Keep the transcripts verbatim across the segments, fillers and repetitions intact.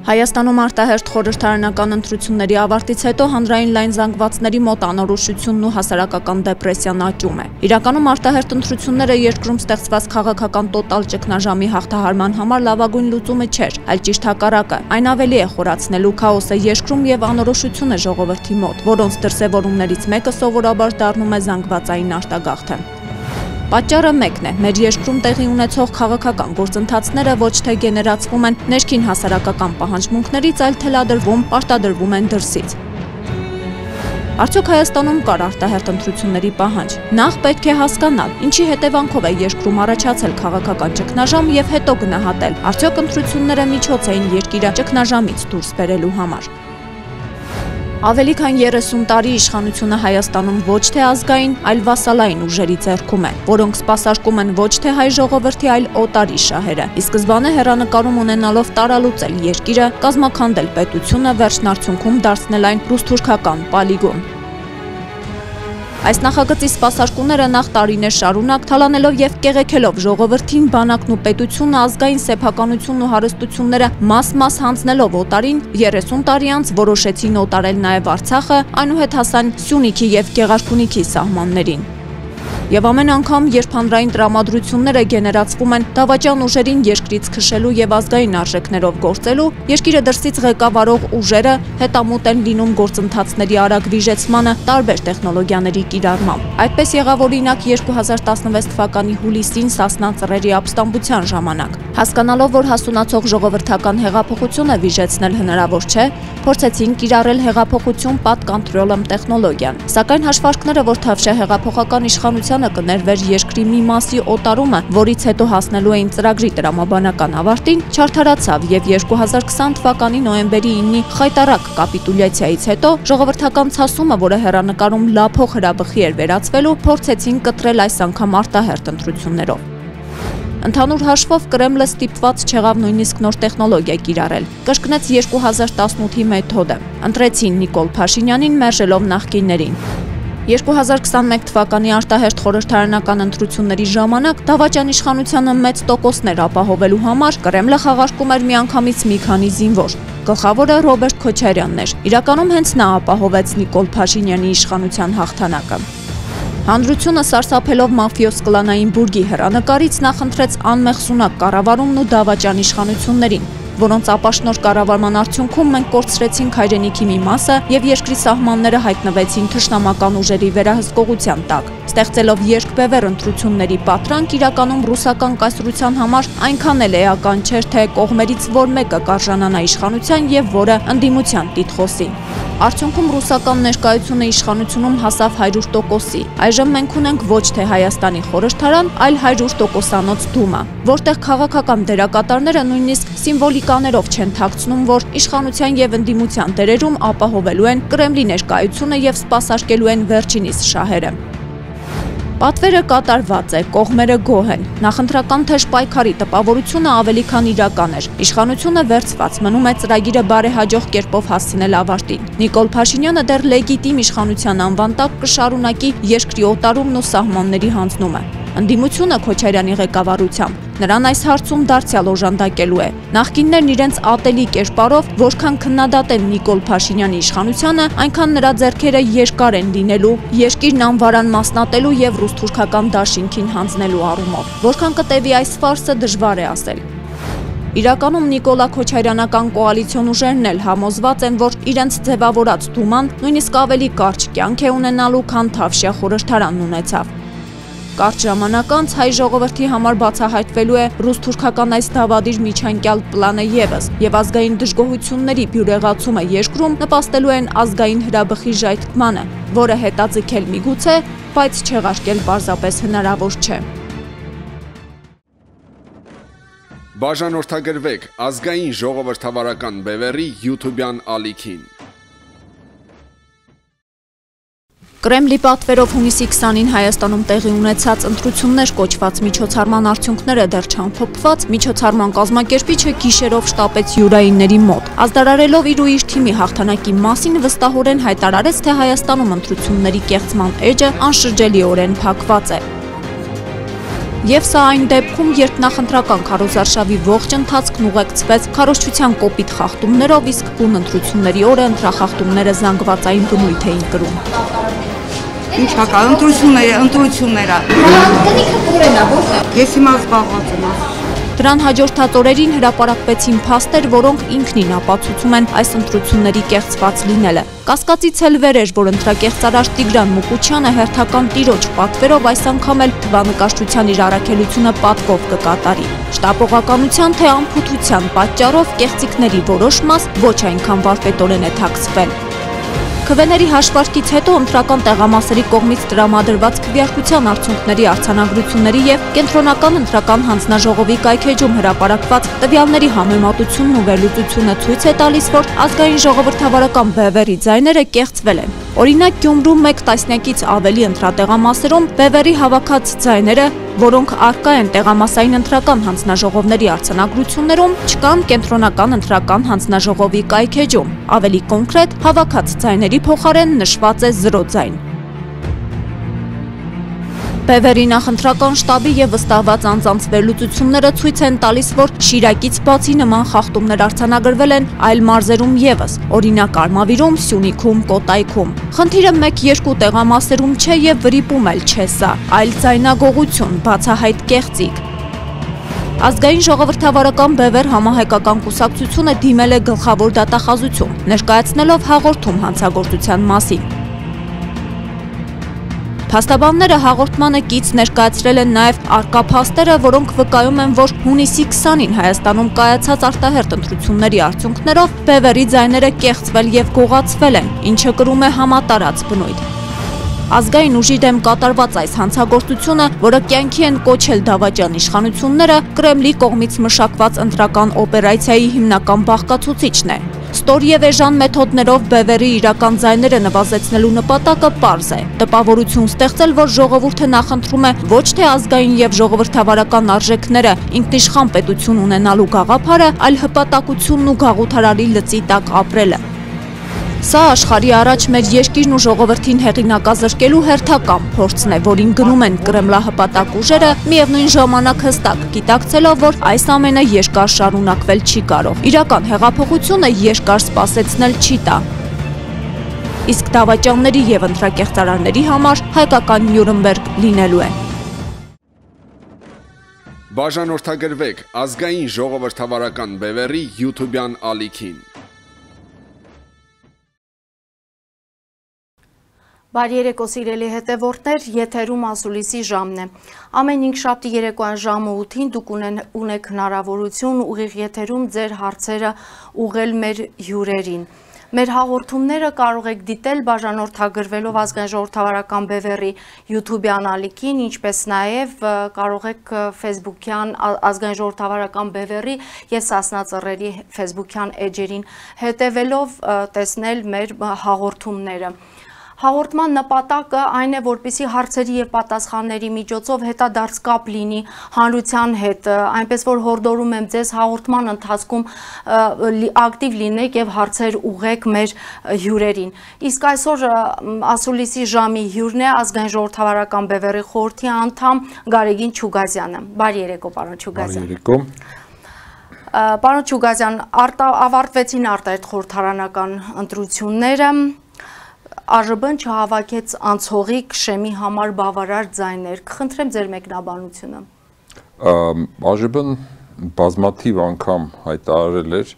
Հայաստանում արտահերթ խորհրդարանական ընտրությունների ավարտից հետո հանրային լայն զանգվածների մոտ անորոշությունն ու հասարակական դեպրեսիան աճում է։ Իրականում արտահերթ ընտրությունները երկրում ստեղծված քաղաքական տոտալ ճգնաժամի հաղթահարման համար լավագույն լուծումը չէր, այլ ճիշտ հակառակը։ Այն ավելի է խորացնելու քաոսը երկրում եւ անորոշությունը ժողովրդի մոտ, որոնց դրսևորումներից մեկը սովորաբար դառնում է զանգվածային արտագաղթը։ Պատճառը մեկն է, մեր երկրում տեղի ունեցող քաղաքական գործընթացները ոչ թե գեներացվում են ներքին հասարակական պահանջմունքներից, այլ թելադրվում, պարտադրվում են դրսից։ Արդյոք Հայաստանում կար արտահերթ ընտրությունների պահանջ։ Նախ պետք է հասկանալ, ինչի հետևանքով է երկրում առաջացել քաղաքական ճգնաժամ եւ հետո գնահատել, արդյոք ընտրությունները միջոց էին երկիրը ճգնաժամից դուրս բերելու համար։ Ավելի քան երեսուն տարի իշխանությունը Հայաստանում ոչ թե ազգային, այլ վասալային ուժերի ձեռքում է, որոնք սպասարկում են ոչ թե հայ ժողովրդի, այլ օտարի շահերը։ Ի սկզբանե հեռանկարում ունենալով տարալուծել երկիրը, կազմաքանդել պետությունը, վերջնարդյունքում դարձնել այն ռուս-թուրքական պոլիգոն։ Այս նախագծի սպասարկումները նախ տարիներ շարունակ թալանելով եւ կեղեքելով ժողովրդին, բանակն ու պետությունը, ազգային սեփականությունն ու հարստությունները մաս-մաս հանձնելով օտարին, երեսուն տարի անց որոշեցին օտարել նաեւ Արցախը, այնուհետ հասան Սյունիքի եւ Գեղարքունիքի սահմաններին։ Եվ ամեն անգամ, երբ հանրային տրամադրությունները գեներացվում են դավաճան ուժերին երկրից քշելու եւ ազգային արժեքներով գործելու, երկիրը դրսից ղեկավարող ուժերը հետամուտ են լինում գործընթացների արագ վիժեցմանը տարբեր տեխնոլոգիաների կիրառմամբ։ Այդպես եղավ օրինակ երկու հազար տասնվեց թվականի հուլիսին Սասնա ծռերի ապստամբության ժամանակ։ Հասկանալով, որ հասունացող ժողովրդական հեղափոխությունը վիժեցնել հնարավոր չէ, փորձեցին կիրառել հեղափոխություն պատկանտրոլեմ տեխնոլոգիան։ Սակայն հաշվարկները, որ Թավշյա հեղափոխական իշխանության կներվեր երկրի մի մասի օտարումը, որից հետո հասնելու էին ծրագրի տրամաբանական ավարտին, չարդարացավ եւ երկու հազար քսան թվականի նոյեմբերի իննի խայտառակ կապիտուլյացիայից հետո ժողովրդական ցասումը, որը հեռանկարում լափող հրաբխի էր վերածվելու, փորձեցին կտրել այս անգամ արտահերթ ընտրություններով։ Ընդհանուր հաշվով Կրեմլը ստիպված չեղավ նույնիսկ նոր տեխնոլոգիա կիրառել, կրկնեց երկու հազար տասնութի մեթոդը, ընտրեցին Նիկոլ Փաշինյանին մերժելով նախկիններին։ երկու հազար քսանմեկ թվականի արտահերթ խորհրդարանական ընտրությունների ժամանակ դավաճան իշխանությանը մեծ տոկոսներ ապահովելու համար Կրեմլը խաղարկում էր միանգամից մի քանի զինվոր։ Գլխավորը Ռոբերտ Քոչարյանն էր։ Իրականում հենց նա ապահովեց Նիկոլ Փաշինյանի իշխանության հաղթանակը։ Հանրությունը սարսափելով մաֆիոս կլանային բուրգի հեռանկարից նախընտրեց անմեղսունակ կառավարումն ու դավաճան իշխանություններին, որոնց ապաշնոր կառավարման արդյունքում մենք կորցրեցինք հայրենիքի մի մասը եւ երկրի սահմանները հայտնվեցին թշնամական ուժերի վերահսկողության տակ, ստեղծելով երկբևեռ ընտրությունների պատրանք, իրականում ռուսական կայսրության համար այնքան էլ էական չէր, թե կողմերից որ մեկը կարժանանա իշխանության եւ որը ընդդիմության տիտղոսի։ Արդյունքում ռուսական ներկայությունը իշխանությունում հասավ հարյուր տոկոսի։ Այժմ մենք ունենք ոչ թե Հայաստանի խորհրդարան, այլ հարյուր տոկոսանոց դումա, որտեղ քաղաքական դերակատարները նույնիսկ սիմվոլիկաներով չեն թաքցնում, որ իշխանության եւ ընդդիմության դերերում ապահովելու են Կրեմլի ներկայությունը եւ սպասարկելու են վերջինիս շահերը։ Պատվերը կատարված է, կողմերը գոհ են։ Նախընտրական թեժ պայքարի տպավորությունը ավելի քան իրական էր։ Իշխանությունը վերցված, մնում է ծրագիրը բարեհաջող կերպով հասցնել ավարտին։ Նիկոլ Փաշինյանը դեռ լեգիտիմ իշխանության անվան տակ կշարունակի երկրի օտարումն ու սահմանների հանձնումը։ Ընդդիմությունը Քոչարյանի ղեկավարությամբ նրան այս հարցում դարձյալ օժանդակելու է։ Նախկիններն իրենց ատելի կերպարով, որքան քննադատեն Նիկոլ Փաշինյանի իշխանությանը, այնքան նրա ձեռքերը երկար են լինելու երկիրն անվարան մասնատելու եւ ռուս-թուրքական դաշինքին հանձնելու առումով։ Որքան կտևի այս ֆարսը դժվար է ասել։ Իրականում Նիկոլա Քոչարյանական կոալիցիոն ուժերն էլ համոզված են, որ իրենց ձևավորած դուման նույնիսկ ավելի կարճ կյանք է ունենալու, քան Թավշյա խորհրդարանն ունեցավ։ Կարճ ժամանակ անց հայ ժողովրդի համար բացահայտվելու է ռուս-թուրքական այս դավադիր միջանկյալ պլանը եւս, եւ ազգային դժգոհությունների բյուրեղացումը երկրում նպաստելու են ազգային հրաբխի ժայթքմանը, որը հետաձգել միգուցե, բայց չեղարկել պարզապես հնարավոր չէ։ Բաժանորդագրվեք ազգային ժողովրդավարական բևեռի յութուբյան ալիքին։ Կրեմլի պատվերով հունիսի քսանին Հայաստանում տեղի ունեցած ընտրություններ կոչված միջոցառման արդյունքները դեռ չամփոփված, միջոցառման կազմակերպիչը գիշերով շտապեց յուրայինների մոտ, ազդարարելով իր ու իր թիմի հաղթանակի մասին վստահորեն հայտարարեց, թե Հայաստանում ընտրությունների կեղծման էջը անշրջելիորեն փակված է։ Եվ սա այն դեպքում, երբ նախընտրական քարոզարշավի ողջ ընթացքն ուղեկցվեց քարոզչության կոպիտ խախտումներով, իսկ բուն ընտրությունների օրը ընտրախախտումները զանգվածային բնույթ էին կրում։ Ինչ հակա, ընտրությունները, ընտրությունները։ Տնիքը որն է, որտեղ։ Ես հիմա զբաղված եմ։ Դրան հաջորդած օրերին հրապարակվեցին փաստեր, որոնք ինքնին ապացուցում են այս ընտրությունների կեղծված լինելը։ Կասկածից էլ վեր էր, որ ընտրակեղծարար Տիգրան Մուկուչյանը հերթական տիրոջ պատվերով այս անգամ էլ թվանկաշռության իր առաքելությունը պատվով կկատարի։ Շտապողականության թե անփութության պատճառով կեղծիքների որոշ մաս ոչ այնքան վարպետորեն է թաքցվել։ Քվեների հաշվարկից հետո ընտրական տեղամասերի կողմից տրամադրված քվեարկության արդյունքների արձանագրությունների եւ կենտրոնական ընտրական հանձնաժողովի կայքեջում հրապարակված տվյալների համեմատությունն ու վերլուծությունը ցույց է տալիս, որ ազգային ժողովրդավարական բևեռի ձայները կեղծվել են։ Օրինակ Գյումրու մեկ տասնյակից ավելի ընտրատեղամասերում բևեռի հավաքած ձայները, որոնք առկա են տեղամասային ընտրական հանձնաժողովների արձանագրություններում, չկան կենտրոնական ընտրական հանձնաժողովի կայքեջում։ Ավելի կոնկրետ, հավաքած ձայների փոխարեն նշված է զրո ձայն։ Բևեռի նախընտրական շտաբի եւ վստահված անձանց վերլուծությունները ցույց են տալիս, որ Շիրակից բացի նման խախտումներ արձանագրվել են այլ մարզերում եւս, օրինակ Արմավիրում, Սյունիքում, Կոտայքում։ Խնդիրը մեկ-երկու տեղամասերում չէ եւ վրիպում էլ չէ սա, այլ ձայնագողություն, բացահայտ կեղծիք։ Ազգային ժողովրդավարական բևեռ համահայկական կուսակցությունը դիմել է գլխավոր դատախազություն, ներկայացնելով հաղորդում հանցագործության մասին։ Փաստաբանները հաղորդմանը կից ներկայացրել են նաև առկա փաստերը, որոնք վկայում են, որ հունիսի քսանին Հայաստանում կայացած արտահերթ ընտրությունների արդյունքներով բևեռի ձայները կեղծվել եւ գողացվել են, ինչը կրում է համատարած բնույթ։ Ազգային ուժի դեմ կատարված այս հանցագործությունը, որը կյանքի են կոչել դավաճան իշխանությունները, Կրեմլի կողմից մշակված ընտրական օպերացիայի հիմնական բաղկացուցիչն է։ Ստոր եւ էժան մեթոդներով բևեռի իրական ձայները նվազեցնելու նպատակը պարզ է։ Տպավորություն ստեղծել, որ ժողովուրդը նախընտրում է ոչ թե ազգային եւ ժողովրդավարական արժեքները ինքնիշխան պետություն ունենալու գաղափարը, այլ հպատակությունն ու գաղութարարի լծի տակ ապրելը։ Սա աշխարհի առաջ մեր երկիրն ու ժողովրդին հեղինակազրկելու հերթական փորձն է, որին գնում են կրեմլահպատակ ուժերը, միևնույն ժամանակ հստակ գիտակցելով, որ այս ամենը երկար շարունակվել չի կարող։ Իրական հեղափոխությունը երկար սպասեցնել չի տա։ Իսկ դավաճանների եւ ընտրակեղծարարների համար հայկական Նյուրնբերգ լինելու է։ Բաժանորդագրվեք ազգային ժողովրդավարական բևեռի YouTube-յան ալիքին։ Բարի երեկո սիրելի հետևորդներ, եթերում ասուլիսի ժամն է։ Ամեն հինգշաբթի երեկոյան ժամը ութին դուք ունեք հնարավորություն ուղիղ եթերում ձեր հարցերը ուղղել մեր հյուրերին։ Մեր հաղորդումները կարող եք դիտել բաժանորդագրվելով ազգային ժողովրդավարական բևեռի YouTube-յան ալիքին, ինչպես նաև կարող եք Facebook-յան ազգային ժողովրդավարական բևեռի եւ Սասնա Ծռերի Facebook-յան էջերին հետևելով տեսնել մեր հաղորդումները։ Հաղորդման նպատակը այն է, որպեսզի հարցերի եւ պատասխանների միջոցով հետադարձ կապ լինի հանրության հետ, այնպես որ հորդորում եմ ձեզ հաղորդման ընթացքում ակտիվ լինեք եւ հարցեր ուղղեք մեր հյուրերին։ Իսկ այսօր ասուլիսի ժամի հյուրն է ազգային ժողովրդավարական բևեռի խորհրդի անդամ Գարեգին Չուգազյանը։ Բարի երեկո, պարոն Չուգազյան։ Բարի երեկո։ Պարոն Չուգազյան, ավարտվեցին արտահերթ խորհրդարանական ընտրությունները։ ԱԺԲ-ն չհավաքեց անցողի քշեմի համար բավարար ձայներ։ Կխնդրեմ ձեր մեկնաբանությունը։ ԱԺԲ-ն բազմաթիվ անգամ հայտարարել էր,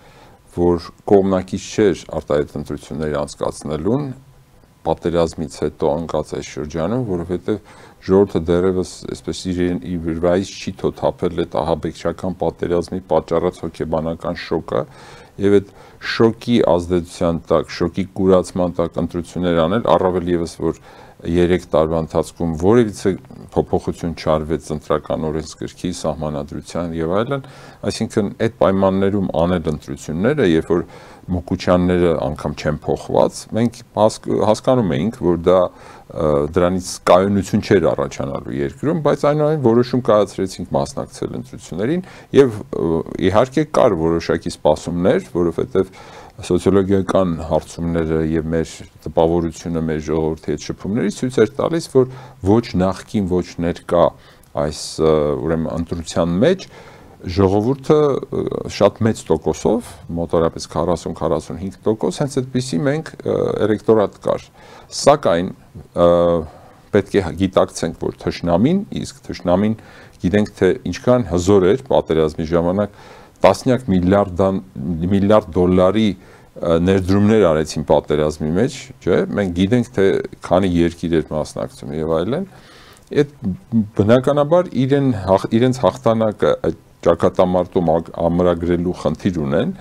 որ կողմնակից չէր արտահերթ ընտրությունների անցկացնելուն, պատերազմից հետո անկած այս շրջանում, որովհետև ժողովուրդը դեռևս այսպես իր վրայից չի թոթափել այդ ահաբեկչական պատերազմի պատճառած հոգեբանական շոկը, եւ այդ շոկի ազդեցության տակ, շոկի կուրացման տակ ընտրություններ անել, առավել եւս որ երեք տարվա ընթացքում որևիցե փոփոխություն չարվեց ընտրական օրենսգրքի սահմանադրության եւ այլն, այսինքն այդ պայմաններում անել ընտրությունները, երբ որ Մուկուչյանները անգամ չեն փոխված, մենք հասկանում էինք, որ դա դրանից կայունություն չէր առաջանալու երկրում, բայց այնուամենայնիվ որոշում կայացրեցինք մասնակցել ընտրություններին եւ իհարկե կար որոշակի սպասումներ, որովհետեւ սոցիոլոգիական հարցումները եւ մեր տպավորությունը մեր ժողովրդի հետ շփումներից ցույց էր տալիս, որ ոչ նախկին, ոչ ներկա այս ուրեմն ընտրության մեջ ժողովուրդը շատ մեծ տոկոսով, մոտավորապես քառասուն քառասունհինգ տոկոս, հենց այդպիսի մենք էլեկտորատ կար։ Սակայն պետք է գիտակցենք, որ թշնամին, իսկ թշնամին գիտենք, թե ինչքան հզոր էր պատերազմի ժամանակ տասնյակ միլիարդ դոլարի ներդրումներ արեցին պատերազմի մեջ, չէ՞, մենք գիտենք, թե քանի երկիր էր մասնակցում եւ այլն, այդ բնականաբար իրեն իրենց հաղթանակը ճակատամարտում ամրագրելու խնդիր ունեն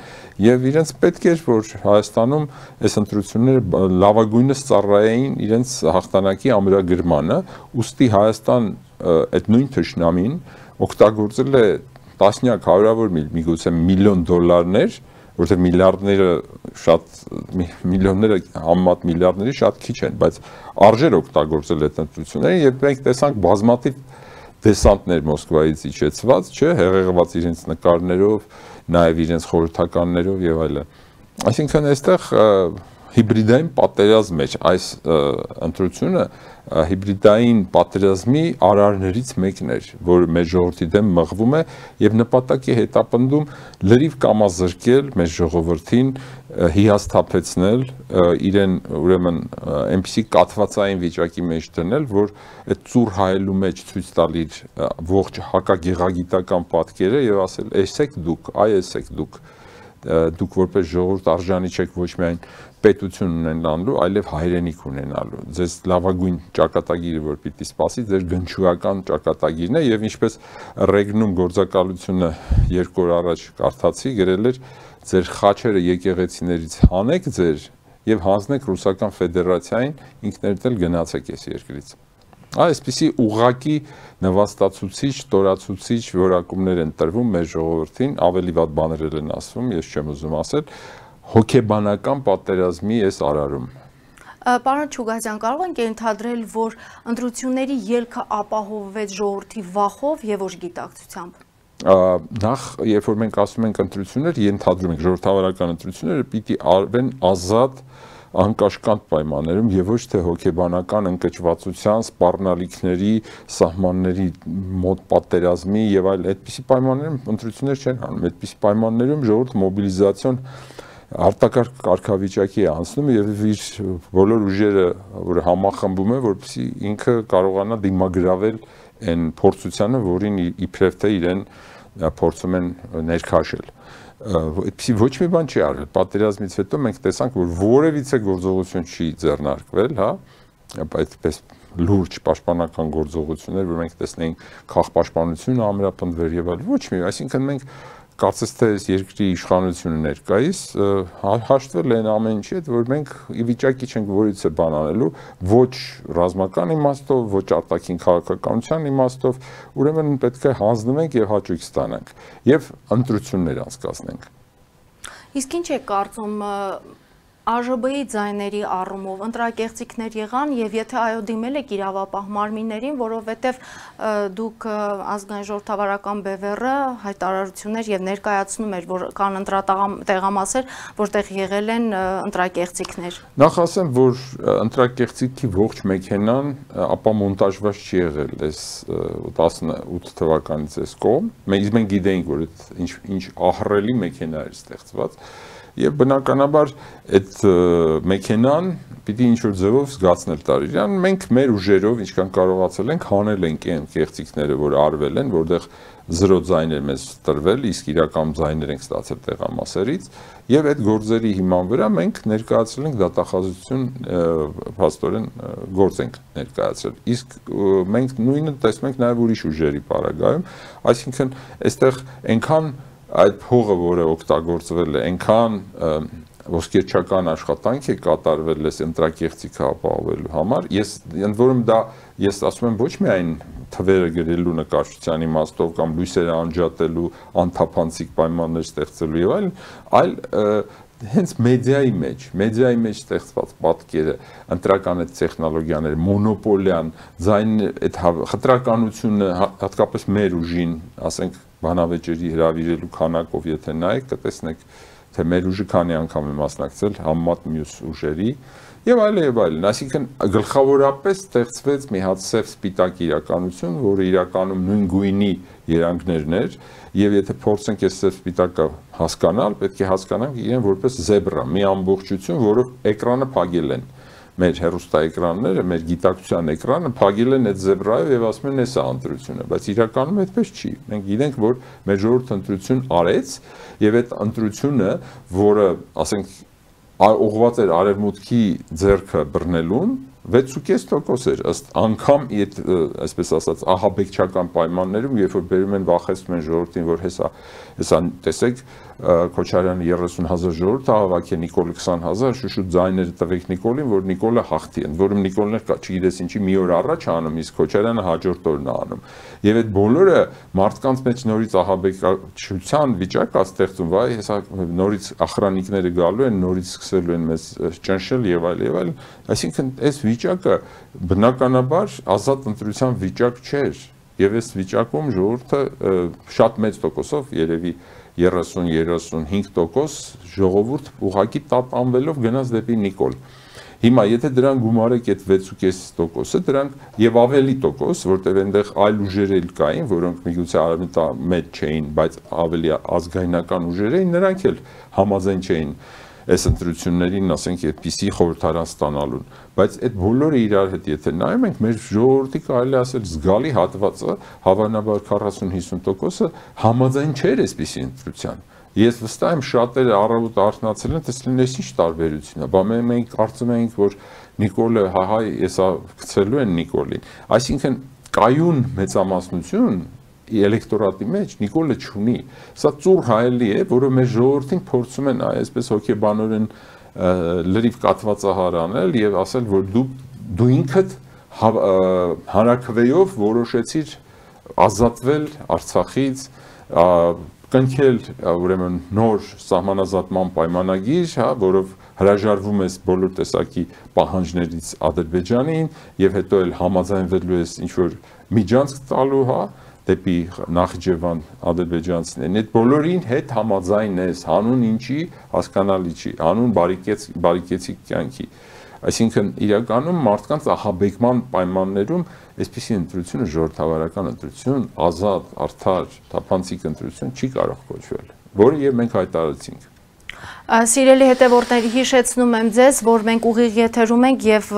եւ իրենց պետք էր, որ Հայաստանում այս ընտրությունները լավագույնս ծառայեին իրենց հաղթանակի ամրագրմանը, ուստի Հայաստան այդ նույն թշնամին օգտագործել է տասնյակ հարյուրավոր միգուցե միլիոն դոլարներ, որտեղ միլիարդները շատ միլիոնները համեմատ միլիարդների շատ քիչ են, բայց արժեր օգտագործել այդ ընտրությունները եւ մենք տեսանք բազմաթիվ դեսանտներ Մոսկվայից իջեցված, չէ, հեղեղված իրենց նկարներով, նաեւ իրենց խորհրդականներով եւ այլն։ Այսինքն այստեղ հիբրիդային պատերազմ մեջ այս ընտրությունը հիբրիդային պատերազմի արարներից մեկն էր, որ մեր ժողովրդի դեմ մղվում է եւ նպատակ է հետապնդում լրիվ կամազրկել մեր ժողովրդին, հիասթափեցնել, իրեն ուրեմն այնպիսի կաթվածային վիճակի մեջ դնել, որ այդ ծուռ հայելու մեջ ցույց տալ իր ողջ հակագեղագիտական պատկերը եւ ասել՝ «Էսեք դուք, այ էսեք դուք, դուք որպես ժողովուրդ արժանի չեք ոչ միայն պետություն ունենալու, այլև հայրենիք ունենալու։ Ձեզ լավագույն ճակատագիրը, որ պիտի սպասի, ձեր գնչուական ճակատագիրն է եւ ինչպես Ռեգնում գործակալությունը երկու օր առաջ կարդացի, գրել էր ձեր խաչերը եկեղեցիներից հանեք ձեր եւ հանձնեք Ռուսական Ֆեդերացիային, ինքներդ էլ գնացեք այս երկրից։ Այսպիսի ուղղակի նվաստացուցիչ, տորացուցիչ որակումներ են տրվում մեր ժողովրդին, ավելի վատ բաներ են ասվում, ես չեմ ուզում ասել, հոգեբանական պատերազմի այս արարում։ Պարոն Չուգազյան, կարող ենք ենթադրել, որ ընտրությունների ելքը ապահովվեց ժողովրդի վախով եւ ոչ գիտակցությամբ։ Նախ, երբ որ մենք ասում ենք ընտրություններ, ենթադրում ենք ժողովրդավարական ընտրությունները պիտի արվեն ազատ անկաշկանդ պայմաններում եւ ոչ թե հոգեբանական ընկճվածության, սպառնալիքների, սահմանների մոտ պատերազմի եւ այլ այդպիսի պայմաններում ընտրություններ չեն անում։ Այդպիսի պայմաններում ժողովուրդը մոբիլիզացիոն արտակարգ կարգավիճակի է անցնում եւ իր բոլոր ուժերը, որ համախմբում է, որպեսզի ինքը կարողանա դիմագրավել այն փորձությանը, որին իբրև թե իրեն փորձում են ներքաշել։ Այդպիսի ոչ մի բան չի արվել։ Պատերազմից հետո մենք տեսանք, որ որևիցե գործողություն չի ձեռնարկվել, հա, այդպես լուրջ պաշտպանական գործողություններ, որ մենք տեսնենք քաղաքապաշտպանությունը ամրապնդվեր եւ այլ, ոչ մի, այսինքն մենք կարծես թե այս երկրի իշխանությունը ներկայիս հաշտվել են ամեն ինչի հետ, որ մենք ի վիճակի չենք որից է բան անելու, ոչ ռազմական իմաստով, ոչ արտաքին քաղաքականության իմաստով, ուրեմն պետք է հանձնվենք եւ հաճույք ստանանք եւ ընտրություններ անցկացնենք։ Իսկ ինչ է կարծում ԱԺԲ-ի ձայների առումով ընտրակեղծիքներ եղան եւ եթե այո դիմել եք իրավապահ մարմիններին, որովհետեւ դուք ազգային ժողովրդավարական բևեռը հայտարարություններ եւ ներկայացնում էր, որ կան ընտրատեղամասեր, որտեղ եղել են ընտրակեղծիքներ։ Նախ ասեմ, որ ընտրակեղծիքի ողջ մեքենան ապա մոնտաժված չի եղել այս տասնութ թվականից այս կողմ։ Մենք գիտենք, որ ինչ ինչ ահռելի մեքենա էր ստեղծված։ Եվ բնականաբար այդ մեքենան պիտի ինչ-որ ձևով զգացնել տար իրան, մենք մեր ուժերով ինչքան կարողացել ենք հանել ենք այն կեղծիքները, որ արվել են, որտեղ զրո ձայներ մեզ տրվել, իսկ իրական ձայներ ենք ստացել տեղամասերից, եւ այդ գործերի հիման վրա մենք ներկայացրել ենք դատախազություն փաստորեն գործ ենք ներկայացրել։ Իսկ մենք նույնը տեսնում ենք նաեւ ուրիշ ուժերի պարագայում, այսինքն այստեղ այնքան այդ փողը, որը օգտագործվել է, այնքան ոսկերչական աշխատանք է կատարվել այս ընտրակեղծիքը ապահովելու համար, ես ընդ որում դա ես ասում եմ ոչ միայն թվերը գրելու նկարչության իմաստով կամ լույսերը անջատելու, անթափանցիկ պայմաններ ստեղծելու եւ այլն, այլ հենց մեդիայի մեջ, մեդիայի մեջ ստեղծված պատկերը, ընտրական այդ տեխնոլոգիաները, մոնոպոլիան, ձայն այդ խտրականությունը հատկապես մեր ուժին, ասենք բանավեճերի հրավիրելու քանակով եթե նայեք, կտեսնեք թե մեր ուժը քանի անգամ է մասնակցել համեմատ մյուս ուժերի եւ այլ եւ այլն, այսինքն գլխավորապես ստեղծվեց մի հատ սև սպիտակ իրականություն, որը իրականում նույն գույնի երանգներն էր, եւ եթե փորձենք այս սև սպիտակը հասկանալ, պետք է հասկանանք իրեն որպես զեբրա, մի ամբողջություն, որով էկրանը փակել են մեր հեռուստաէկրանները, մեր գիտակցության էկրանը փակել են այդ զեբրայով եւ ասում են էսա ընտրությունը, բայց իրականում այդպես չի։ Մենք գիտենք, որ մեր ժողովուրդը ընտրություն արեց եւ այդ ընտրությունը, որը, ասենք, ուղղված էր արևմուտքի ձեռքը բռնելուն, վեց ու կես տոկոս էր ըստ անգամ այդ այսպես ասած ահաբեկչական պայմաններում, երբ որ բերում են վախեցնում են ժողովրդին, որ հեսա հեսա տեսեք Քոչարյանը երեսուն հազար ժողովուրդ հավաք է, Նիկոլը քսան հազար, շուշուտ ձայները տվեք Նիկոլին, որ Նիկոլը հաղթի, ընդ որում Նիկոլն չգիտես ինչի մի օր առաջ անում, իսկ Քոչարյանը հաջորդ օրն է անում։ Եվ այդ բոլորը մարդկանց մեջ նորից ահաբեկչության վիճակ է ստեղծում, վայ, հեսա նորից ախրանիկները գալու են, նորից սկսելու են մեզ ճնշել եւ այլ եւ այլ, այսինքն այս վիճակը բնականաբար ազատ ընտրության վիճակ չէր եւ այս վիճակում ժողովուրդը շատ մեծ տոկոսով երևի երեսուն երեսունհինգ տոկոս ժողովուրդ ուղակի տատանվելով գնաց դեպի Նիկոլ։ Հիմա եթե դրան գումարեք այդ վեց ու կես տոկոսը, դրանք եւ ավելի տոկոս, որտեղ այնտեղ այլ ուժեր էլ կային, որոնք միգուցե արևմտամետ չէին, բայց ավելի ազգայնական ուժեր էին, նրանք էլ համաձայն չէին այս ընտրություններին, ասենք, այդպիսի խորհրդարան ստանալուն, բայց այդ բոլորը իրար հետ եթե նայում ենք, մեր ժողովրդի կարելի ասել զգալի հատվածը, հավանաբար քառասուն հիսուն տոկոսը համաձայն չէր այսպիսի ընտրության։ Ես վստահ եմ շատերը առավոտ արթնացել են, տեսել են ինչ տարբերություն է, բա մենք կարծում ենք, որ Նիկոլը հահայ եսա գցելու են Նիկոլին, այսինքն կայուն մեծամասնություն էլեկտորատի մեջ Նիկոլը չունի, սա ծուռ հայելի է, որը մեր ժողովրդին փորձում են այսպես հոգեբանորեն լրիվ կատվածահար անել եւ ասել, որ դու դու ինքդ հանրաքվեով որոշեցիր ազատվել Արցախից, կնքել ուրեմն նոր սահմանազատման պայմանագիր, հա, որով հրաժարվում ես բոլոր տեսակի պահանջներից Ադրբեջանին եւ հետո էլ համաձայնվելու ես ինչ որ միջանցք տալու, հա, դեպի Նախիջևան ադրբեջանցիներին, այդ բոլորին հետ համաձայն ես, հանուն ինչի հասկանալի չի, հանուն բարիկեցիկ կյանքի, այսինքն իրականում մարդկանց ահաբեկման պայմաններում այսպիսի ընտրությունը ժողովրդավարական ընտրություն, ազատ, արդար, թափանցիկ ընտրություն չի կարող կոչվել, որը եւ մենք հայտարարեցինք։ Սիրելի հետևորդներ, հիշեցնում եմ ձեզ, որ մենք ուղիղ եթերում ենք եւ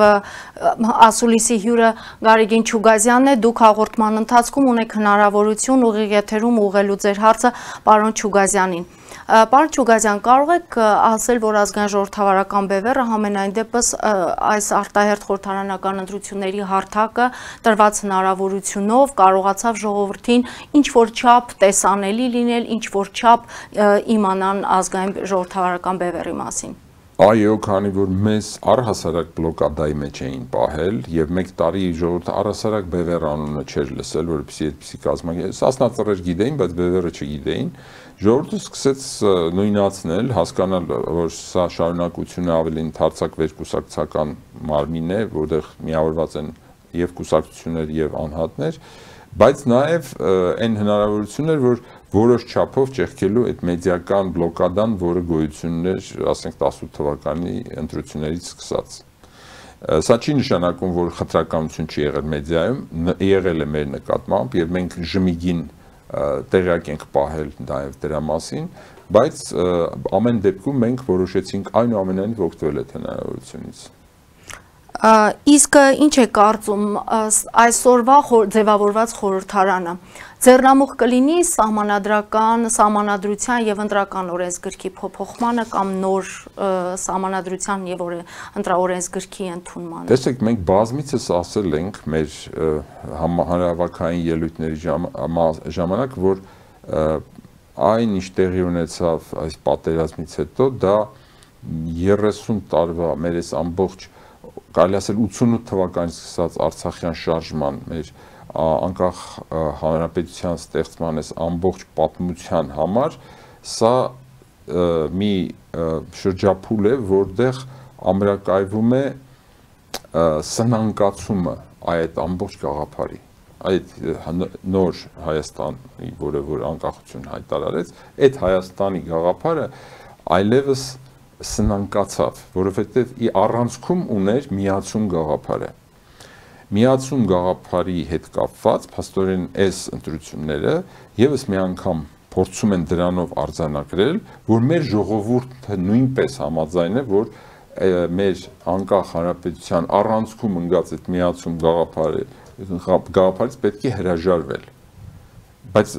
ասուլիսի հյուրը Գարեգին Չուգազյանն է, դուք հաղորդման ընթացքում ունեք հնարավորություն ուղիղ եթերում ուղղելու ձեր հարցը պարոն Չուգազյանին։ Պարոն Չուգազյան, կարող եք ասել, որ ազգային ժողովրդավարական բևեռը համենայն դեպս այս արտահերթ խորհրդարանական ընտրությունների հարթակը տրված հնարավորությունով կարողացավ ժողովրդին ինչ որ չափ տեսանելի լինել, ինչ որ չափ իմանան ազգային ժողովրդավարական բևեռի մասին։ Այո, քանի որ մեզ առհասարակ բլոկադայի մեջ էին պահել եւ մեկ տարի ժողովուրդը առհասարակ բևեռ անունը չէր լսել, որովհետեւ այդպեսի կազմակերպ սասնածռեր գիտեին, բայց բևեռը չգիտեին, ժողովուրդը սկսեց նույնացնել, հասկանալ, որ սա շարունակությունը ավելի ընդարձակ վերկուսակցական մարմին է, որտեղ միավորված են եւ կուսակցություններ եւ անհատներ, բայց նաեւ այն հնարավորություններ, որ որոշ չափով ճեղքելու այդ մեդիական բլոկադան, որը գոյություն էր, ասենք տասնութ թվականի ընտրություններից սկսած։ Սա չի նշանակում, որ խտրականություն չի եղել մեդիայում, եղել է մեր նկատմամբ եւ մենք ժմիգին տեղյակ ենք պահել նաեւ դրա մասին, բայց ամեն դեպքում մենք որոշեցինք այնուամենայնիվ օգտվել այդ հնարավորությունից։ Իսկ ինչ է կարծում այսօրվա ձևավորված խորհրդարանը ձեռնամուխ կլինի սահմանադրական, սահմանադրության եւ ընտրական օրենսգրքի փոփոխմանը կամ նոր սահմանադրության եւ ընտրաօրենսգրքի ընդունմանը։ Տեսեք, մենք բազմիցս ասել ենք մեր հանրահավաքային ելույթների ժամանակ, որ այն ինչ տեղի ունեցավ այս պատերազմից հետո, դա երեսուն տարվա մեր այս ամբողջ կարելի ասել ութսունութ թվականից սկսած Արցախյան շարժման մեր անկախ հանրապետության ստեղծման այս ամբողջ պատմության համար սա մի շրջափուլ է, որտեղ ամրակայվում է սնանկացումը այդ ամբողջ գաղափարի, այդ նոր Հայաստանի, որը որ անկախություն հայտարարեց, այդ Հայաստանի գաղափարը այլևս սնանկացավ, որովհետև ի առանցքում ուներ միացում գաղափարը։ Միացում գաղափարի հետ կապված փաստորեն այս ընտրությունները եւս մի անգամ փորձում են դրանով արձանագրել, որ մեր ժողովուրդը նույնպես համաձայն է, որ մեր անկախ հանրապետության առանցքում ընկած այդ միացում գաղափարը գաղափարից պետք է հրաժարվել։ Բայց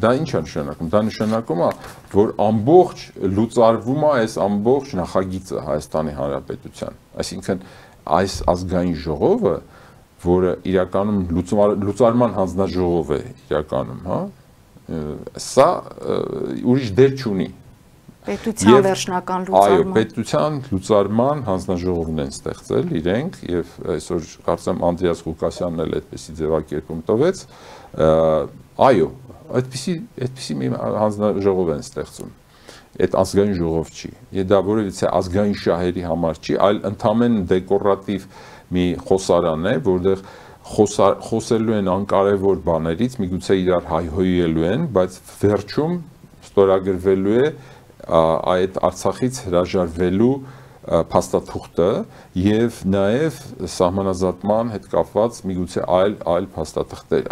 դա ինչ է նշանակում։ Դա նշանակում է, որ ամբողջ լուծարվում է այս ամբողջ նախագիծը Հայաստանի Հանրապետության։ Այսինքն այս ազգային ժողովը, որը իրականում լուծարման հանձնաժողով է իրականում, հա, սա ուրիշ դեր չունի։ Պետության վերջնական լուծարման։ Այո, պետության լուծարման հանձնաժողովն են ստեղծել իրենք եւ այսօր կարծեմ Անդրեաս Ղուկասյանն էլ այդպեսի ձևակերպում տվեց։ Այո, այդպեսի այդպեսի մի հանձնաժողով են ստեղծում։ Այդ ազգային ժողով չի։ Եվ դա որևիցե ազգային շահերի համար չի, այլ ընդհանրեն դեկորատիվ մի խոսարան է, որտեղ խոսելու են անկարևոր բաներից, միգուցե իրար հայհոյելու են, բայց վերջում ստորագրվելու է այդ Արցախից հրաժարվելու փաստաթուղթը եւ նաեւ սահմանազատման հետ կապված միգուցե այլ այլ փաստաթղթեր,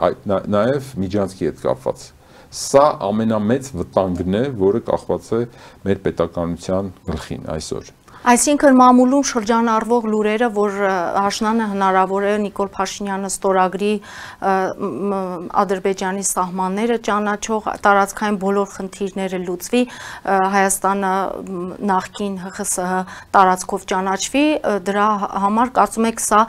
նաեւ միջանցքի հետ կապված։ Սա ամենամեծ վտանգն է, որը կախված է մեր պետականության գլխին այսօր։ Այսինքն մամուլում շրջանառվող լուրերը, որ Աշնանը հնարավոր է Նիկոլ Փաշինյանը ստորագրի Ադրբեջանի սահմանները ճանաչող տարածքային բոլոր խնդիրները լուծվի, Հայաստանը նախկին ՀԽՍՀ տարածքով ճանաչվի, դրա համար կարծում եք սա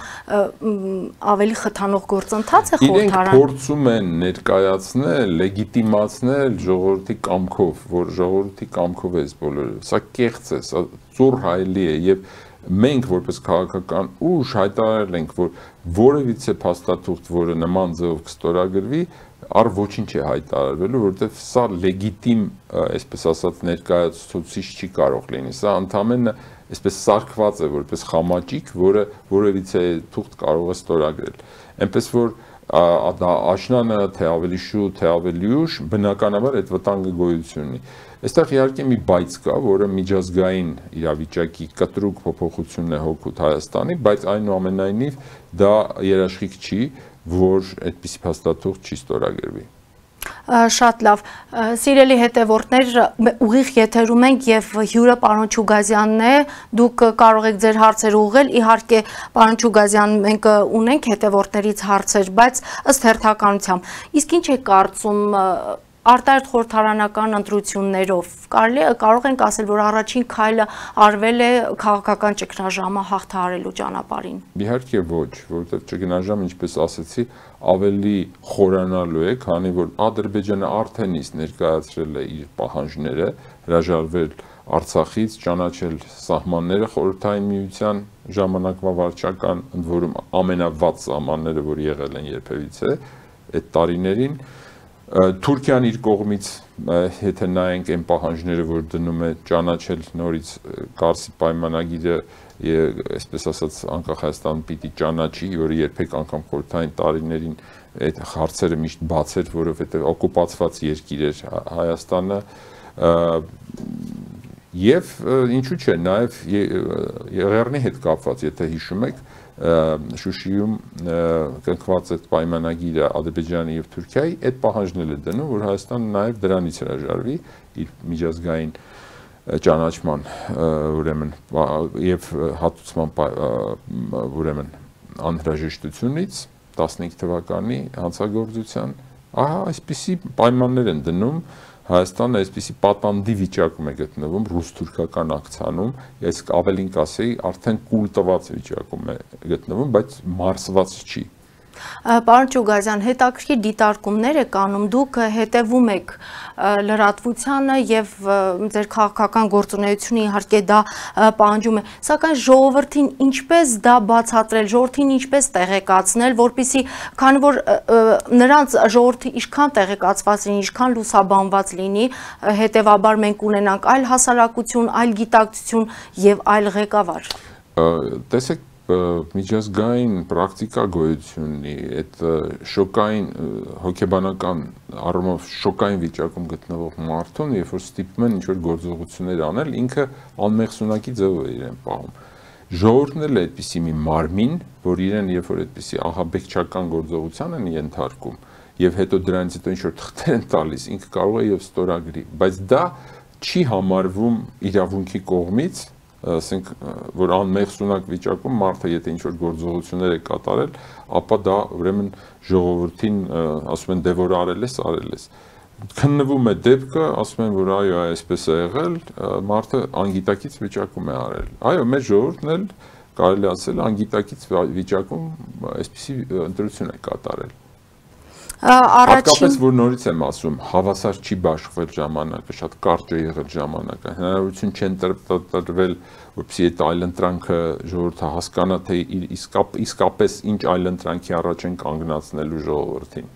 ավելի խթանող գործընթաց է խորհրդարան։ Իրենք փորձում են ներկայացնել, լեգիտիմացնել ժողովրդի կամքով, որ ժողովրդի կամքով է բոլորը։ Սա կեղծ է, սա ծուռ հայելի է եւ մենք որպես քաղաքական ուժ հայտարարել ենք, որ որևիցե փաստաթուղթ, որը նման ձևով կստորագրվի, առ ոչինչ է հայտարարվելու, որովհետեւ սա լեգիտիմ, այսպես ասած, ներկայացուցիչ չի կարող լինի։ Սա ընդհանրապես այսպես սարքված է որպես խամաճիկ, որը որևիցե թուղթ կարող է ստորագրել։ Այնպես որ դա աշնանը թե ավելի շուտ, թե ավելի ուշ, բնականաբար այդ վտանգը գոյություն ունի։ Այստեղ իհարկե մի բայց կա, որը միջազգային իրավիճակի կտրուկ փոփոխությունն է հօգուտ Հայաստանի, բայց այնուամենայնիվ դա երաշխիք չի, որ այդպիսի փաստաթուղթ չի ստորագրվի։ Շատ լավ, սիրելի հետևորդներ, ուղիղ եթերում ենք եւ հյուրը պարոն Չուգազյանն է, դուք կարող եք ձեր հարցերը ուղղել, իհարկե պարոն Չուգազյան, մենք ունենք հետևորդներից հարցեր, բայց ըստ հերթականության, իսկ ինչ է կարծում արտահերթ խորհրդարանական ընտրություններով կարելի է կարող ենք ասել, որ առաջին քայլը արվել է քաղաքական ճգնաժամը հաղթահարելու ճանապարհին։ Իհարկե ոչ, որովհետև ճգնաժամը, ինչպես ասացի, ավելի խորանալու է, քանի որ Ադրբեջանը արդեն իսկ ներկայացրել է իր պահանջները, հրաժարվել Արցախից, ճանաչել սահմանները խորհրդային միության ժամանակվա վարչական, ընդ որում ամենավատ սահմանները, որ եղել են երբևիցե այդ տարիներին։ Թուրքիան իր կողմից, եթե նայենք այն պահանջները, որ դնում է ճանաչել նորից Կարսի պայմանագիրը, այսպես ասած, անկախ Հայաստանը պիտի ճանաչի, որը երբեք անգամ խորհրդային տարիներին այդ հարցերը միշտ բաց էր, որովհետև օկուպացված երկիր էր Հայաստանը, եւ ինչու՞ չէ, նաեւ Եղեռնի հետ կապված, եթե հիշում եք, Շուշիում կնքված այդ պայմանագիրը Ադրբեջանի եւ Թուրքիայի այդ պահանջն է դնում, որ Հայաստանը նաեւ դրանից հրաժարվի իր միջազգային ճանաչման ուրեմն եւ հատուցման ուրեմն անհրաժեշտությունից տասնհինգ թվականի հանցագործության, ահա այսպիսի պայմաններ են դնում Հայաստանը այսպիսի պատանդի վիճակում է գտնվում ռուս-թուրքական ակցիանում, իսկ ավելին կասեի, արդեն կուլ տված վիճակում է գտնվում, բայց մարսված չի։ Պարոն Չուգազյան, հետաքրքիր դիտարկումներ եք անում, դուք հետևում եք լրատվությանը եւ ձեր քաղաքական գործունեությունը իհարկե դա պահանջում է, սակայն ժողովրդին ինչպես դա բացատրել, ժողովրդին ինչպես տեղեկացնել, որպեսզի քանի որ նրանց ժողովրդի ինչքան տեղեկացված լինի, ինչքան լուսաբանված լինի, հետեւաբար մենք ունենանք այլ հասարակություն, այլ գիտակցություն եւ այլ ղեկավար։ Տեսեք, միջազգային պրակտիկա գոյություն ունի, այդ շոկային հոգեբանական առումով շոկային վիճակում գտնվող մարդուն, երբ որ ստիպում են ինչ-որ գործողություններ անել, ինքը անմեղսունակի ձև է իրեն պահում։ Ժողովուրդն էլ է այդպիսի մի մարմին, որ իրեն երբ որ այդպիսի ահաբեկչական գործողության են ենթարկում, եւ հետո դրանից հետո ինչ-որ թղթեր են տալիս, ինքը կարող է եւ ստորագրի, բայց դա չի համարվում իրավունքի կողմից, ասենք, որ անմեղսունակ վիճակում մարդը եթե ինչ-որ գործողություններ է կատարել, ապա դա ուրեմն ժողովրդին ասում են դե որ արել ես, արել ես։ Քննվում է դեպքը, ասում են որ այո, այսպես է եղել, մարդը անգիտակից վիճակում է արել։ Այո, մեր ժողովուրդն էլ կարելի ասել անգիտակից վիճակում այսպիսի ընտրություն է կատարել։ Հատկապես որ նորից եմ ասում, հավասար չի բաշխվել ժամանակը, շատ կարճ է եղել ժամանակը, հնարավորություն չեն տրվել, որպեսզի այդ այլընտրանքը ժողովուրդը հասկանա, թե իսկապես ինչ այլընտրանքի առաջ են կանգնացնելու ժողովրդին։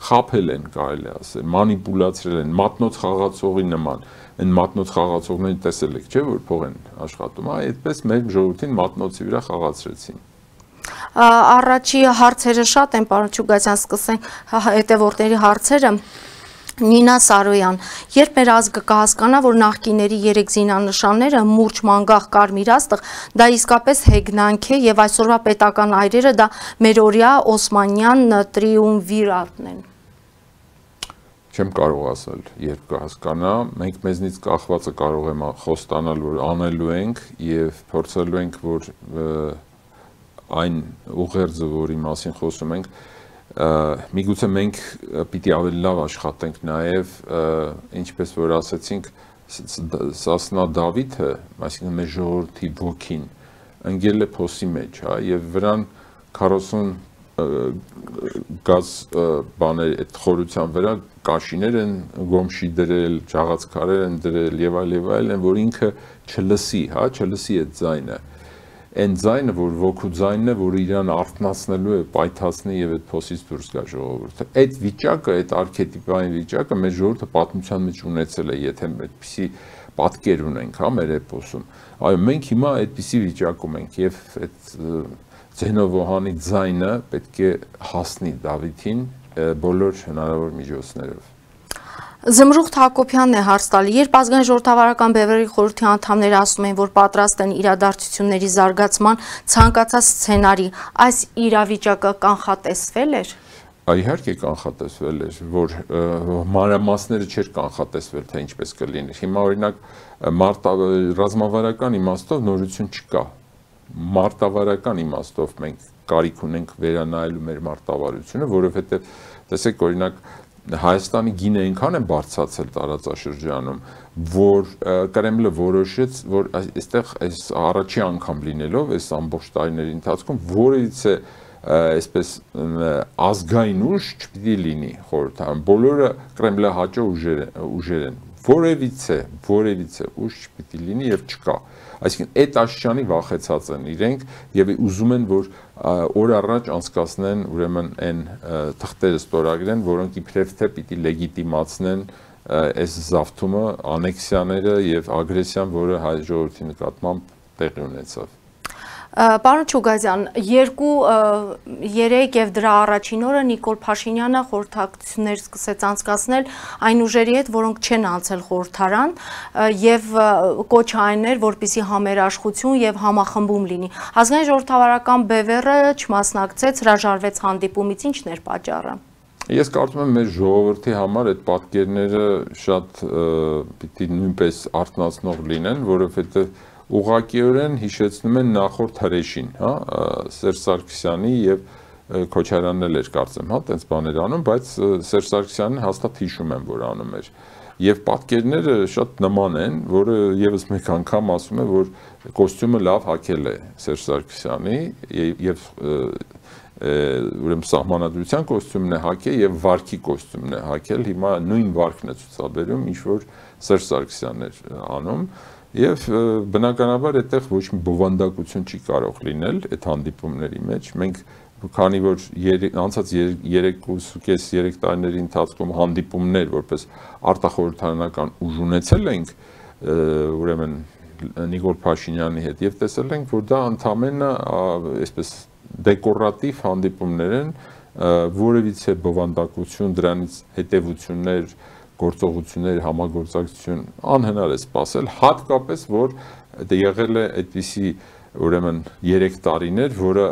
Խաբել են, կարելի ասել, մանիպուլացրել են, մատնոց խաղացողի նման, այն մատնոց խաղացողներին տեսել եք, չէ՞ որ փող են աշխատում, այդպես մեր ժողովրդին մատնոցի վրա խաղացրեցին։ Առաջի հարցերը շատ են, պարոն Չուգազյան, սկսենք հետևորդների հարցերը։ Նինա Սարոյան, երբ մեր ազգը կհասկանա, որ նախկիների երեք զինանշանները մուրճ, մանգաղ, կարմիր աստղ, դա իսկապես հեգնանք է եւ այսօրվա պետական այրերը դա մերօրյա օսմանյան տրիումվիրատն են։ Չեմ կարող ասել, երբ կհասկանա, մենք մեզնից կախվածը կարող եմ խոստանալ, որ անելու ենք եւ փորձելու ենք, որ այն ուղերձը, որի մասին խոսում ենք, միգուցե մենք պիտի ավելի լավ աշխատենք նաև, ինչպես որ ասեցինք, Սասնա Դավիթը, այսինքն մեր ժողովրդի ոգին, ընկել է փոսի մեջ, եւ վրան քառասուն գազ բաներ այդ խորության վրա կաշիներ են գոմշի դրել, ջաղացքարեր են դրել եւ այլ եւ այլ, որ ինքը չլսի, հա, չլսի այդ ձայնը։ Այն ձայնը, որ ոգու ձայնն է, որ իրան արթնացնելու է, պայթացնի եւ այդ փոսից դուրս գա ժողովուրդը։ Այդ վիճակը, այդ արքետիպային վիճակը մեր ժողովուրդը պատմության մեջ ունեցել է, եթե այդպիսի պատկեր ունենք, հա, մեր էպոսում։ Այո, մենք հիմա այդպիսի վիճակում ենք եւ այդ Ձենովոհանի ձայնը պետք է հասնի Դավիթին բոլոր հնարավոր միջոցներով։ Զմրուխտ Հակոբյանն է հարց տալի, երբ ազգային ժողովրդավարական բևեռի խորհրդի անդամները ասում են, որ պատրաստ են իրադարձությունների զարգացման ցանկացած սցենարի, այս իրավիճակը կանխատեսվել էր։ Իհարկե կանխատեսվել էր, որ մանրամասները չէր կանխատեսվել, թե ինչպես կլիներ։ Հիմա օրինակ ռազմավարական իմաստով նորություն չկա։ Մարտավարական իմաստով մենք կարիք ունենք վերանայելու մեր մարտավարությունը, որովհետև տեսեք օրինակ Հայաստանի գինը այնքան է բարձրացել տարածաշրջանում, որ Կրեմլը որոշեց, որ այստեղ այս առաջի անգամ լինելով այս ամբողջ տարիների ընթացքում որևիցե այսպես ազգային ուժ չպիտի լինի խորհրդարանում, բոլորը Կրեմլահաճո ուժեր են, որևիցե, որևիցե ուժ չպիտի լինի եւ չկա։ Այսինքն այդ աշճանի վախեցած են իրենք եւ ուզում են, որ օր առաջ անցկացնեն ուրեմն այն թղթերը ստորագրեն, որոնք իբրև թե պիտի լեգիտիմացնեն այս զավթումը, անեքսիաները եւ ագրեսիան, որը հայ ժողովրդի նկատմամբ տեղի ունեցավ։ Պարոն Չուգազյան, երկու երեք եւ դրա առաջին օրը Նիկոլ Փաշինյանը խորհրդակցություններ սկսեց անցկացնել այն ուժերի հետ, որոնք չեն անցել խորհրդարան եւ կոչ այն էր, որպեսզի համերաշխություն եւ համախմբում լինի։ Ազգային ժողովրդավարական բևեռը չմասնակցեց, հրաժարվեց հանդիպումից, ի՞նչն էր պատճառը։ Ես կարծում եմ մեր ժողովրդի համար այդ պատկերները շատ պիտի նույնպես արթնացնող լինեն, որովհետեւ ուղղակիորեն հիշեցնում են նախորդ հրեշին, հա, Սերժ Սարգսյանի եւ Քոչարյանն էլ էր կարծեմ, հա, տենց բաներ անում, բայց Սերժ Սարգսյանն հաստատ հիշում եմ, որ անում էր։ Եվ պատկերները շատ նման են, որը եւս մեկ անգամ ասում է, որ կոստյումը լավ հագել է Սերժ Սարգսյանի եւ ուրեմն սահմանադրության կոստյումն է հագել եւ վարքի կոստյումն է հագել, հիմա նույն վարքն է ցուցաբերում, ինչ որ Սերժ Սարգսյանն էր անում։ Եվ բնականաբար այդտեղ ոչ մի բովանդակություն չի կարող լինել այդ հանդիպումների մեջ։ Մենք քանի որ անցած երկուսուկես երեք տարիների ընթացքում հանդիպումներ որպես արտախորհրդարանական ուժ ունեցել ենք, ուրեմն Նիկոլ Փաշինյանի հետ եւ տեսել ենք, որ դա ընդամենը այսպես դեկորատիվ հանդիպումներ են, որևիցե բովանդակություն, դրանից հետևություններ, գործողություններ, համագործակցություն անհնար է սպասել, հատկապես որ եղել է այդպիսի ուրեմն երեք տարիներ, որը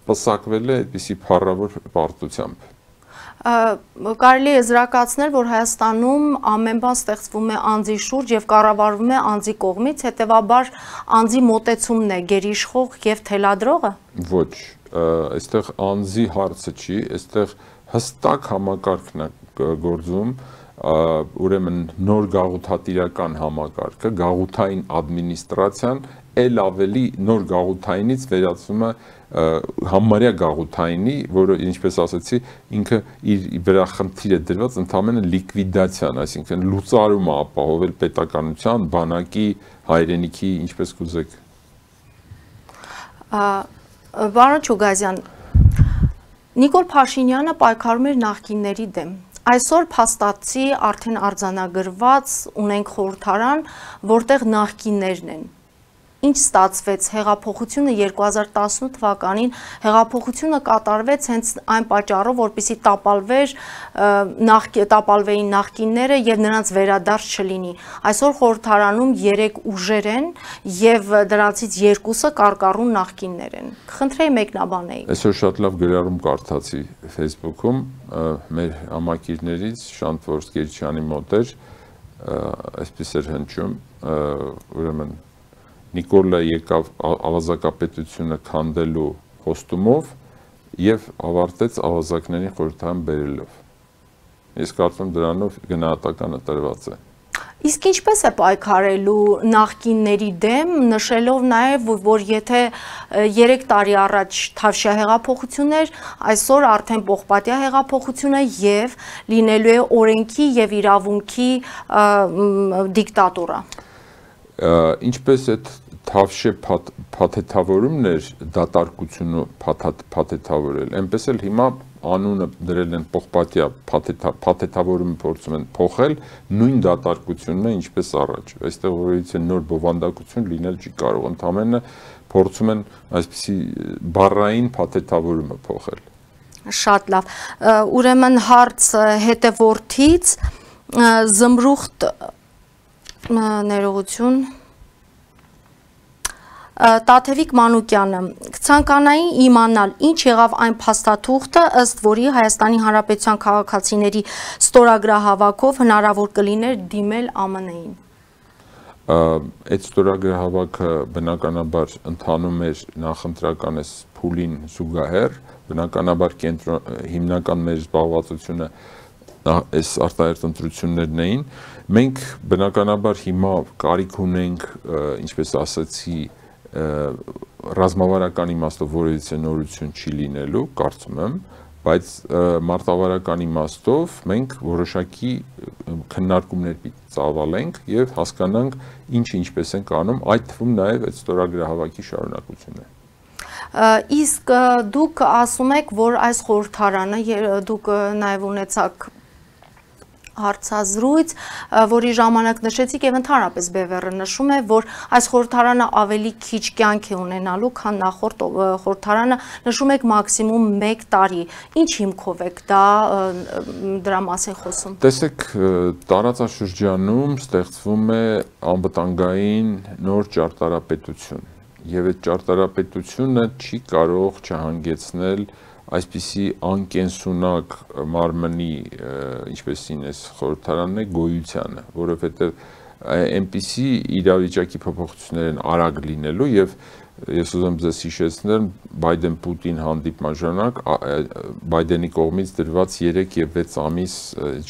պսակվել է այդպիսի փառավոր պարտությամբ։ Կարելի է զրակացնել, որ Հայաստանում ամեն բան ստեղծվում է անձի շուրջ եւ կառավարվում է անձի կողմից, հետեւաբար անձի մոտեցումն է գերիշխող եւ թելադրողը։ Ոչ, այստեղ անձի հարցը չի, այստեղ հստակ համակարգն է գործում, ուրեմն նոր գաղութատիրական համակարգը, գաղութային ադմինիստրացիան էլ ավելի նոր գաղութայինից վերածվում է համարյա գաղութայինի, որը ինչպես ասացի, ինքը իր վրա խնդիր է դրված ընդամենը լիկվիդացիան, այսինքն լուծարումը ապահովել պետականության, բանակի, հայրենիքի, ինչպես կուզեք։ Պարոն Չուգազյան, Նիկոլ Փաշինյանը պայքարում էր նախկինների դեմ։ Այսօր փաստացի արդեն արձանագրված ունենք խորհրդարան, որտեղ նախկիններն են։ Ինչ ստացվեց հեղափոխությունը երկու հազար տասնութ թվականին հեղափոխությունը կատարվեց հենց այն պատճառով, որպեսզի տապալվեր տապալվեին նախկինները եւ նրանց վերադարձ չլինի։ Այսօր խորհրդարանում երեք ուժեր են եւ դրանցից երկուսը կարկառուն նախկիններ են։ Խնդրեի մեկնաբանեի։ Այսօր շատ լավ գրառում կարդացի Facebook-ում մեր համակիրներից Շանթ Գերչյանի մոտ էր, այսպես էր հնչում, ուրեմն Նիկոլը եկավ ավազակապետությունը քանդելու խոստումով եւ ավարտեց ավազակների խորհրդարան բերելով։ Ես կարծում դրանով գնահատականը տրված է։ Իսկ ինչպես է պայքարելու նախկինների դեմ, նշելով նաև, որ եթե երեք տարի առաջ Թավշյա հեղափոխություն էր, այսօր արդեն Պողպատյա հեղափոխություն է եւ լինելու է օրենքի եւ իրավունքի դիկտատուրա։ Ինչպես այդ Թավշե փաթեթավորումն էր դատարկությունը փաթեթավորել, այնպես էլ հիմա անունը դրել են Պողպատյա փաթեթավորումը փորձում են փոխել, նույն դատարկությունն է ինչպես առաջ։ Այստեղ որից է նոր բովանդակություն լինել չի կարող, ընդամենը փորձում են այսպիսի բառային փաթեթավորումը փոխել։ Շատ լավ։ Ուրեմն հարց հետևորդից զմրուխտ ներողություն Տաթևիկ Մանուկյանը կցանկանայի իմանալ ինչ եղավ այն փաստաթուղթը, ըստ որի Հայաստանի Հանրապետության քաղաքացիների ստորագրահավաքով հնարավոր կլիներ դիմել ԱՄՆ-ին։ Այդ ստորագրահավաքը բնականաբար ընթանում էր նախընտրական էս փուլին զուգահեռ, բնականաբար հիմնական մեր զբաղվածությունը այս արտահերթ ընտրություններն էին։ Մենք բնականաբար հիմա կարիք ունենք, ինչպես ասացի, ռազմավարական իմաստով որևիցե նորություն չի լինելու, կարծում եմ, բայց մարտավարական իմաստով մենք որոշակի քննարկումներ պիտի ծավալենք եւ հասկանանք ինչ ինչպես են կանում, այդ թվում նաեւ այդ ստորագրահավաքի շարունակությունն է։ Իսկ դուք ասում եք, որ այս խորհրդարանը դուք նաեւ ունեցաք հարցազրույց, որի ժամանակ նշեցիք եւ ընդհանրապես Բևեռը նշում է, որ այս խորհրդարանը ավելի քիչ կյանք է ունենալու, քան նախորդ խորհրդարանը, նշում եք մաքսիմում մեկ տարի։ Ինչ հիմքով եք դա դրա մասին խոսում։ Տեսեք, տարածաշրջանում ստեղծվում է անվտանգային նոր ճարտարապետություն, եւ այդ ճարտարապետությունը չի կարող չհանգեցնել այսպիսի անկենսունակ մարմնի, ինչպեսին այս խորհրդարանն է, գոյությանը, որովհետև այնպիսի իրավիճակի փոփոխություններ են արագ լինելու եւ ես ուզում ձեզ հիշեցնել Բայդեն-Պուտին հանդիպման ժամանակ Բայդենի կողմից դրված երեք եւ վեց ամիս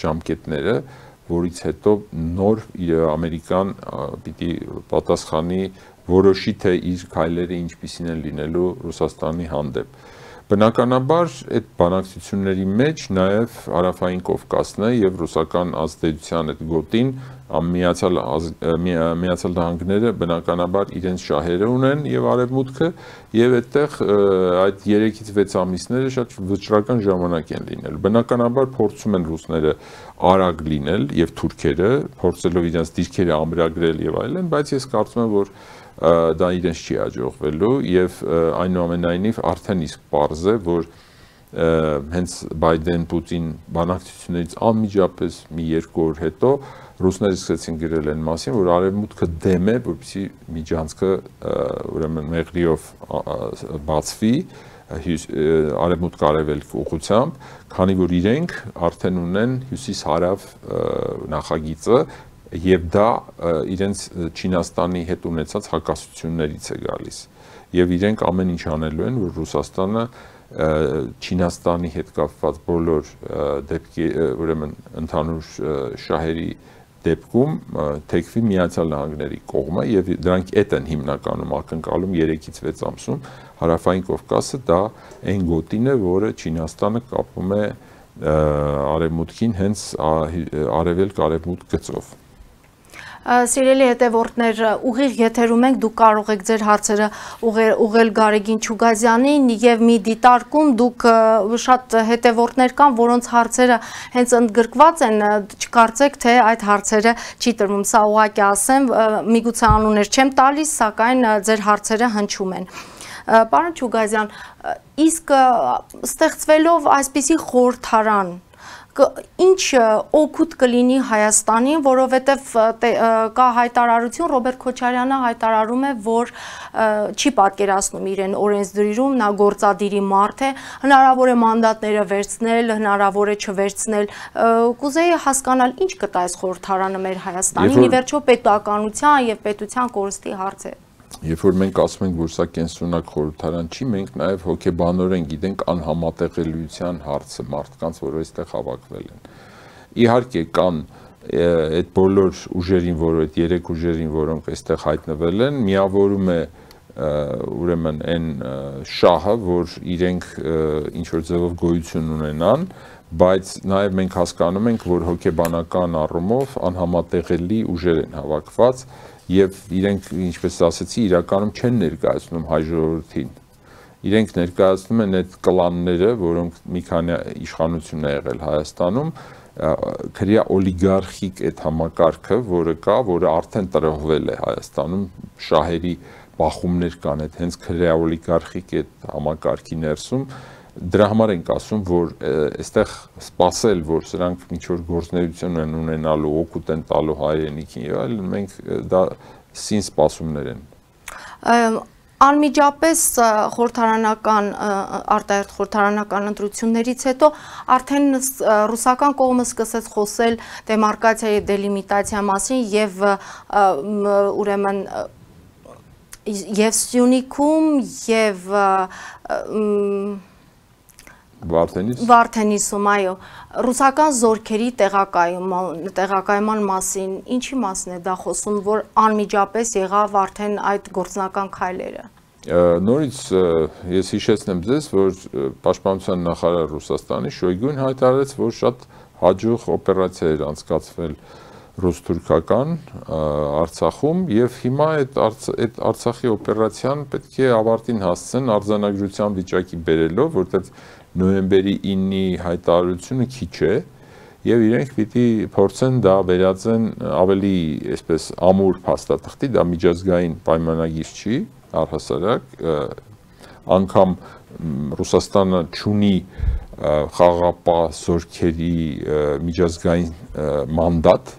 ժամկետները, որից հետո նոր ամերիկան պիտի պատասխանի որոշի թե իր քայլերը ինչպիսին են լինելու Ռուսաստանի հանդեպ։ Բնականաբար այդ բանակցությունների մեջ նաև Հարավային Կովկասն է եւ ռուսական ազդեցության այդ գոտին Միացյալ Միացյալ Նահանգները բնականաբար իրենց շահերը ունեն եւ արևմուտքը եւ այդտեղ այդ երեքից վեց ամիսները շատ վճռական ժամանակ են լինել։ Բնականաբար փորձում են ռուսները արագ լինել եւ թուրքերը փորձելով իրենց դիրքերը ամրագրել եւ այլն, բայց ես կարծում եմ, որ դա իրենց չի հաջողվելու եւ այնուամենայնիվ արդեն իսկ պարզ է, որ հենց Բայդեն-Պուտին բանակցություններից անմիջապես մի երկու օր հետո ռուսները սկսեցին գրել այն մասին, որ արևմուտքը դեմ է, որպեսզի միջանցքը ուրեմն մեղրիով բացվի արևմուտք արևելք ուղղությամբ, քանի որ իրենք արդեն ունեն հյուսիս-հարավ նախագիծը եւ դա իրենց Չինաստանի հետ ունեցած հակասություններից է գալիս եւ իրենք ամեն ինչ անելու են, որ Ռուսաստանը Չինաստանի հետ կապված բոլոր դեպքի ուրեմն ընդհանուր շահերի դեպքում թեքվի Միացյալ Նահանգների կողմը եւ դրանք այդ են հիմնականում ակնկալում երեքից վեց ամսում Հարավային Կովկասը դա այն գոտին է, որը Չինաստանը կապում է արևմուտքին հենց արևելք-արևմուտք գծով։ Սիրելի հետևորդներ, ուղիղ եթերում ենք, դուք կարող եք ձեր հարցերը ուղղել Գարեգին Չուգազյանին եւ մի դիտարկում դուք շատ հետևորդներ կան, որոնց հարցերը հենց ընդգրկված են, չկարծեք թե այդ հարցերը չի տրվում, սա ուղղակի ասեմ, միգուցե անուններ չեմ տալիս, սակայն ձեր հարցերը հնչում են։ Պարոն Չուգազյան, իսկ ստեղծվելով այսպիսի խորհրդարան ինչ օգուտ կլինի Հայաստանին, որովհետև կա հայտարարություն, Ռոբերտ Քոչարյանը հայտարարում է, որ չի պատկերացնում իրեն օրենսդրում, նա գործադիրի մարդ է, հնարավոր է մանդատները վերցնել, հնարավոր է չվերցնել, կուզեի հասկանալ ինչ կտա այս խորհրդարանը մեր Հայաստանին, ի վերջո պետականության եւ պետության կորստի հարց է։ Երբ որ մենք ասում ենք, որ սա կենսունակ խորհրդարան չի, մենք նաև հոգեբանորեն գիտենք անհամատեղելիության հարցը մարդկանց, որ այստեղ հավաքվել են։ Իհարկե կան այդ բոլոր ուժերին, որ այդ երեք ուժերին, որոնք այստեղ հայտնվել են, միավորում է ուրեմն այն շահը, որ իրենք ինչ որ ձևով գոյություն ունենան, բայց նաև մենք հասկանում ենք, որ հոգեբանական առումով անհամատեղելի ուժեր են հավաքված եւ իրենք, ինչպես ասացի, իրականում չեն ներկայացնում հայ ժողովրդին։ Իրենք ներկայացնում են այդ կլանները, որոնք մի քանի իշխանություն է եղել Հայաստանում, քրեա օլիգարխիկ այդ համակարգը, որը կա, որը արդեն տրոհվել է Հայաստանում, շահերի բախումներ կան այդ հենց քրեա օլիգարխիկ այդ համակարգի ներսում, դրա համար ենք ասում, որ այստեղ սпасել, որ սրանք ինչ-որ գործունեություն են ունենալու, օգուտ են տալու հայրենիքին եւ այլն, մենք դա սին սպասումներ են։ Անմիջապես խորհրդարանական արտահերթ խորհրդարանական ընտրություններից հետո արդեն ռուսական կողմը սկսեց խոսել դեմարկացիա եւ դելիմիտացիա մասին եւ ուրեմն եւ Սյունիքում եւ Վարդենիս Վարդենիսում, այո, ռուսական զորքերի տեղակայման մասին, ինչի մասին է դա խոսում, որ անմիջապես եղավ արդեն այդ գործնական քայլերը։ Նորից ես հիշեցնեմ ձեզ, որ Պաշտպանության նախարար Ռուսաստանի Շոյգուն հայտարարեց, որ շատ հաջող օպերացիա էր անցկացվել ռուս-թուրքական Արցախում եւ հիմա այդ Արցախի օպերացիան պետք է ավարտին հասցնեն արձանագրության վիճակի բերելով, որտեղ նոյեմբերի ինի հայտարարությունը քիչ է եւ իրենք պիտի փորձեն դա վերածեն ավելի այսպես ամուր փաստաթղթի, դա միջազգային պայմանագիր չի, առհասարակ անգամ Ռուսաստանը չունի խաղաղապահ զորքերի միջազգային մանդատ,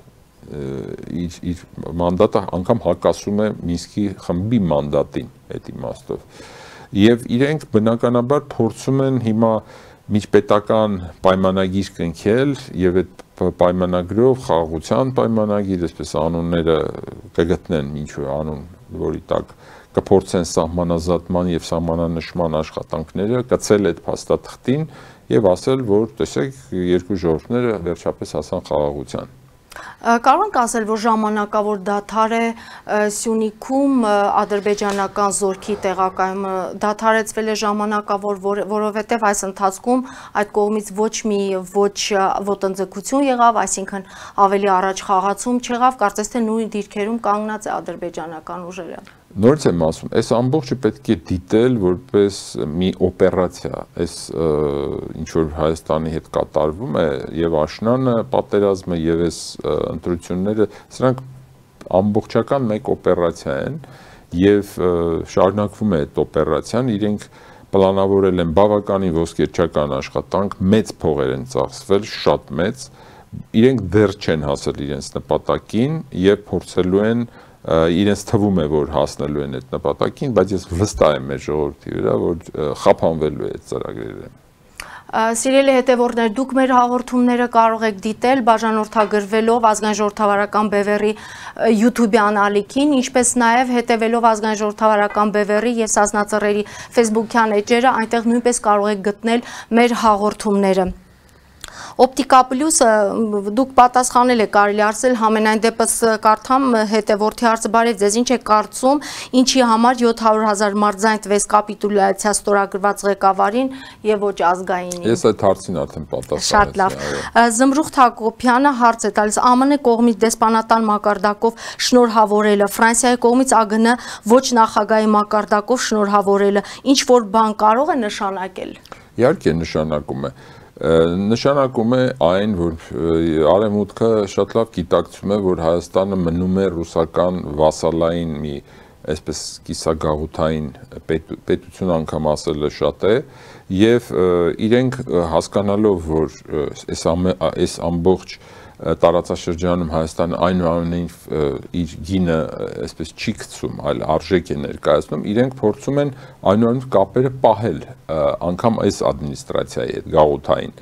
իր իր մանդատը անգամ հակասում է Մինսկի խմբի մանդատին այդ իմաստով։ Եվ իրենք բնականաբար փորձում են հիմա միջպետական պայմանագիր կնքել եւ այդ պայմանագրով խաղաղության պայմանագիր, այսպես անունները կգտնեն ինչ-որ անուն, որի տակ կփորձեն սահմանազատման եւ սահմանանշման աշխատանքները կցել այդ փաստաթղթին եւ ասել, որ տեսեք երկու ժողովուրդները վերջապես հասան խաղաղության։ Կարող ենք ասել, որ ժամանակավոր դադար է Սյունիքում ադրբեջանական զորքի տեղակայումը դադարեցվել է ժամանակավոր, որովհետև այս ընթացքում այդ կողմից ոչ մի ոչ ոտնձգություն եղավ, այսինքն ավելի առաջ խաղացում չեղավ, կարծես թե նույն դիրքերում կանգնած է ադրբեջանական ուժերը։ Նորից եմ ասում, այս ամբողջը պետք է դիտել որպես մի օպերացիա, այս ինչ որ Հայաստանի հետ կատարվում է եւ աշնանը պատերազմը եւ այս ընտրությունները, սրանք ամբողջական մեկ օպերացիա են եւ շարունակվում է այդ օպերացիան, իրենք պլանավորել են բավականին ոսկերչական աշխատանք, մեծ փողեր են ծախսվել, շատ մեծ, իրենք դեռ չեն հասել իրենց նպատակին եւ փորձելու են իրենց թվում է, որ հասնելու են այդ նպատակին, բայց ես վստահ եմ մեր ժողովրդի վրա, որ խափանվելու է այդ ծրագրերը։ Սիրելի հետևորդներ, դուք մեր հաղորդումները կարող եք դիտել բաժանորդագրվելով ազգային ժողովրդավարական բևեռի YouTube-յան ալիքին, ինչպես նաև հետևելով ազգային ժողովրդավարական բևեռի եւ Սասնածռերի Facebook-յան էջերը, այնտեղ նույնպես կարող եք գտնել մեր հաղորդումները։ Օպտիկա պլյուսը դուք պատասխանել եք, կարելի ասել, համենայն դեպս կարդամ հետևորդի հարցը, բարև ձեզ, ինչ է կարծում, ինչի համար յոթ հարյուր հազար մարզային տվեց կապիտուլյացիա ստորագրված ղեկավարին եւ ոչ ազգայինին։ Ես այդ հարցին արդեն պատասխանեցի։ Շատ լավ։ Զմրուխտ Հակոբյանը հարց է տալիս, ԱՄՆ կողմից դեսպանատան մակարդակով շնորհավորելը, Ֆրանսիայի կողմից ԱԳՆ ոչ նախագահի մակարդակով շնորհավորելը, ինչ որ բան կարող է նշանակել։ Իհարկե նշանակում է։ Նշանակում է այն, որ Արևմուտքը շատ լավ գիտակցում է, որ Հայաստանը մնում է ռուսական վասալային մի այսպես կիսագաղութային պետություն, անգամ ասելը շատ է, եւ իրենք հասկանալով, որ այս ամբողջ տարածաշրջանում Հայաստանը այնուամենայնիվ իր գինը այսպես չի գցում, այլ արժեք է ներկայացնում, իրենք փորձում են այնուամենայնիվ կապերը պահել անգամ այս ադմինիստրացիայի հետ գաղութային,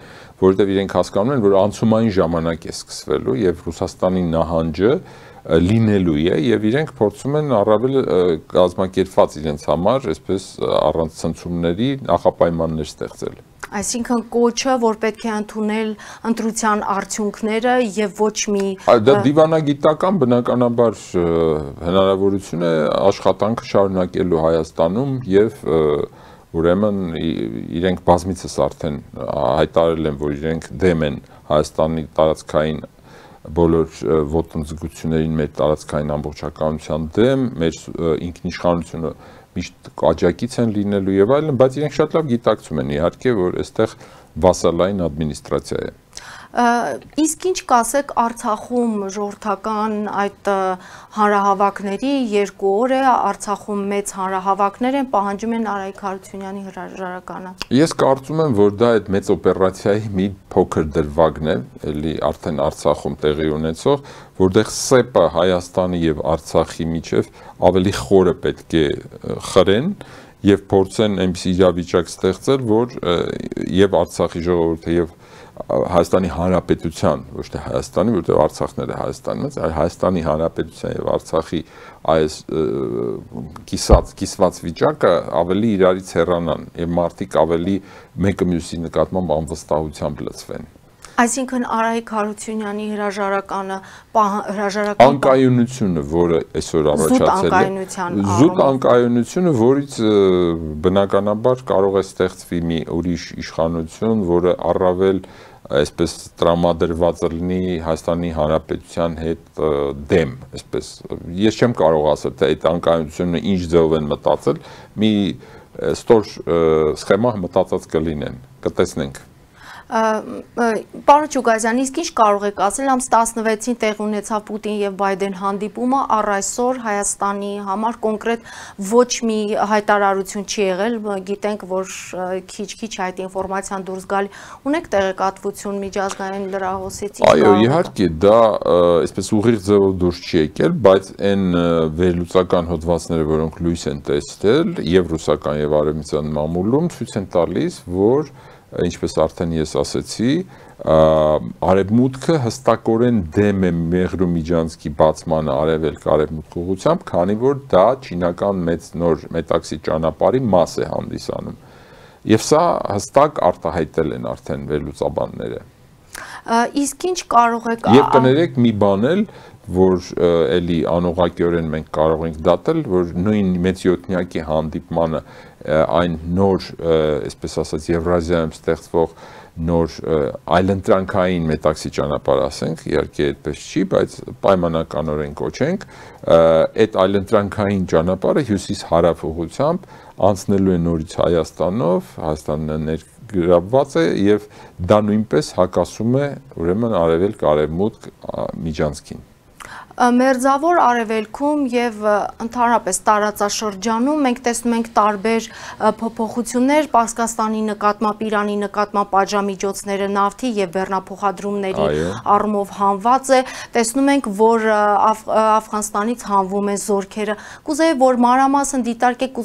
որովհետև իրենք հասկանում են, որ անցումային ժամանակ է սկսվելու եւ Ռուսաստանի նահանջը լինելու է եւ իրենք փորձում են առավել կազմակերպված իրենց համար այսպես առանց ցնցումների նախապայմաններ ստեղծել։ Այսինքն կոչը, որ պետք է ընդունել ընտրության արդյունքները եւ ոչ մի Դա դիվանագիտական բնականաբար հնարավորություն է աշխատանքը շարունակելու Հայաստանում եւ ուրեմն իրենք բազմիցս արդեն հայտարարել են, որ իրենք դեմ են Հայաստանի տարածքային բոլոր ոտնձգություններին, մեր տարածքային ամբողջականության դեմ, մեր ինքնիշխանությունը միշտ աջակից են լինելու եւ այլն, բայց իրենք շատ լավ գիտակցում են իհարկե, որ այստեղ վասալային ադմինիստրացիա է։ Իսկ ինչ կասեք Արցախում ժողովրդական այդ հանրահավաքների երկու օր է, Արցախում մեծ հանրահավաքներ են, պահանջում են Արայիկ Հարությունյանի հրաժարականը։ Ես կարծում եմ, որ դա այդ մեծ օպերացիայի մի փոքր դրվագն է, էլի արդեն Արցախում տեղի ունեցող, որտեղ ՍԵՊ-ը Հայաստանի եւ Արցախի միջև ավելի խորը պետք է խրեն եւ փորձեն այնպիսի իրավիճակ ստեղծել, որ եւ Արցախի ժողովուրդը եւ Հայաստանի Հանրապետության, ոչ թե Հայաստանի, որտեղ Արցախն է Հայաստանից, այլ Հայաստանի Հանրապետության եւ Արցախի այս կիսած կիսված վիճակը ավելի իրարից հեռանան եւ մարդիկ ավելի մեկը մյուսի նկատմամբ անվստահությամբ լցվեն։ Այսինքն Արայիկ Հարությունյանի հրաժարականը հրաժարական անկայունությունը, որը այսօր առաջացել է, զուտ անկայունությունը, որից բնականաբար կարող է ստեղծվի մի ուրիշ իշխանություն, որը առավել այսպես տրամադրված լինի Հայաստանի Հանրապետության հետ դեմ, այսպես ես չեմ կարող ասել, թե այդ անկայունությունը ինչ ձևով են մտածել, մի ստոր սխեմա մտածած կլինեն, կտեսնենք։ Պարոն Չուգազյան, իսկ ինչ կարող եք ասել, ամս տասնվեցին տեղ ունեցավ Պուտին եւ Բայդեն հանդիպումը, առ այսօր Հայաստանի համար կոնկրետ ոչ մի հայտարարություն չի եղել, գիտենք, որ քիչ-քիչ այդ ինֆորմացիան դուրս գալ, ունեք տեղեկատվություն միջազգային լրահոսից։ Այո, իհարկե, դա այսպես ուղիղ ձևով դուրս չի եկել, բայց այն վերլուծական հոդվածները, որոնք լույս են տեսել, եւ ռուսական եւ արևմտյան մամուլում ցույց են տալիս, որ ինչպես արդեն ես ասացի, արևմուտքը հստակորեն դեմ է Մեղրու Միջանցքի բացմանը արևելք արևմուտք ուղղությամբ, քանի որ դա չինական մեծ նոր մետաքսի ճանապարհի մաս է հանդիսանում։ Եվ սա հստակ արտահայտել են արդեն վերլուծաբանները։ Իսկ ինչ կարող եք Եվ կներեք մի բան էլ, որ էլի անուղղակիորեն մենք կարող ենք դատել, որ նույն մեծյոթնյակի հանդիպմանը այն նոր, այսպես ասած, Եվրազիայում ստեղծվող նոր այլընտրանքային մետաքսի ճանապարհ ասենք, իհարկե այդպես չի, բայց պայմանականորեն կոչենք, այդ այլընտրանքային ճանապարհը հյուսիս-հարավ ուղղությամբ անցնելու է նորից Հայաստանով, Հայաստանը ներգրավված է եւ դա նույնպես հակասում է ուրեմն արևելք-արևմուտք միջանցքին։ Մերձավոր արևելքում եւ ընդհանրապես տարածաշրջանում մենք տեսնում ենք տարբեր փոփոխություններ Պարսկաստանի նկատմամբ, Իրանի նկատմամբ պատժամիջոցները նավթի եւ բեռնափոխադրումների առումով հանված է, տեսնում ենք, որ Աֆղանստանից հանվում են զորքերը։ Կուզեի, որ մանրամասն դիտարկեք,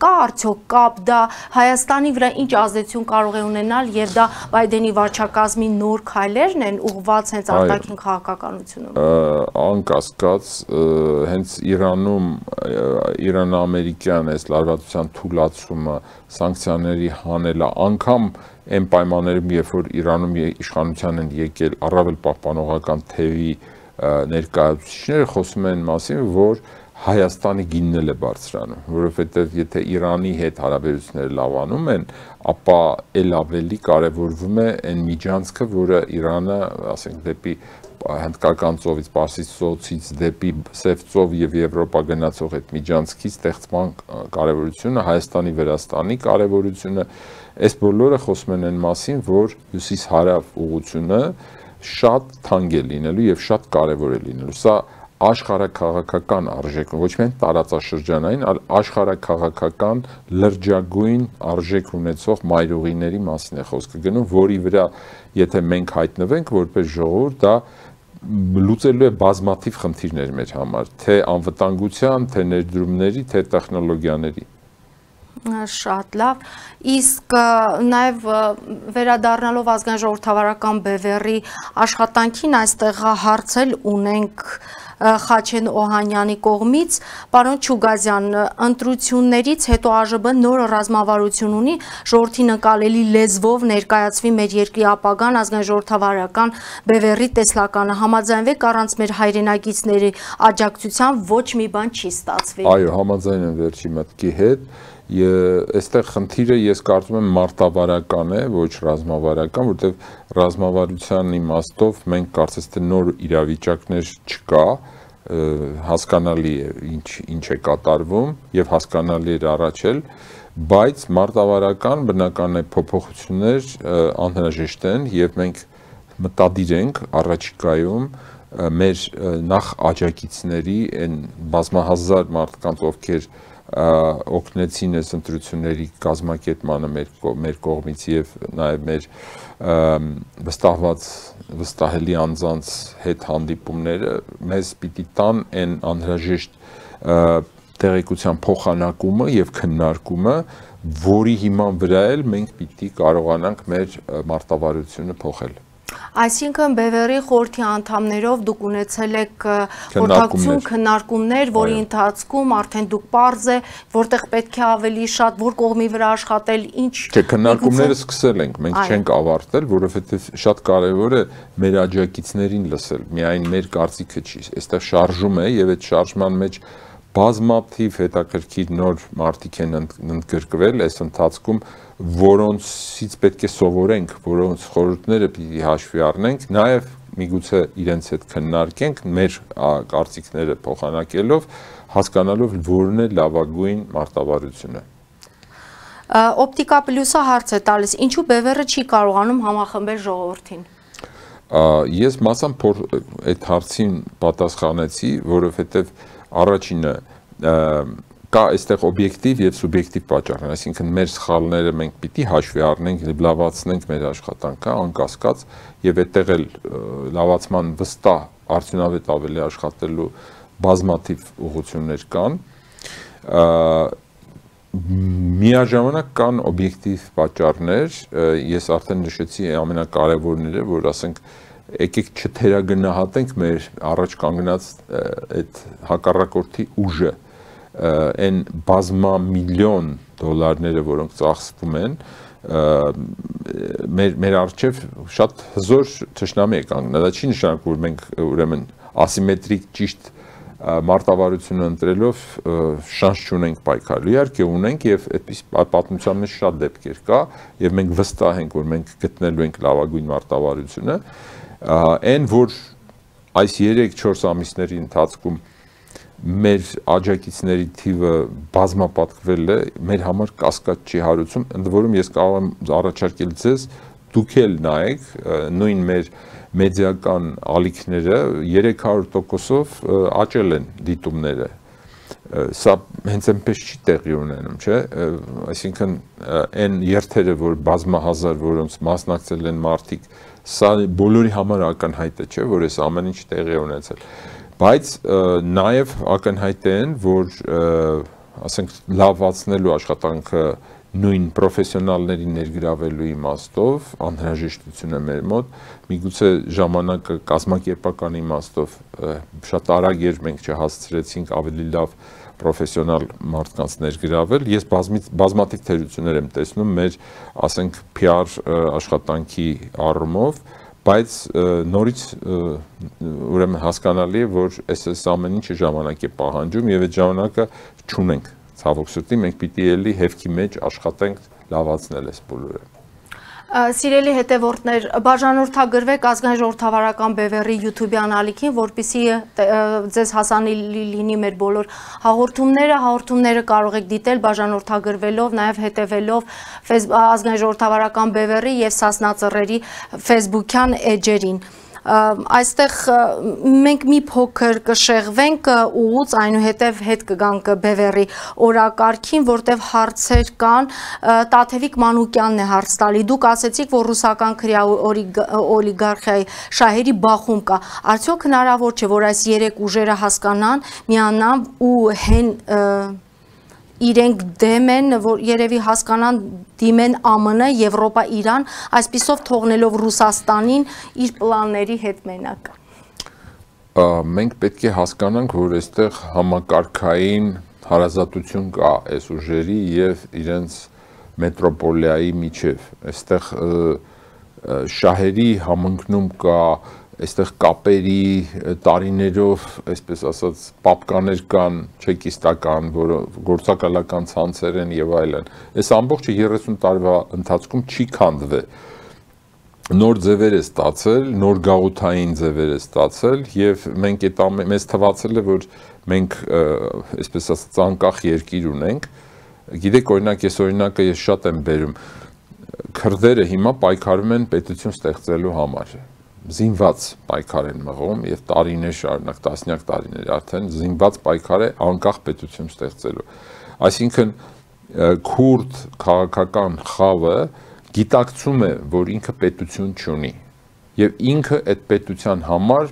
կա արդյոք կապ դա Հայաստանի վրա ինչ ազդեցություն կարող է ունենալ եւ դա Բայդենի վարչակազմի նոր քայլերն են ուղղված հենց արտաքին քաղաքականությունում։ Կասկած հենց Իրանում Իրան-ամերիկյան այս լարվածության թուլացումը, սանկցիաների հանելը, անգամ այն պայմաններում, երբ որ Իրանում իշխանության են եկել առավել պահպանողական թևի ներկայացուցիչները, խոսում են մասին, որ Հայաստանի գինն էլ է բարձրանում, որովհետև եթե Իրանի հետ հարաբերությունները լավանում են, ապա էլ ավելի կարևորվում է այն միջանցքը, որը Իրանը, ասենք, դեպի Հնդկական ծովից, Պարսից ծոցից դեպի Սև ծով եւ Եվրոպա գնացող այդ միջանցքի ստեղծման կարևորությունը, Հայաստանի Վրաստանի կարևորությունը, այս բոլորը խոսում են այն մասին, որ հյուսիս-հարավ ուղղությունը շատ թանկ է լինելու եւ շատ կարևոր է լինելու։ Սա աշխարհաքաղաքական արժեք, ոչ միայն տարածաշրջանային, այլ աշխարհաքաղաքական լրջագույն արժեք ունեցող մայրուղիների մասին է խոսքը գնում, որի վրա եթե մենք հայտնվենք որպես ժողովուրդ, դա լուծելու է բազմաթիվ խնդիրներ մեր համար, թե անվտանգության, թե ներդրումների, թե տեխնոլոգիաների։ Շատ լավ, իսկ նաև վերադառնալով ազգային ժողովրդավարական բևեռի աշխատանքին այստեղ հարցել ունենք Խաչեն Օհանյանի կողմից, պարոն Չուգազյան, ընտրություններից հետո ԱԺԲ նոր ռազմավարություն ունի, ժողովրդի նկատելի լեզվով ներկայացվի մեր երկրի ապագան ազգային ժողովրդավարական բևեռի տեսլականը, համաձայնվեք առանց մեր հայրենագիցների աջակցության ոչ մի բան չի ստացվի։ Այո, համաձայն եմ վերջի մտքի հետ։ Այստեղ խնդիրը ես կարծում եմ մարտավարական է, ոչ ռազմավարական, որտեղ ռազմավարության իմաստով մենք կարծես թե նոր իրավիճակներ չկա, հասկանալի է ինչ ինչ է կատարվում եւ հասկանալի է առաջ էլ, բայց մարտավարական բնական է փոփոխություններ անհրաժեշտ են եւ մենք մտադիր ենք առաջիկայում մեր նախ աջակիցների այն բազմահազար մարդկանց, ովքեր օգնեցին այս ընտրությունների կազմակերպմանը մեր, մեր կողմից եւ նաեւ մեր վստահված վստահելի անձանց հետ հանդիպումները մեզ պիտի տան այն անհրաժեշտ տեղեկության փոխանակումը եւ քննարկումը, որի հիման վրա էլ մենք պիտի կարողանանք մեր մարտավարությունը փոխել։ Այսինքն բևեռի խորհրդի անդամներով դուք ունեցել եք խորհրդակցություն, քննարկումներ, որի ընթացքում արդեն դուք պարզ է, որտեղ պետք է ավելի շատ, որ կողմի վրա աշխատել, ինչ։ Չէ, քննարկումները սկսել ենք, մենք չենք ավարտել, որովհետև շատ կարևոր է մեր աջակիցներին լսել, միայն մեր կարծիքը չի, այստեղ շարժում է եւ այդ շարժման մեջ բազմաթիվ հետաքրքիր նոր մարդիկ են ընդգրկվել այս ընթացքում, որոնցից պետք է սովորենք, որոնց խորհուրդները պիտի հաշվի առնենք, նաև միգուցե իրենց հետ քննարկենք, մեր կարծիքները փոխանակելով, հասկանալով որն է լավագույն մարտավարությունը։ Օպտիկա պլյուսը հարց է տալիս, ինչու բևեռը չի կարողանում համախմբել ժողովրդին։ Ես մասամբ այդ հարցին պատասխանեցի, որովհետև առաջինը կա այստեղ օբյեկտիվ եւ սուբյեկտիվ պատճառներ, այսինքն մեր սխալները մենք պիտի հաշվի առնենք, լավացնենք մեր աշխատանքը, անկասկած, եւ այդտեղ էլ լավացման վստահ արդյունավետ ավելի աշխատելու բազմաթիվ ուղղություններ կան։ Միաժամանակ կան օբյեկտիվ պատճառներ, ես արդեն նշեցի ամենակարևորները, որ ասենք եկեք չթերագնահատենք մեր առաջ կանգնած այդ հակառակորդի ուժը, այն բազմամիլիոն դոլարները, որոնք ծախսվում են, մեր մեր արժեվ շատ հզոր թշնամի է կանգնել, դա չի նշանակում որ մենք ուրեմն ասիմետրիկ ճիշտ մարտավարությունը ընտրելով շանս չունենք պայքարելու, իհարկե ունենք եւ այդպես պատմության մեջ շատ դեպքեր կա եւ մենք վստահ ենք որ մենք գտնելու ենք լավագույն մարտավարությունը, այն որ այս երեք-չորս ամիսների ընթացքում մեր աջակիցների թիվը բազմապատկվել է, մեր համար կասկած չի հարուցում, ընդ որում ես կարող եմ առաջարկել ձեզ դուք էլ նայեք նույն մեր մեդիական ալիքները երեք հարյուր տոկոսով աճել են դիտումները, սա հենց այնպես չի տեղի ունենում, չէ, այսինքն այն երթերը, որ բազմահազար, որոնց մասնակցել են մարդիկ, սա բոլորի համար ակնհայտ է, չէ, որ այս ամեն ինչ տեղի է ունեցել, բայց նաև ակնհայտ է այն, որ ասենք լավացնելու աշխատանքը նույն պրոֆեսիոնալների ներգրավելու իմաստով անհրաժեշտություն է մեր մոտ, միգուցե ժամանակը կազմակերպական իմաստով շատ արագ էր մենք չհասցրեցինք ավելի լավ պրոֆեսիոնալ մարդկանց ներգրավել, ես բազմաթիվ թերություններ եմ տեսնում մեր, ասենք, P R աշխատանքի առումով, բայց նորից ուրեմն հասկանալի է, որ այս այս ամեն ինչը ժամանակ է պահանջում եւ այդ ժամանակը չունենք ցավոք սրտի, մենք պիտի էլի հեվքի մեջ աշխատենք լավացնել այս բոլորը։ Սիրելի հետևորդներ, բաժանորդագրվեք ազգային ժողովրդավարական բևեռի YouTube-յան ալիքին, որպեսզի ձեզ հասանելի լինի մեր բոլոր հաղորդումները, հաղորդումները կարող եք դիտել բաժանորդագրվելով, նաև հետևելով ազգային ժողովրդավարական բևեռի եւ Սասնա Ծռերի Facebook-յան էջերին։ Այստեղ մենք մի փոքր կշեղվենք ուղուց այնուհետև հետ կգանք բևեռի օրակարգին, որտեղ հարցեր կան, Տաթևիկ Մանուկյանն է հարց տալի, դուք ասեցիք, որ ռուսական քրյա օլիգարխիայի շահերի բախում կա, արդյոք հնարավոր չէ, որ այս երեք ուժերը հասկանան, միանան ու հեն իրենք դեմ են, որ երևի հասկանան դիմեն A M N, Եվրոպա, Իրան, այսպիսով թողնելով Ռուսաստանին իր պլանների հետ մենակ։ Մենք պետք է հասկանանք, որ այստեղ համակարգային հարազատություն կա այս ուժերի եւ իրենց մետրոպոլիայի միջև։ Այստեղ շահերի համընկնում կա, այստեղ կապերի տարիներով, այսպես ասած, պապկաներ կան, չեկիստական, գործակալական ցանցեր են եւ այլն։ Այս ամբողջը երեսուն տարվա ընթացքում չի քանդվել։ Նոր ձևեր է ստացել, նոր գաղութային ձևեր է ստացել եւ մենք այդ մեզ թվացել է, որ մենք, այսպես ասած, անկախ երկիր ունենք։ Գիտեք, օրինակ, ես օրինակը ես շատ եմ բերում։ Քրդերը հիմա պայքարում են պետություն ստեղծելու համար։ Զինված պայքար են մղում եւ տարիներ շարունակ, տասնյակ տարիներ արդեն զինված պայքար է անկախ պետություն ստեղծելու։ Այսինքն քուրդ քաղաքական խավը գիտակցում է, որ ինքը պետություն չունի եւ ինքը այդ պետության համար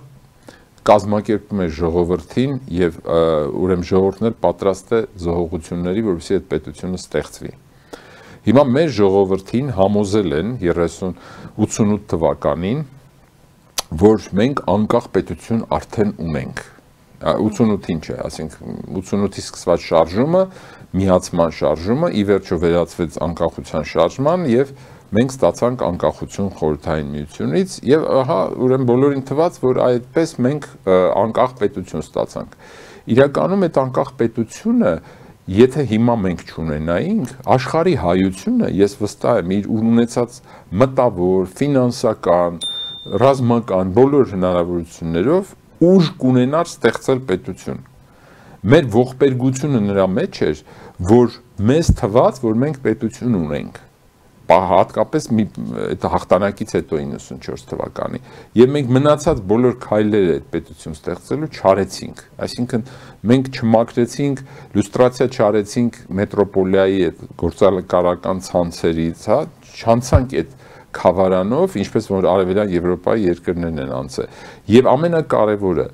կազմակերպում է ժողովրդին եւ ուրեմն ժողովուրդն էլ պատրաստ է զոհողությունների, որովհետեւ այդ պետությունը ստեղծվի։ Հիմա մեր ժողովրդին համոզել են ութսունութ թվականին որ մենք անկախ պետություն արդեն ունենք, ութսունութին չէ, ասենք ութսունութից սկսված շարժումը, միացման շարժումը, ի վերջո վերածվեց անկախության շարժման եւ մենք ստացանք անկախություն խորհրդային միությունից եւ ահա ուրեմն բոլորին թվաց, որ այդպես մենք անկախ պետություն ստացանք։ Իրականում այդ անկախ պետությունը, եթե հիմա մենք չունենայինք, աշխարհի հայությունը, ես վստահ եմ, իր ունեցած մտավոր, ֆինանսական, ռազմական բոլոր հնարավորություններով ուժ կունենար ստեղծել պետություն։ Մեր ողբերգությունը նրա մեջ էր, որ մեզ թվաց, որ մենք պետություն ունենք, հատկապես այդ հաղթանակից հետո իննսունչորս թվականի, եւ մենք մնացած բոլոր քայլերը այդ պետություն ստեղծելու չարեցինք, այսինքն մենք չմաքրեցինք, լյուստրացիա չարեցինք մետրոպոլիայի այդ գործակալական ցանցերից, հա, չանցանք այդ խավարանով, ինչպես որ արևելյան Եվրոպայի երկրներն են անցել։ Եվ ամենակարևորը,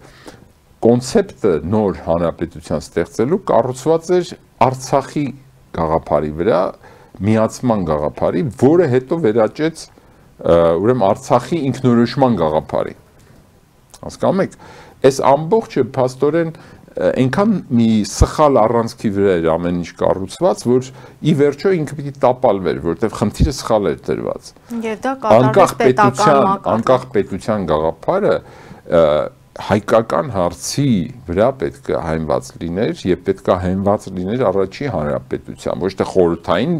կոնցեպտը նոր հանրապետության ստեղծելու կառուցված էր Արցախի գաղափարի վրա, միացման գաղափարի, որը հետո վերաճեց ուրեմն Արցախի ինքնորոշման գաղափարի։ Հասկանում եք, այս ամբողջը փաստորեն այնքան մի սխալ առանցքի վրա էր ամեն ինչ կառուցված, որ ի վերջո ինքը պիտի տապալվեր, որովհետև խնդիրը սխալ էր դրված։ Եվ դա կատարվեց պետական մակարդակով։ Անկախ պետության գաղափարը հայկական հարցի վրա պետք է հայնված լիներ եւ պետք է հայնված լիներ առաջի հանրապետության, ոչ թե խորհրդային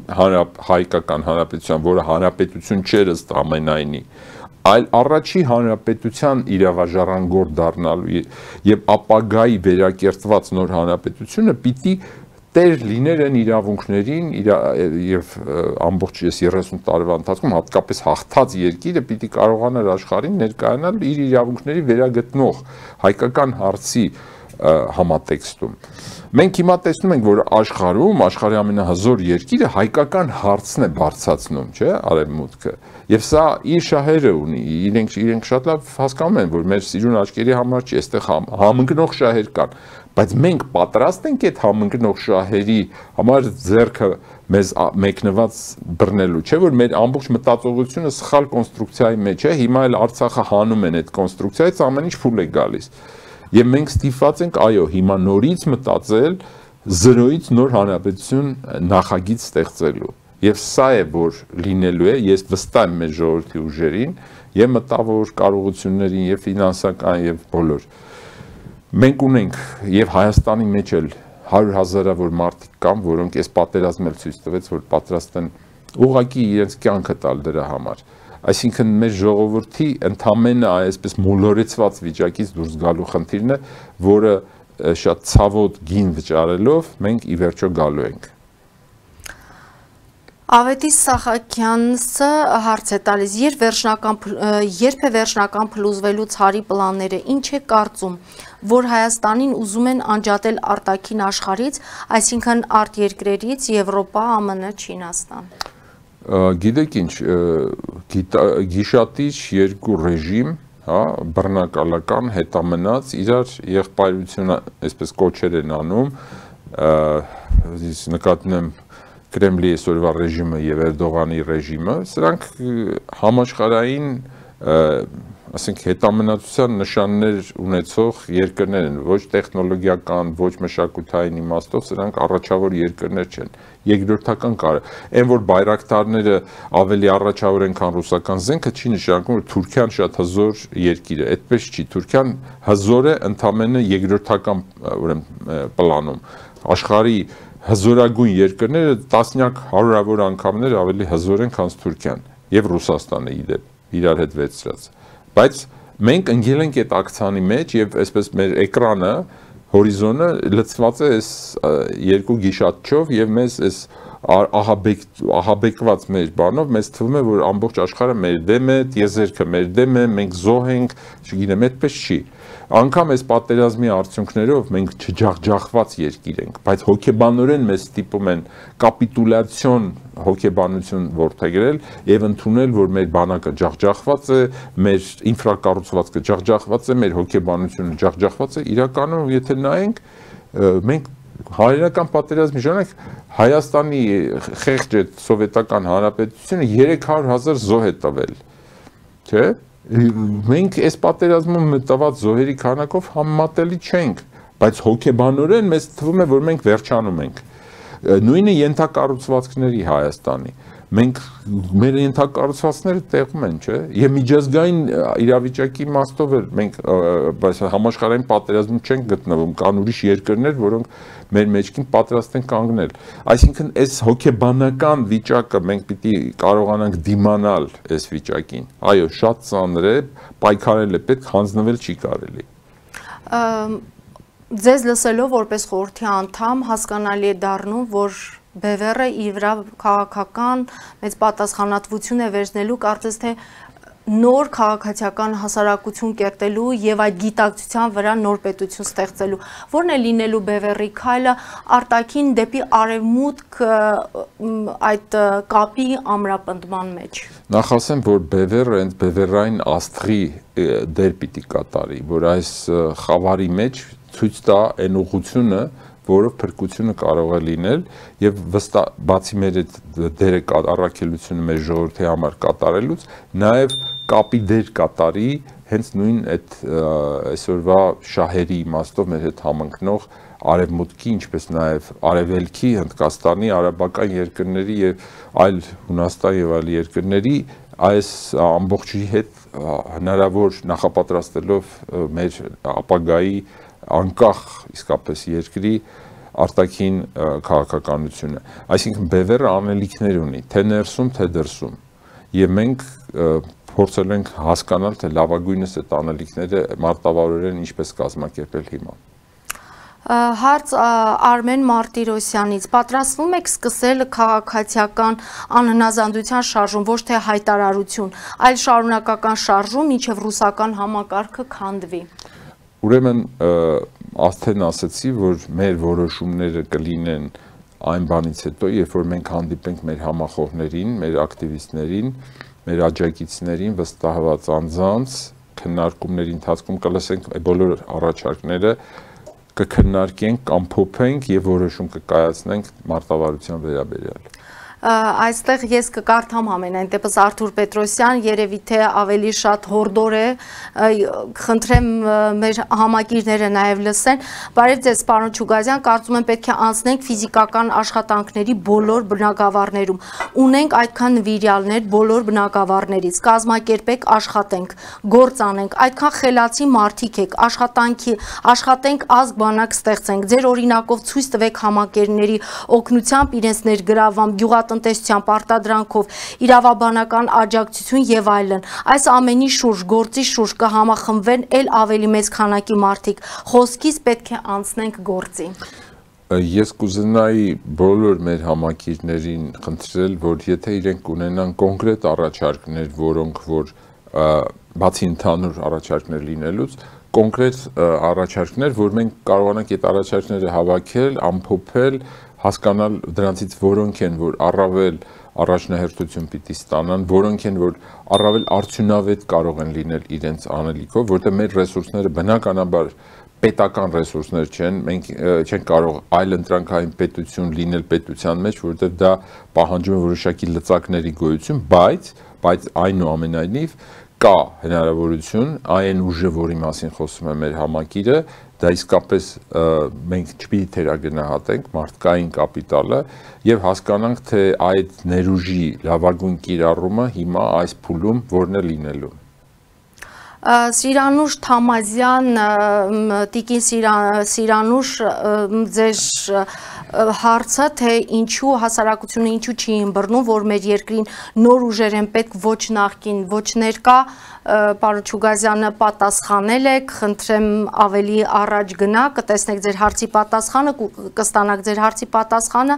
հայկական հանրապետության, որը հանրապետություն չէր ըստ ամենայնի, այլ առաջի հանրապետության իրավաժառանգորդ դառնալու եւ ապագայի վերակերտված նոր հանրապետությունը պիտի տեր լիներ այն իրավունքներին եւ ամբողջ երեսուն տարվա ընթացքում հատկապես հաղթած երկիրը պիտի կարողանար աշխարհին ներկայանալ իր իրավունքների վերագտնող հայկական հարցի համատեքստում։ Մենք հիմա տեսնում ենք, որ աշխարհում, աշխարհի ամենահզոր երկիրը հայկական հարցն է բարձրացնում, չէ՞, արևմուտքը։ Եվ սա իր շահերը ունի, իրենք իրենք շատ լավ հասկանում են, որ մեր սիրուն աչքերի համար չի, այստեղ համընկնող շահեր կան, բայց մենք պատրաստ ենք այդ համընկնող շահերի համար ձեռքը մեզ մեկնված բռնելու, չէ՞ որ մեր ամբողջ մտածողությունը սխալ կոնստրուկցիայի մեջ է, հիմա էլ Արցախը հանում են այդ կոնստրուկցիայից, ամեն ինչ փուլ է գալիս։ Եվ մենք ստիպված ենք, այո, հիմա նորից մտածել զրոյից նոր հանրապետություն նախագիծ ստեղծելու։ Եվ սա է, որ լինելու է, ես վստահ եմ մեր ժողովրդի ուժերին եւ մտավոր կարողություններին եւ ֆինանսական եւ բոլոր։ Մենք ունենք եւ Հայաստանի մեջ էլ հարյուր հազարավոր մարդիկ կան, որոնք այս պատերազմը ցույց տվեց, որ պատրաստ են ուղղակի իրենց կյանքը տալ դրա համար։ Այսինքն մեր ժողովրդի ընդամենը այսպես մոլորեցված վիճակից դուրս գալու խնդիրն է, որը շատ ցավոտ գին վճարելով մենք ի վերջո գալու ենք։ Ավետիս Սահակյանցը հարց է տալիս, երբ վերջնական երբ է վերջնական փլուզվելուց հարի պլանները, ինչ է կարծում, որ Հայաստանին ուզում են անջատել արտաքին աշխարհից, այսինքն արտերկրերից, Եվրոպա, ԱՄՆ, Չինաստան։ Գիտեք ինչ, գիշատիչ երկու ռեժիմ, հա, բռնակալական, հետամնաց, իրար եղբայրությունը այսպես կոչեր են անում, նկատում եմ Կրեմլի այսօրվա ռեժիմը եւ Էրդողանի ռեժիմը, սրանք համաշխարհային, ասենք հետամնացության նշաններ ունեցող երկրներ են, ոչ տեխնոլոգիական, ոչ մշակութային իմաստով, սրանք առաջավոր երկրներ չեն, երկրորդական կարը։ Այն որ բայրակտարները ավելի առաջավոր են, քան ռուսական զենքը, չի նշանակում, որ Թուրքիան շատ հզոր երկիր է, այդպես չի, Թուրքիան հզոր է ընդամենը երկրորդական, ուրեմն պլանում, աշխարհի հզորագույն երկրները տասնյակ հարյուրավոր անգամներ ավելի հզոր են, քան Թուրքիան եւ Ռուսաստանը իդեպ իրար հետ վերցրած։ Բայց մենք ընկել ենք այդ ակցիանի մեջ եւ այսպես մեր էկրանը, հորիզոնը լցված է այս երկու գիշատչով եւ մեզ այս ահաբեկ ահաբեկված մեր բանով մեզ թվում է, որ ամբողջ աշխարհը մեր դեմ է, տիեզերքը մեր դեմ է, մենք զոհ ենք, չգիտեմ, այդպես չի։ Անկամ այս պատերազմի արդյունքներով մենք չջախջախված երկիր ենք, բայց հոգեբանորեն մեզ ստիպում են կապիտուլյացիոն հոգեբանություն որդեգրել եւ ընդունել, որ մեր բանակը ջախջախված է, մեր ինֆրակառուցվածքը ջախջախված է, մեր հոգեբանությունը ջախջախված է, իրականում եթե նայենք, մենք հայերական պատերազմի ժամանակ Հայաստանի խեղճ սովետական հանրապետությունը երեք հարյուր հազար զոհ է տվել, չէ՞։ Մենք այս պատերազմում տված զոհերի քանակով համեմատելի չենք, բայց հոգեբանորեն մեզ թվում է, որ մենք վերջանում ենք։ Նույնը ենթակառուցվածքների Հայաստանի։ Մենք մեր ենթակառուցվածքները տեղում են, չէ՞։ Եվ միջազգային իրավիճակի իմաստով էլ մենք համաշխարհային պատերազմում չենք գտնվում, կան ուրիշ երկրներ, որոնք մեր մեջքին պատրաստ են կանգնել։ Այսինքն այս հոգեբանական վիճակը մենք պիտի կարողանանք դիմանալ այս վիճակին։ Այո, շատ ծանր է, պայքարել է պետք, հանձնվել չի կարելի։ Ձեզ լսելով որպես խորհրդի անդամ հասկանալի է դառնում, որ Բևերը իր վրա քաղաքական մեծ պատասխանատվություն է վերցնելու, կարծես թե նոր քաղաքացիական հասարակություն կերտելու եւ այդ գիտակցության վրա նոր պետություն ստեղծելու։ Որն է լինելու Բևերի քայլը արտաքին դեպի արևմուտք այդ կապի ամրապնդման մեջ։ Նախ ասեմ, որ Բևերը հենց Բևերային աստղի դեր պիտի կատարի, որ այս խավարի մեջ ցույց տա այն ուղղությունը, որով փրկությունը կարող է լինել եւ վստահ բացի մեր այդ դերը առաքելությունը մեր ժողովրդի համար կատարելուց նաեւ կապի դեր կատարի հենց նույն այդ այսօրվա շահերի իմաստով մեր հետ համընկնող արևմուտքի, ինչպես նաև արևելքի, Հնդկաստանի, արաբական երկրների եւ այլ Հունաստան եւ այլ երկրների այս ամբողջի հետ հնարավոր նախապատրաստելով մեր ապագայի անկախ իսկապես երկրի արտաքին քաղաքականությունը։ Այսինքն Բևերը անելիքներ ունի, թե ներսում, թե դրսում։ Եվ մենք փորձել ենք հասկանալ, թե լավագույնս այդ անելիքները մարտավարորեն ինչպես կազմակերպել հիմա։ Հարց Արմեն Մարտիրոսյանից, պատրաստվում եք սկսել քաղաքացիական անհնազանդության շարժում, ոչ թե հայտարարություն, այլ շարունակական շարժում, մինչև ռուսական համակարգը քանդվի։ Ուրեմն արդեն ասացի, որ մեր որոշումները կլինեն այն բանից հետո, երբ որ մենք հանդիպենք մեր համախոհներին, մեր ակտիվիստներին, մեր աջակիցներին, վստահված անձանց, քննարկումների ընթացքում կլսենք բոլոր առաջարկները, կքննարկենք, կամփոփենք եւ որոշում կկայացնենք մարտավարության վերաբերյալ։ Այստեղ ես կկարդամ ամենայն դեպս Արթուր Պետրոսյան, երևի թե ավելի շատ հորդոր է, խնդրեմ մեր համակիրները նաև լսեն։ Բարև ձեզ, պարոն Չուգազյան, կարծում եմ պետք է անցնենք ֆիզիկական աշխատանքների բոլոր բնակավարներում։ Ունենք այդքան նվիրյալներ բոլոր բնակավարներից, կազմակերպեք, աշխատենք, գործ անենք, այդքան խելացի մարդիկ եք, աշխատանքի, աշխատենք, ազգ բանակ ստեղծենք, ձեր օրինակով ցույց տվեք համակերների օգնությամբ իրենց ներգրավvam գյուղատնտեսության պարտադրանքով, իրավաբանական աջակցություն եւ այլն։ Այս ամենի շուրջ, գործի շուրջ կհամախմբվեն ել ավելի մեծ քանակի մարդիկ։ Խոսքից պետք է անցնենք գործի։ Ես կուզենայի բոլոր մեր համակիրներին խնդրել, որ եթե իրենք ունենան կոնկրետ առաջարկներ, որոնք որ բացի ընդհանուր առաջարկներ լինելուց, կոնկրետ առաջարկներ, որ մենք կարողանանք այդ առաջարկները հավաքել, ամփոփել, հասկանալ դրանցից որոնք են, որ առավել առաջնահերթություն պիտի ստանան, որոնք են, որ առավել արդյունավետ կարող են լինել իրենց անելիքով, որտեղ մեր ռեսուրսները բնականաբար պետական ռեսուրսներ չեն, մենք չենք կարող այլ ընտրանքային պետություն լինել պետության մեջ, որովհետև դա պահանջում է որոշակի լծակների գոյություն, բայց, բայց այնուամենայնիվ կա հնարավորություն, այն ուժը, որի մասին խոսում է մեր համակիրը, դա իսկապես մենք չպիտի թերագնահատենք մարդկային կապիտալը եւ հասկանանք, թե այդ ներուժի լավագույն կիրառումը հիմա այս փուլում որն է լինելու։ Սիրանուշ Թամազյան, Տիկին Սիրանուշ, ձեր հարցը, թե ինչու հասարակությունը ինչու չի ըմբռնում, որ մեր երկրին նոր ուժեր են պետք, ոչ նախկին, ոչ ներկա, պարոն Չուգազյանը պատասխանել եք, խնդրեմ ավելի առաջ գնա, կտեսնեք ձեր հարցի պատասխանը, կստանաք ձեր հարցի պատասխանը,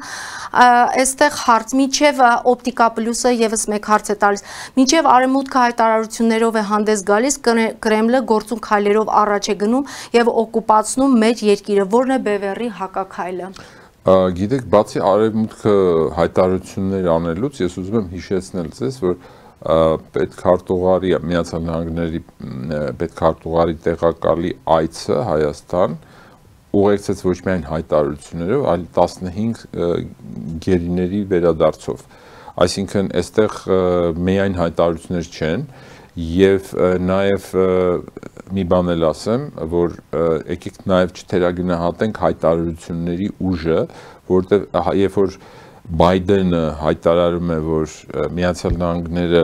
այստեղ հարց, մինչև օպտիկա պլյուսը եւս մեկ հարց է տալիս, մինչև արևմուտքը հայտարարություններով է հանդես գալիս, Կրեմլը գործուն քայլերով առաջ է գնում եւ օկուպացնում մեր երկիրը, որն է Բևերի հակաքայլը։ Գիտեք, բացի արևմուտքը հայտարարություններ անելուց, ես ուզում եմ հիշեցնել ձեզ, որ պետքարտուղարի Միացյալ Նահանգների պետքարտուղարի տեղակալի այցը Հայաստան ուղեկցեց ոչ միայն հայտարարություններով, այլ տասնհինգ գերիների վերադարձով։ Այսինքն, այստեղ միայն հայտարարություններ չեն, եւ նաեւ մի բան էլ ասեմ, որ եկեք նաեւ չթերագնահատենք հայտարարությունների ուժը, որտեղ երբ որ Բայդենը հայտարարում է, որ Միացյալ Նահանգները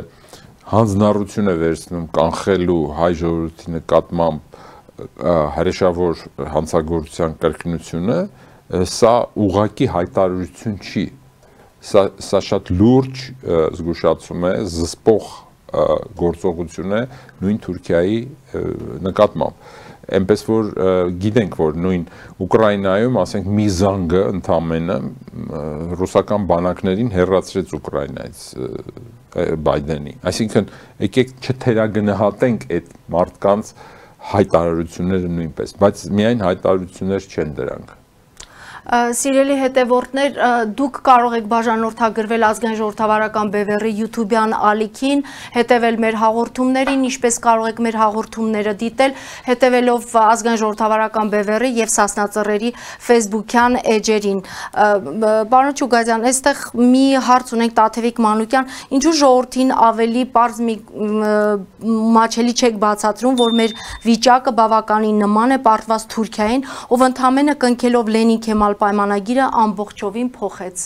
հանձնառություն է վերցնում կանխելու հայ ժողովրդի նկատմամբ հրեշավոր հանցագործության կրկնությունը, սա ուղղակի հայտարարություն չի, սա, սա շատ լուրջ զգուշացում է, զսպող գործողություն է նույն Թուրքիայի նկատմամբ։ Այնպես որ գիտենք, որ նույն Ուկրաինայում, ասենք, մի զանգը ընդամենը ռուսական բանակներին հեռացրեց Ուկրաինայից Բայդենի։ Այսինքն, եկեք չթերագնահատենք այդ մարդկանց հայտարարությունները նույնպես, բայց միայն հայտարարություններ չեն դրանք։ Սիրելի հետևորդներ, դուք կարող եք բաժանորդագրվել ազգային ժողովրդավարական բևեռի YouTube-յան ալիքին, հետևել մեր հաղորդումներին, ինչպես կարող եք մեր հաղորդումները դիտել, հետևելով ազգային ժողովրդավարական բևեռի եւ Սասնա Ծռերի Facebook-յան էջերին։ Պարոն Չուգազյան, այստեղ մի հարց ունենք Տաթևիկ Մանուկյան, ինչու ժողովրդին ավելի պարզ մի մաչելի չեք բացատրում, որ մեր վիճակը բավականին նման է պարտված Թուրքիային, ով ընդամենը կնքելով Լենին Քեմալ պայմանագիրը ամբողջովին փոխեց։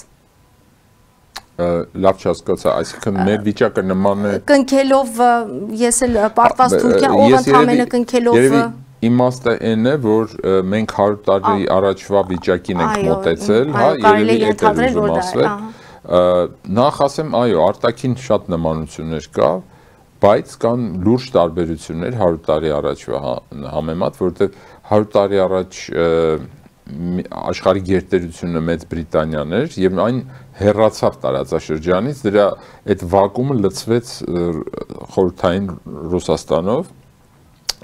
Լավ չհասկացա, այսինքն մեր վիճակը նման է կնքելով ես էլ պարտված Թուրքիա, ով ընդամենը կնքելով իմաստը այն է, որ մենք հարյուր տարի առաջվա վիճակին ենք մոտեցել, հա, երևի էդ է ուզում ասել։ Նախ ասեմ, այո, արտաքին շատ նմանություններ կա, բայց կան լուրջ տարբերություններ հարյուր տարի առաջվա համեմատ, որովհետև հարյուր տարի առաջ աշխարհի գերտերությունը Մեծ Բրիտանիան էր եւ այն հեռացավ տարածաշրջանից, դրա այդ վակուումը լցվեց խորհրդային Ռուսաստանով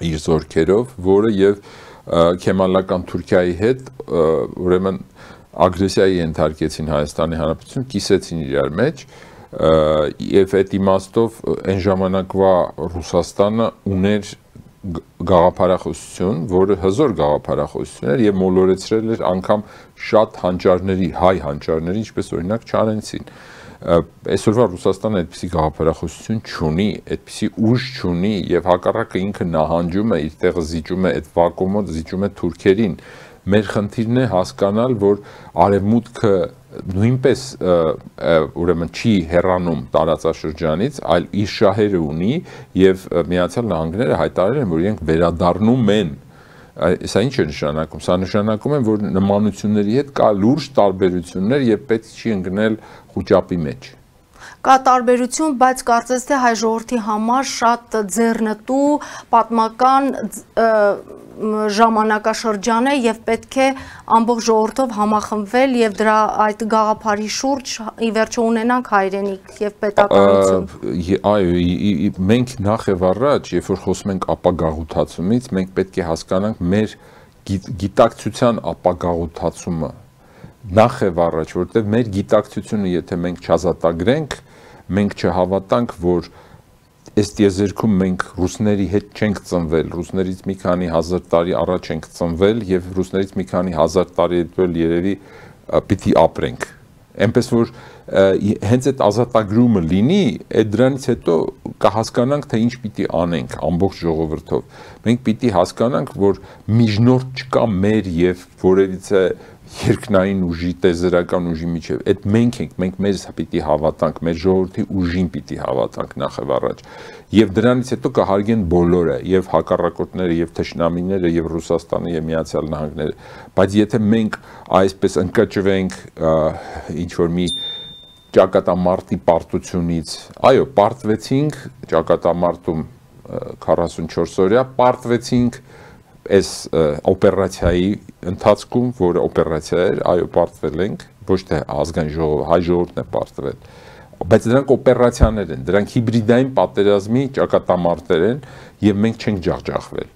իր զորքերով, որը եւ քեմալական Թուրքիայի հետ ուրեմն ագրեսիայի ենթարկեցին Հայաստանի Հանրապետություն, կիսեցին իրար մեջ եւ այդ իմաստով այն ժամանակվա Ռուսաստանը ուներ գաղափարախոսություն, որը հզոր գաղափարախոսություն էր եւ մոլորեցրել էր անգամ շատ հանճարների, հայ հանճարների, ինչպես օրինակ Չարենցին։ Այսօրվա Ռուսաստանը այդպիսի գաղափարախոսություն չունի, այդպիսի ուժ չունի եւ հակառակը ինքը նահանջում է, իր տեղը զիջում է այդ վակուումը, զիջում է թուրքերին։ Մեր խնդիրն է հասկանալ, որ արևմուտքը նույնպես ուրեմն չի հեռանում տարածաշրջանից, այլ իր շահերը ունի եւ Միացյալ Նահանգները հայտարարել են, որ իրենք վերադառնում են։ Սա ինչ է նշանակում։ Սա նշանակում է, որ նմանությունների հետ կա լուրջ տարբերություններ եւ պետք չի ընկնել խոճապի մեջ։ Կա տարբերություն, բայց կարծես թե հայ ժողովրդի համար շատ ձեռնտու պատմական ժամանակաշրջան է եւ պետք է ամբողջ ժողովրդով համախմբվել եւ դրա այդ գաղափարի շուրջ ի վերջո ունենանք հայրենիք եւ պետականություն։ Այո, մենք նախ եւ առաջ, երբ որ խոսում ենք ապագաղութացումից, մենք պետք է հասկանանք մեր գիտակցության ապագաղութացումը նախ եւ առաջ, որտեղ մեր գիտակցությունը, եթե մենք չազատագրենք, մենք չհավատանք, որ այս տիեզերքում մենք ռուսների հետ չենք ծնվել, ռուսներից մի քանի հազար տարի առաջ ենք ծնվել եւ ռուսներից մի քանի հազար տարի հետո երևի պիտի ապրենք։ Այնպես որ հենց այդ ազատագրումը լինի, այդ դրանից հետո կհասկանանք, թե ինչ պիտի անենք ամբողջ ժողովրդով։ Մենք պիտի հասկանանք, որ միջնորդ չկա մեր եւ որևիցե երկնային ուժի, տեզերական ուժի միջև, այդ մենք ենք, մենք մեզ պիտի հավատանք, մեր ժողովրդի ուժին պիտի հավատանք նախ եւ առաջ։ Եվ դրանից հետո կհարգեն բոլորը, եւ հակառակորդները, եւ թշնամիները, եւ Ռուսաստանը, եւ Միացյալ Նահանգները։ Բայց եթե մենք այսպես ընկճվենք ինչ որ մի ճակատամարտի պարտությունից, այո, պարտվեցինք ճակատամարտում քառասունչորս օրյա, պարտվեցինք այս օպերացիայի ընթացքում, որը օպերացիա էր, այո, պարտվել ենք, ոչ թե ազգային ժողովը, հայ ժողովուրդն է պարտվել, բայց դրանք օպերացիաներ են, դրանք հիբրիդային պատերազմի ճակատամարտեր են եւ մենք չենք ջախջախվել։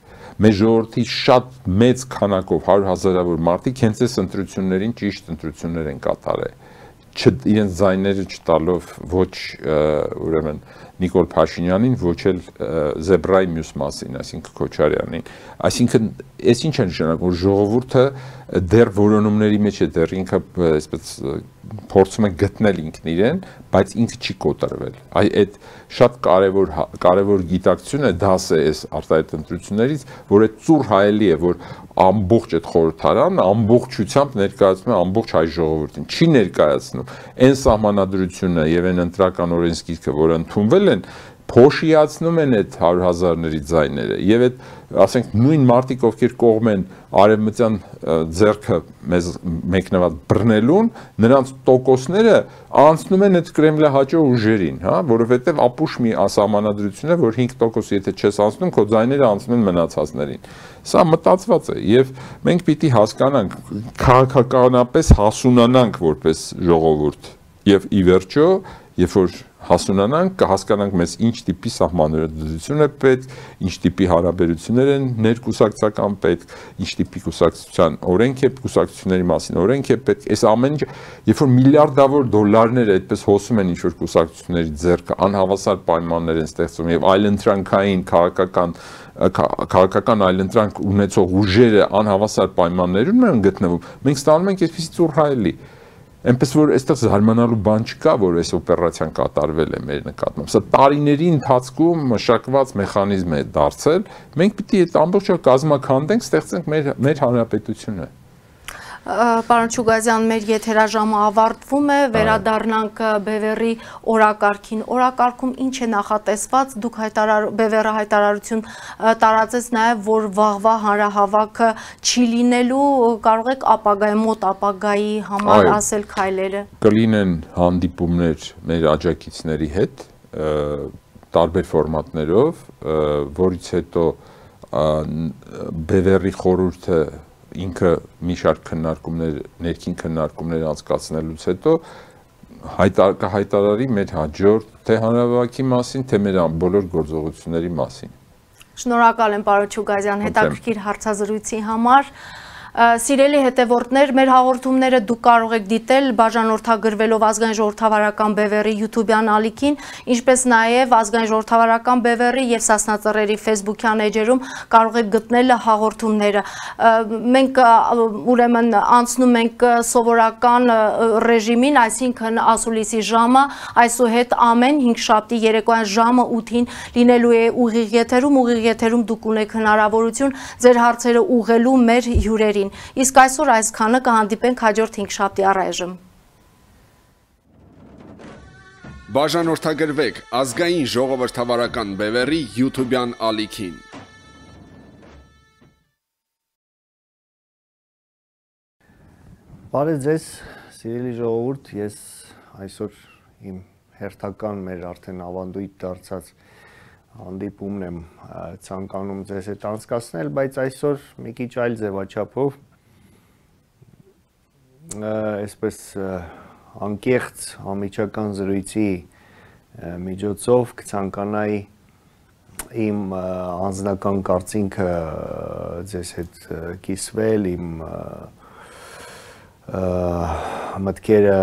Մեր ժողովրդի շատ մեծ քանակով հարյուր հազարավոր մարդիկ հենց այս ընտրություններին ճիշտ ընտրություններ են կատարել, իրենց ձայները չտալով ոչ ուրեմն Նիկոլ Փաշինյանին, ոչ էլ Զեբրայի մյուս մասին, այսինքն Քոչարյանին։ Այսինքն, այս ինչ է նշանակում, որ ժողովուրդը դեռ որոնումների մեջ է, դեռ ինքը այսպես փորձում է գտնել ինքն իրեն, բայց ինքը չի կոտրվել։ Այ այդ շատ կարևոր կարևոր գիտակցություն է, դաս է այս արտահայտ ընտրություններից, որ այդ ծուռ հայելի է, որ ամբողջ այդ խորհրդարանը ամբողջությամբ ներկայացնում է ամբողջ հայ ժողովրդին, չի ներկայացնում այն սահմանադրությունը եւ այն ընտրական օրենսգիրքը, որը ընդունվել են, փոշիացնում են այդ հարյուր հազարների ձայները եւ այդ ասենք նույն մարդիկ, ովքեր կողմ են արևմտյան ձեռքը մեզ մեկնված բռնելուն, նրանց տոկոսները անցնում են այդ կրեմլահաճո ուժերին, հա, որովհետեւ ապուշ մի ասահմանադրություն է, որ հինգ տոկոս եթե չես անցնում, քո ձայները անցնում են մնացածներին։ Սա մտածված է եւ մենք պիտի հասկանանք, քաղաքականապես հասունանանք որպես ժողովուրդ եւ ի վերջո, երբ որ հասունանանք, կհասկանանք մեզ ինչ տիպի սահմանադրություն է պետք, ինչ տիպի հարաբերություններ են ներկուսակցական պետք, ինչ տիպի կուսակցության օրենք է, կուսակցությունների մասին օրենք է պետք, այս ամեն ինչ, երբ որ միլիարդավոր դոլարներ այդպես հոսում են ինչ-որ կուսակցությունների ձեռքը, անհավասար պայմաններ են ստեղծում եւ այլընտրանքային քաղաքական քաղաքական այլընտրանք ունեցող ուժերը անհավասար պայմաններում են գտնվում, մենք ստանում ենք այսպիսի ծուռհայելի Այնպես որ այստեղ զարմանալու բան չկա, որ այս օպերացիան կատարվել է մեր նկատմամբ։ Սա տարիների ընթացքում մշակված մեխանիզմ է դարձել։ Մենք պիտի այդ ամբողջը կազմաքանդենք, ստեղծենք մեր մեր հանրապետությունը։ Պարոն Չուգազյան, մեր եթերաժամը ավարտվում է, վերադառնանք Բևեռի օրակարգին։ Օրակարգում ինչ է նախատեսված, դուք Բևեռը հայտարարություն տարածեց նաև, որ վաղվա հանրահավաքը չի լինելու, կարող եք ապագայի, մոտ ապագայի համար ասել քայլերը։ Կլինեն հանդիպումներ մեր աջակիցների հետ, տարբեր ֆորմատներով, որից հետո Բևեռի խորհուրդը ինքը մի շարք քննարկումներ, ներքին քննարկումներ անցկացնելուց հետո հայտարարի մեր հաջորդ թե հանրահավաքի մասին, թե մեր բոլոր գործողությունների մասին։ Շնորհակալ եմ պարոն Չուգազյան հետաքրքիր հարցազրույցի համար։ Սիրելի հետևորդներ, մեր հաղորդումները դուք կարող եք դիտել բաժանորդագրվելով Ազգային ժողովրդավարական Բևեռի YouTube-յան ալիքին, ինչպես նաև Ազգային ժողովրդավարական Բևեռի եւ Սասնա Ծռերի Facebook-յան էջերում կարող եք գտնել հաղորդումները։ Մենք ուրեմն անցնում ենք սովորական ռեժիմին, այսինքն ասուլիսի ժամը, այսուհետ ամեն հինգշաբթի երեկոյան ժամը ութին լինելու է ուղիղ եթերում, ուղիղ եթերում դուք ունեք հնարավորություն ձեր հարցերը ուղղելու մեր հյուրերին։ Իսկ այսօր այսքանը, կհանդիպենք հաջորդ հինգշաբթի առայժմ։ Բաժանորդագրվեք Ազգային ժողովրդավարական Բևեռի YouTube-յան ալիքին։ Բարև ձեզ, սիրելի ժողովուրդ, ես այսօր իմ հերթական մեր արդեն ավանդույթ դարձած հանդիպումն եմ ցանկանում ձեզ հետ անցկացնել, բայց այսօր մի քիչ այլ ձևաչափով, այսպես անկեղծ անմիջական զրույցի միջոցով կցանկանայի իմ անձնական կարծինքը ձեզ հետ կիսվել, իմ մտքերը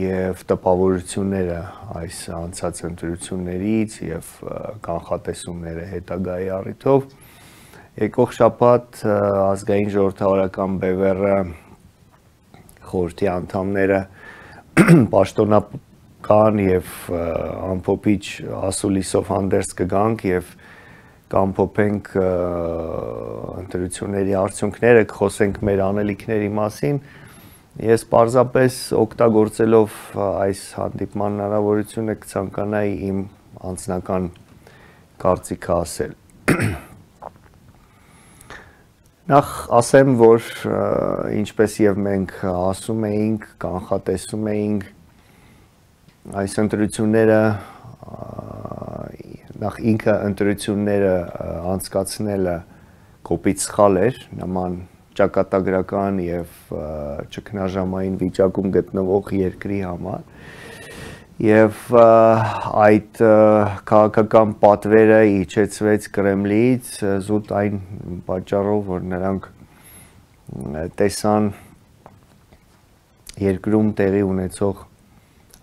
եւ տպավորությունները այս անցած ընտրություններից եւ կանխատեսումները հետագայի առիթով եկող շաբաթ ազգային ժողովրդավարական Բևեռը խորհրդի անդամները պաշտոնական եւ ամփոփիչ ասուլիսով հանդերձ կգանք եւ կամփոփենք ընտրությունների արդյունքները, կխոսենք մեր անելիքների մասին։ Ես պարզապես օգտագործելով այս հանդիպման հնարավորությունը կցանկանայի իմ անձնական կարծիքը ասել։ Նախ ասեմ, որ ինչպես եւ մենք ասում էինք, կանխատեսում էինք, այս ընտրությունները նախ ինքը ընտրությունները անցկացնելը կոպիտ սխալ էր, նման ճակատագրական եւ ճգնաժամային վիճակում գտնվող երկրի համար եւ այդ քաղաքական պատվերը իջեցվեց Կրեմլից զուտ այն պատճառով, որ նրանք տեսան երկրում տեղի ունեցող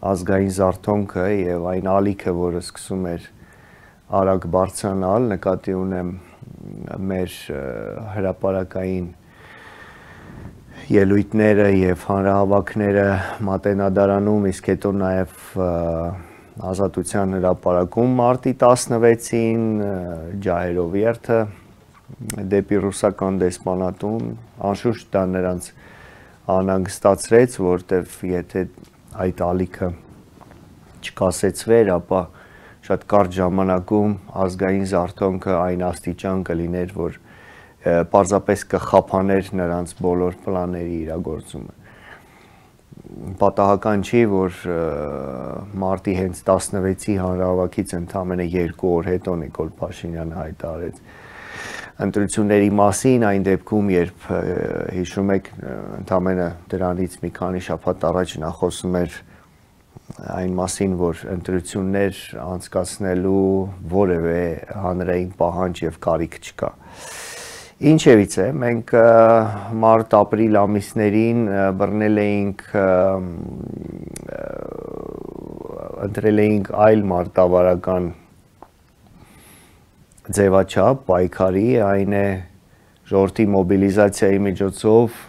ազգային զարթոնքը եւ այն ալիքը, որը սկսում էր արագ բարձրանալ, նկատի ունեմ մեր հրապարակային ելույթները եւ հանրահավաքները Մատենադարանում, իսկ հետո նաեւ Ազատության հրապարակում մարտի տասնվեցին ջահերով երթը դեպի ռուսական դեսպանատուն, անշուշտ դա նրանց անհանգստացրեց, որտեվ եթե այդ ալիքը չկասեցվեր, ապա շատ կարճ ժամանակում ազգային զարթոնքը այն աստիճան կլիներ, որ պարզապես կխափաներ նրանց բոլոր պլանների իրագործումը։ Պատահական չի, որ մարտի հենց տասնվեցի հանրահավաքից ընդամենը երկու օր հետո Նիկոլ Փաշինյանը հայտարարեց ընտրությունների մասին, այն դեպքում, երբ հիշում եք, ընդամենը դրանից մի քանի շաբաթ առաջ նա խոսում էր այն մասին, որ ընտրություններ անցկացնելու որևէ հանրային պահանջ եւ կարիք չկա։ Ինչևից է, մենք մարտ-ապրիլ ամիսներին բռնել էինք, ընտրել էինք այլ մարտավարական ձևաչափ պայքարի, այն է ժողովրդի մոբիլիզացիայի միջոցով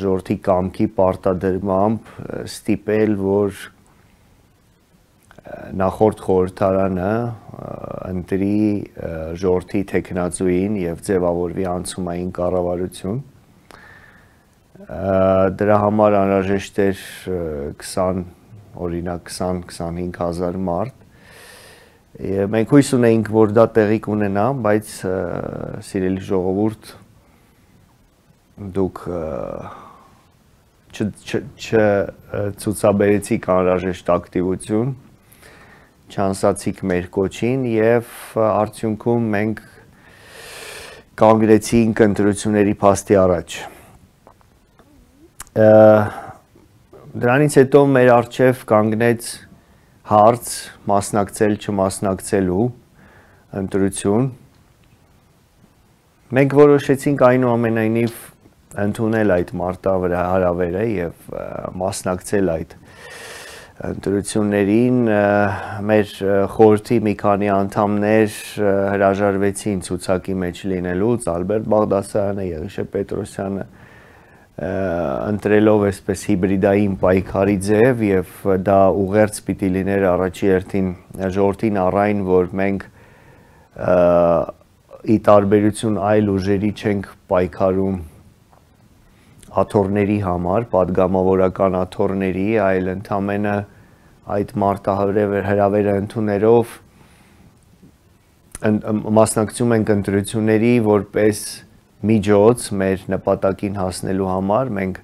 ժողովրդի կամքի պարտադրմամբ ստիպել, որ նախորդ խորհրդարանը ընտրի ժողովրդի թեկնածուին եւ ձևավորվի անցումային կառավարություն։ Դրա համար անհրաժեշտ էր քսան, օրինակ քսան-քսանհինգ հազար մարդ։ Մենք հույս ունեինք, որ դա տեղի կունենա, բայց սիրելի ժողովուրդ, դուք չցուցաբերեցիք անհրաժեշտ ակտիվություն, չանսացիք մեր կոչին եւ արդյունքում մենք կանգնեցինք ընտրությունների փաստի առաջ։ Դրանից հետո մեր առջև կանգնեց հարց մասնակցել չմասնակցելու ընտրություն։ Մենք որոշեցինք այնուամենայնիվ ընդունել այդ մարտահրավերը եւ մասնակցել այդ ընտրություններին։ Մեր խորհրդի մի քանի անդամներ հրաժարվեցին ցուցակի մեջ լինելուց, Ալբերտ Բաղդասարյանը, Եղիշե Պետրոսյանը, ընտրելով այսպես հիբրիդային պայքարի ձև եւ դա ուղերձ պիտի լիներ առաջի հերթին ժողովրդին առայն, որ մենք ի տարբերություն այլ ուժերի չենք պայքարում աթոռների համար, падգամավորական աթոռների, այլ ընդամենը այդ մարտահրավերը ընդուներով մասնակցում ենք ընտրությունների որպես միջոց մեր նպատակին հասնելու համար։ Մենք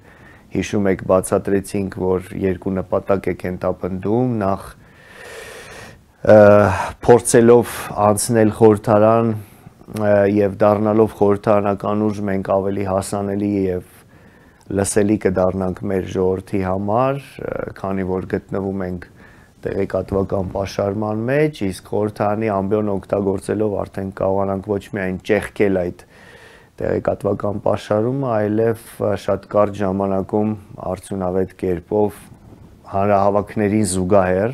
հիշում եք բացատրեցինք, որ երկու նպատակ է կենտապնդում, նախ փորձելով անցնել խորհրդարան եւ դառնալով խորհրդարանական ուժ մենք ավելի հասանելի եւ լսելի կդառնանք մեր ժողովրդի համար, քանի որ գտնվում ենք տեղեկատվական պաշարման մեջ, իսկ խորհրդարանի ամբիոն օգտագործելով արդեն կարողանանք ոչ միայն ճեղքել այդ տեղեկատվական պաշարումը, այլև շատ կարճ ժամանակում արդյունավետ կերպով հանրահավաքներին զուգահեռ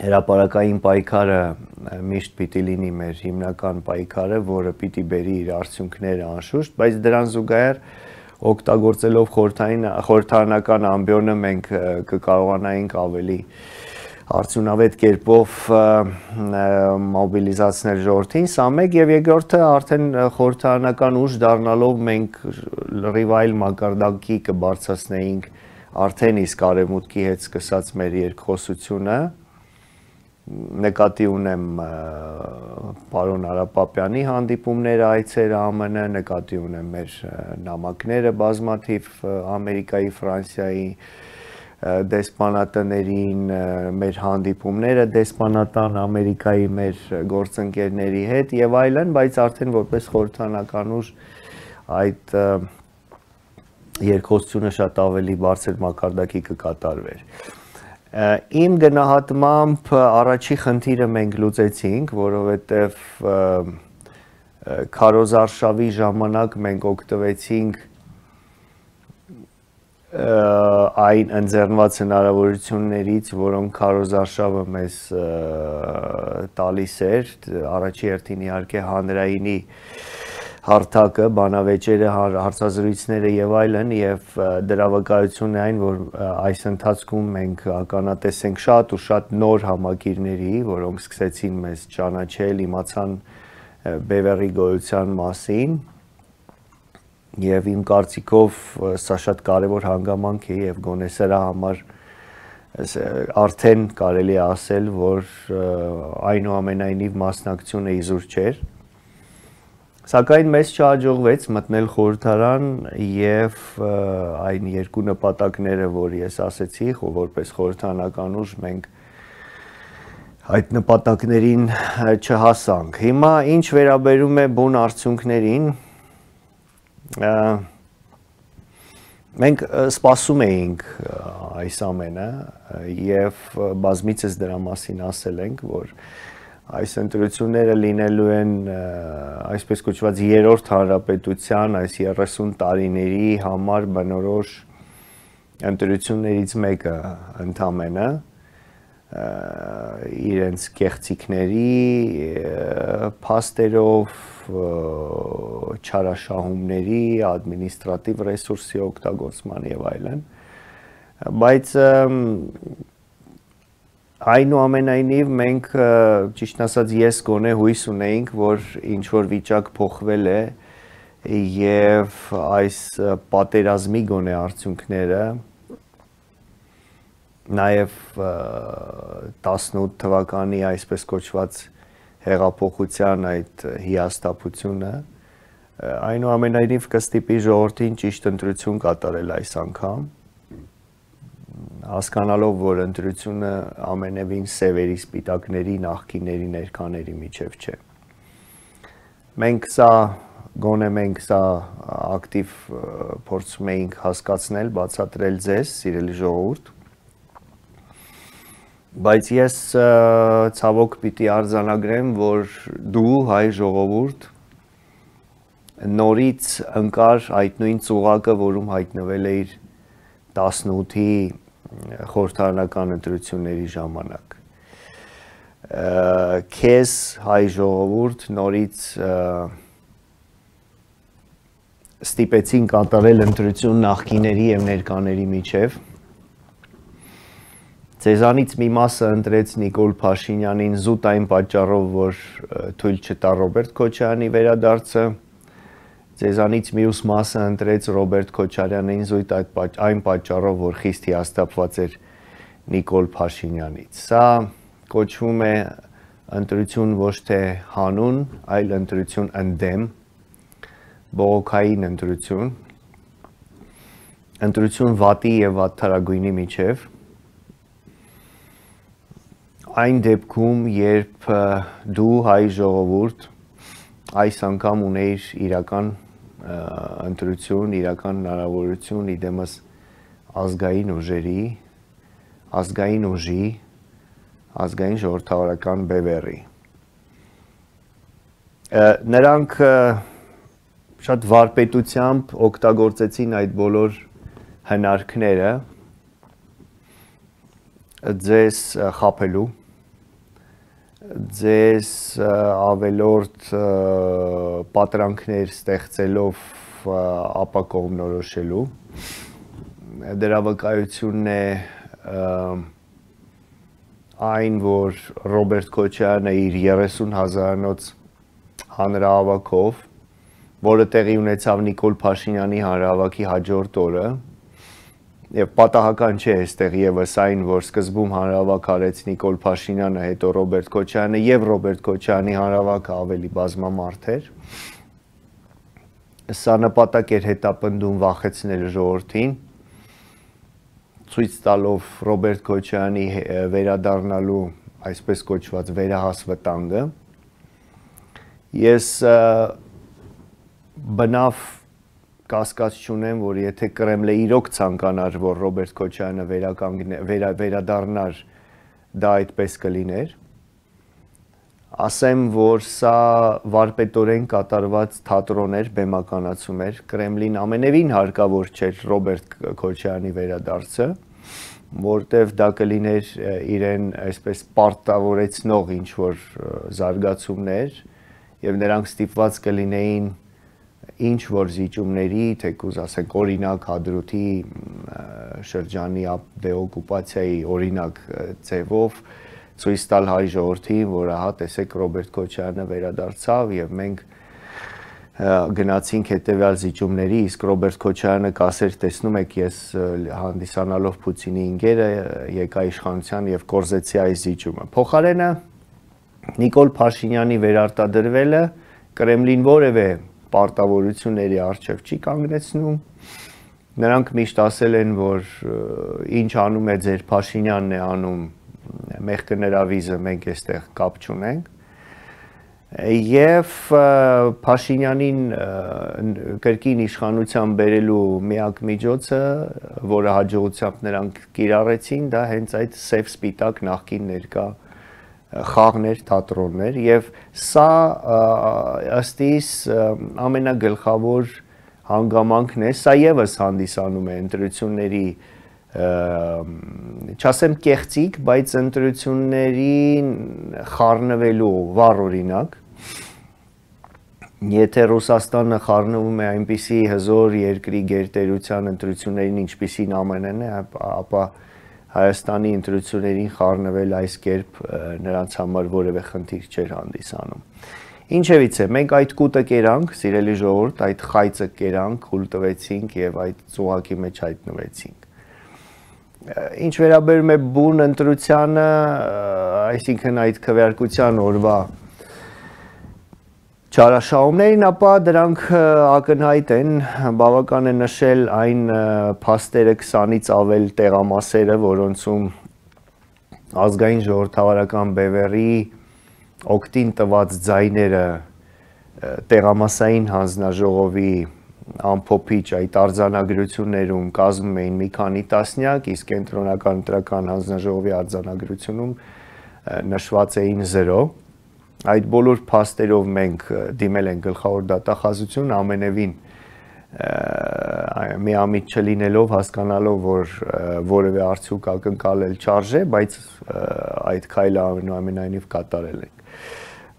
հրապարակային պայքարը միշտ պիտի լինի մեր հիմնական պայքարը, որը պիտի բերի իր արդյունքները անշուշտ, բայց դրան զուգահեռ օգտագործելով խորհրդարանական ամբիոնը մենք կկարողանայինք ավելի արդյունավետ կերպով մոբիլիզացնել ժողովրդին, սա մեկ, եւ երկրորդը արդեն խորհրդարանական ուժ դառնալով մենք լրիվ այլ մակարդակի կբարձրացնեինք արդեն իսկ արևմուտքի հետ սկսած մեր երկխոսությունը։ Նկատի ունեմ պարոն Արապապյանի հանդիպումները, այցերը ԱՄՆ, նկատի ունեմ մեր նամակները բազմաթիվ Ամերիկայի, Ֆրանսիայի դեսպանատներին, մեր հանդիպումները դեսպանատան Ամերիկայի մեր գործընկերների հետ եւ այլն, բայց արդեն որպես խորհրդարանական ուժ այդ երկխոսությունը շատ ավելի բարձր մակարդակի կկատարվեր։ Իմ գնահատմամբ առաջի խնդիրը մենք լուծեցինք, որովհետև քարոզարշավի ժամանակ մենք օգտվեցինք այն ընձեռնված հնարավորություններից, որոնք քարոզարշավը մեզ տալիս էր, առաջի հերթին իհարկե հանրայինի հարթակը, բանավեճերը, հարցազրույցները եւ այլն, եւ դրա վկայությունն է այն, որ այս ընթացքում մենք ականատես ենք շատ ու շատ նոր համակիրների, որոնք սկսեցին մեզ ճանաչել, իմացան Բևեռի գոյության մասին, եւ իմ կարծիքով սա շատ կարեւոր հանգամանք է եւ գոնե սրա համար արդեն կարելի է ասել, որ այնուամենայնիվ մասնակցությունը իզուր չէր։ Սակայն մեզ չհաջողվեց մտնել խորհրդարան եւ այն երկու նպատակները, որ ես ասեցի, որպես խորհրդարանական ուժ մենք այդ նպատակներին չհասանք։ Հիմա ինչ վերաբերում է բուն արդյունքներին, մենք սպասում էինք այս ամենը եւ բազմիցս դրա մասին ասել ենք, որ այս ընտրությունները լինելու են այսպես կոչված երրորդ հանրապետության այս երեսուն տարիների համար բնորոշ ընտրություններից մեկը ընդամենը իրենց կեղծիքների փաստերով չարաշահումների ադմինիստրատիվ ռեսուրսի օգտագործման եւ այլն բայց այնուամենայնիվ մենք ճիշտ ասած ես գոնե հույս ունեինք որ ինչ որ վիճակ փոխվել է եւ այս պատերազմի գոնե արդյունքները նաև տասնութ թվականի այսպես կոչված հեղափոխության այդ հիասթափությունը այնուամենայնիվ կստիպի ժողովրդին ճիշտ ընտրություն կատարել այս անգամ հասկանալով որ ընտրությունը ամենևին սևերի սպիտակների նախկիների ներկաների միջև չէ մենք սա գոնե մենք սա ակտիվ փորձում էինք հասկացնել բացատրել ձեզ սիրելի ժողովուրդ բայց ես ցավոք պիտի արձանագրեմ, որ դու հայ ժողովուրդ նորից ընկար այդ նույն ծուղակը, որում հայտնվել էիր տասնութի խորհրդարանական ընտրությունների ժամանակ։ Քեզ հայ ժողովուրդ նորից ստիպեցին կատարել ընտրություն նախկիների եւ ներկաների միջև Ձեզանից մի մասը ընտրեց Նիկոլ Փաշինյանին զուտ այն պատճառով, որ թույլ չտա Ռոբերտ Քոչարյանի վերադարձը, ձեզանից մյուս մասը ընտրեց Ռոբերտ Քոչարյանին զուտ այն պատճառով, որ խիստ հիասթափված էր Նիկոլ Փաշինյանից։ Սա կոչվում է ընտրություն ոչ թե հանուն, այլ ընտրություն ընդդեմ, բողոքային ընտրություն, ընտրություն վատի եւ վատթարագույնի միջև Այն դեպքում, երբ դու հայ ժողովուրդ այս անգամ ունեիր իրական ընտրություն, իրական հնարավորություն իդեմս ազգային ուժերի, ազգային ուժի, ազգային ժողովրդավարական բևեռի։ Նրանք շատ վարպետությամբ օգտագործեցին այդ բոլոր հնարքները ձեզ խաբելու ձեզ ավելորդ պատրանքներ ստեղծելով ապակողմնորոշելու դրա վկայությունն է այն որ Ռոբերտ Քոչարյանը իր երեսուն հազարանոց հանրահավաքով որը տեղի ունեցավ Նիկոլ Փաշինյանի հանրահավաքի հաջորդ օրը Եվ պատահական չէ այստեղ եւս այն, որ սկզբում հանրահավաք արեց Նիկոլ Փաշինյանը, հետո Ռոբերտ Քոչարյանը եւ Ռոբերտ Քոչարյանի հանրահավաքը ավելի բազմամարդ էր։ Սա նպատակ էր հետապնդում վախեցնել ժողովրդին, ցույց տալով Ռոբերտ Քոչարյանի վերադառնալու այսպես կոչված վերահաս վտանգը։ Ես բնավ կասկած չունեմ, որ եթե Կրեմլը իրոք ցանկանար, որ Ռոբերտ Քոչարյանը վերա, վերադառնար, դա այդպես կլիներ։ Ասեմ, որ սա վարպետորեն կատարված թատրոն էր, բեմականացում էր, Կրեմլին ամենևին հարկավոր չէր Ռոբերտ Քոչարյանի վերադարձը, որտև դա կլիներ իրեն այսպես պարտավորեցնող ինչ-որ զարգացումներ, եւ նրանք ստիպված կլինեին ինչ որ զիջումների, թեկուզ ասենք օրինակ Հադրութի շրջանի դեօկուպացիայի օրինակ ձևով ցույց տալ հայ ժողովրդին, որ ահա տեսեք Ռոբերտ Քոչարյանը վերադարձավ եւ մենք գնացինք հետեւյալ զիջումների, իսկ Ռոբերտ Քոչարյանը կասեր, տեսնում եք, ես հանդիսանալով Պուտինի ինգերը եկա իշխանության եւ կորզեցի այս զիջումը։ Փոխարենը Նիկոլ Փաշինյանի վերարտադրվելը Կրեմլին որևէ պարտավորությունների առջև չի կանգնեցնում։ Նրանք միշտ ասել են, որ ինչ անում է ձեր Փաշինյանն է անում, մեղքը նրա վիզը մենք այստեղ կապ չունենք։ Եվ Փաշինյանին կրկին իշխանության բերելու միակ միջոցը, որը հաջողությամբ նրանք կիրառեցին, դա հենց այդ սև սպիտակ նախկին ներկա խաղներ, թատրոններ, եւ սա ըստ իս ամենագլխավոր հանգամանքն է, սա եւս հանդիսանում է ընտրությունների չասեմ կեղծիք, բայց ընտրություններին խառնվելու վառ օրինակ։ Եթե Ռուսաստանը խառնվում է այնպիսի հզոր երկրի գերտերության ընտրություններին, ինչպիսին Α Մ Ն է, ապա Հայաստանի ընտրություններին խառնվել այս կերպ նրանց համար որևէ խնդիր չէր հանդիսանում։ Ինչևիցե, մենք այդ կուտը կերանք, սիրելի ժողովուրդ, այդ խայծը կերանք, խուլ տվեցինք եւ այդ ծուղակի մեջ հայտնվեցինք։ Ինչ վերաբերում է բուն ընտրությանը, այսինքն այդ քվեարկության օրվա չարաշահումներին, ապա դրանք ակնհայտ են, բավական է նշել այն փաստերը քսանից ավել տեղամասերը, որոնցում ազգային ժողովրդավարական բևեռի օգտին տված ձայները տեղամասային հանձնաժողովի ամփոփիչ այդ արձանագրություններում կազմում էին մի քանի տասնյակ, իսկ կենտրոնական ընտրական հանձնաժողովի արձանագրությունում նշված էին զրո։ Այդ բոլոր փաստերով մենք դիմել ենք գլխավոր դատախազություն, ամենևին միամիտ չլինելով, հասկանալով, որ որևէ արդյունք ակնկալել չարժե, բայց այդ քայլը այնուամենայնիվ կատարել ենք։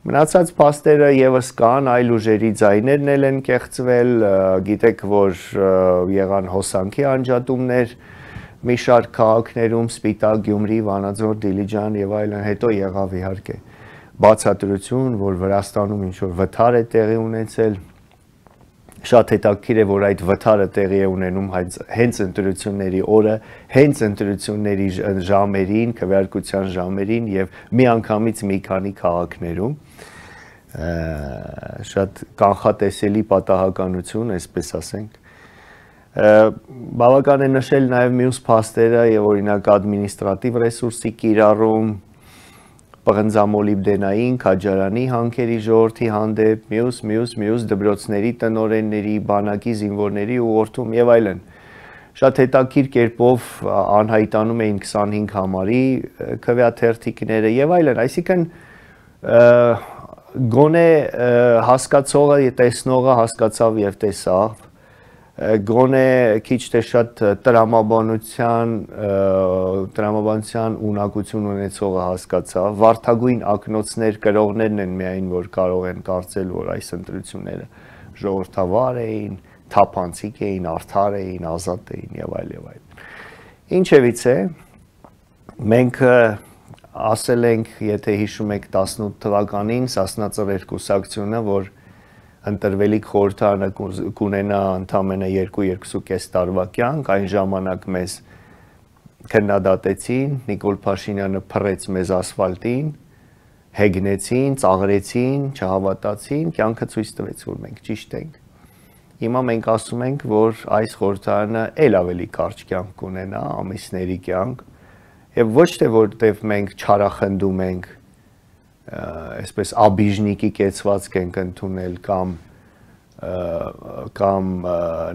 Մնացած փաստերը եւս կան, այլ ուժերի ձայներն էլ են կեղծվել, գիտեք, որ եղան հոսանքի անջատումներ մի շարք քաղաքներում, Սպիտակ, Գյումրի, Վանաձոր, Դիլիջան եւ այլն, հետո եղավ իհարկե բացատրություն, որ Վրաստանում ինչ որ վթար է տեղի ունեցել։ Շատ հետաքրքիր է, որ այդ վթարը տեղի է ունենում հենց ընտրությունների օրը, հենց ընտրությունների ժամերին, քվեարկության ժամերին եւ միանգամից մի քանի քաղաքներում։ Շատ կանխատեսելի պատահականություն, այսպես ասենք։ Բավական է նշել նաեւ մյուս փաստերը եւ օրինակ ադմինիստրատիվ ռեսուրսի կիրառում, պղնձամոլիբդենային, քաջարանի հանքերի ժողովրդի հանդեպ, մյուս, մյուս, մյուս դպրոցների տնօրենների, բանակի զինվորների ուղղորդում եւ այլն։ Շատ հետաքրքիր կերպով անհայտանում էին քսանհինգ համարի քվեաթերթիկները եւ այլն, այսինքն գոնե հասկացողը, տեսնողը հասկացավ եւ տեսավ, գոնե քիչ թե շատ տրամաբանության տրամաբանության ունակություն ունեցողը հասկացավ, վարդագույն ակնոցներ կրողներն են միայն, որ կարող են կարծել, որ այս ընտրությունները ժողովրդավար էին, թափանցիկ էին, արդար էին, ազատ էին եւ այլ եւ այլ։ Ինչևիցե, մենք ասել ենք, եթե հիշում եք տասնութ թվականին Սասնա Ծռեր կուսակցությունը, որ ընտրվելիք խորհրդարանը կունենա ընդամենը երկու-երկուսուկես տարվա կյանք, այն ժամանակ մեզ քննադատեցին, Նիկոլ Փաշինյանը փռեց մեզ ասֆալտին, հեգնեցին, ծաղրեցին, չհավատացին, կյանքը ցույց տվեց, որ մենք ճիշտ ենք։ Հիմա մենք ասում ենք, որ այս խորհրդարանը ել ավելի կարճ կյանք կունենա, ամիսների կյանք, եւ ոչ թե որտեվ մենք չարախնդում ենք, այսպես աբիժնիկի կեցվածք ենք ընդունել կամ կամ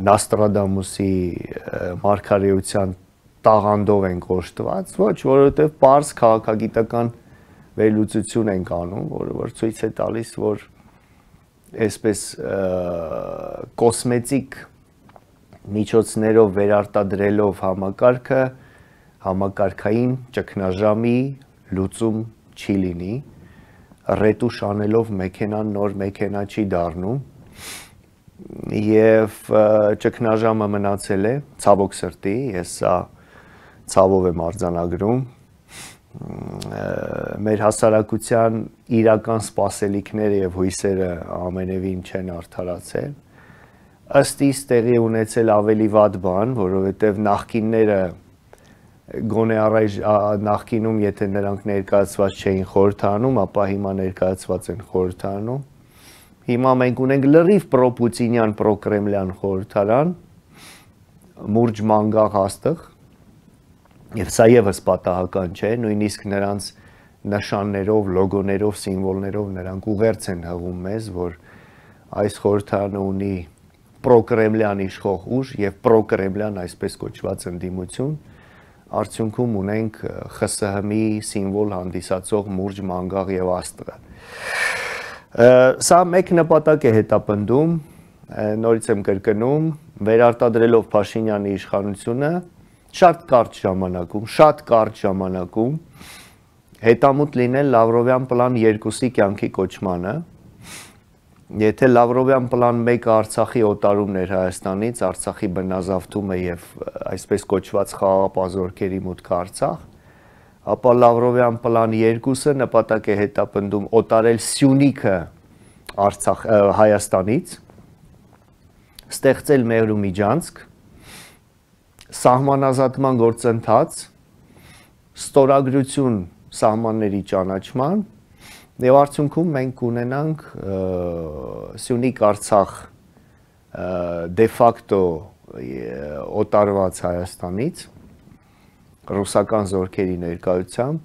Նաստրադամուսի մարգարեության տաղանդով ենք օժտված, ոչ, որովհետև պարզ քաղաքագիտական վերլուծություն ենք անում, որը որ ցույց է տալիս, որ այսպես կոսմետիկ միջոցներով վերարտադրելով համակարգը համակարգային ճգնաժամի լուծում չի լինի, ռետուշ անելով մեքենան նոր մեքենա չի դառնում եւ ճգնաժամը մնացել է, ցավոք սրտի, ես սա ցավով եմ արձանագրում, մեր հասարակության իրական սպասելիքները եւ հույսերը ամենևին չեն արդարացել, ըստ իս տեղի ունեցել ավելի վատ բան, որովհետեւ նախկինները գոնե առայժ նախկինում, եթե նրանք ներկայացված չէին խորհրդարանում, ապա հիմա ներկայացված են խորհրդարանում։ Հիմա մենք ունենք լրիվ պրոպուտինյան, պրոկրեմլյան խորհրդարան, մուրջ մանգաղ հաստղ, եւ սա եւս պատահական չէ, նույնիսկ նրանց նշաններով, լոգոներով, սիմվոլներով նրանք ուղերձ են հղում մեզ, որ այս խորհրդարանը ունի պրոկրեմլյան իշխող ուժ եւ պրոկրեմլյան այսպես կոչված ընդդիմություն, արդյունքում ունենք Խ ՍՀ M-ի սիմվոլ հանդիսացող մուրջ, մանգաղ եւ աստղը։ Սա մեկ նպատակ է հետապնդում, նորից եմ կրկնում, վերարտադրելով Փաշինյանի իշխանությունը շատ կարճ ժամանակում, շատ կարճ ժամանակում հետամուտ լինել Լավրովյան պլան երկուսի կյանքի կոչմանը։ Եթե Լավրովյան պլան մեկը Արցախի օտարումն էր Հայաստանից, Արցախի բնազավթումը եւ այսպես կոչված խաղաղապազորքերի մուտքը Արցախ, ապա Լավրովյան պլան երկուսը նպատակ է հետապնդում օտարել Սյունիքը Արցախ Հայաստանից, ստեղծել Մեղրու միջանցք, սահմանազատման գործընթաց, ստորագրություն սահմանների ճանաչման եւ արդյունքում մենք ունենանք Սյունիք Արցախ դե ֆակտո օտարված Հայաստանից ռուսական զորքերի ներկայությամբ,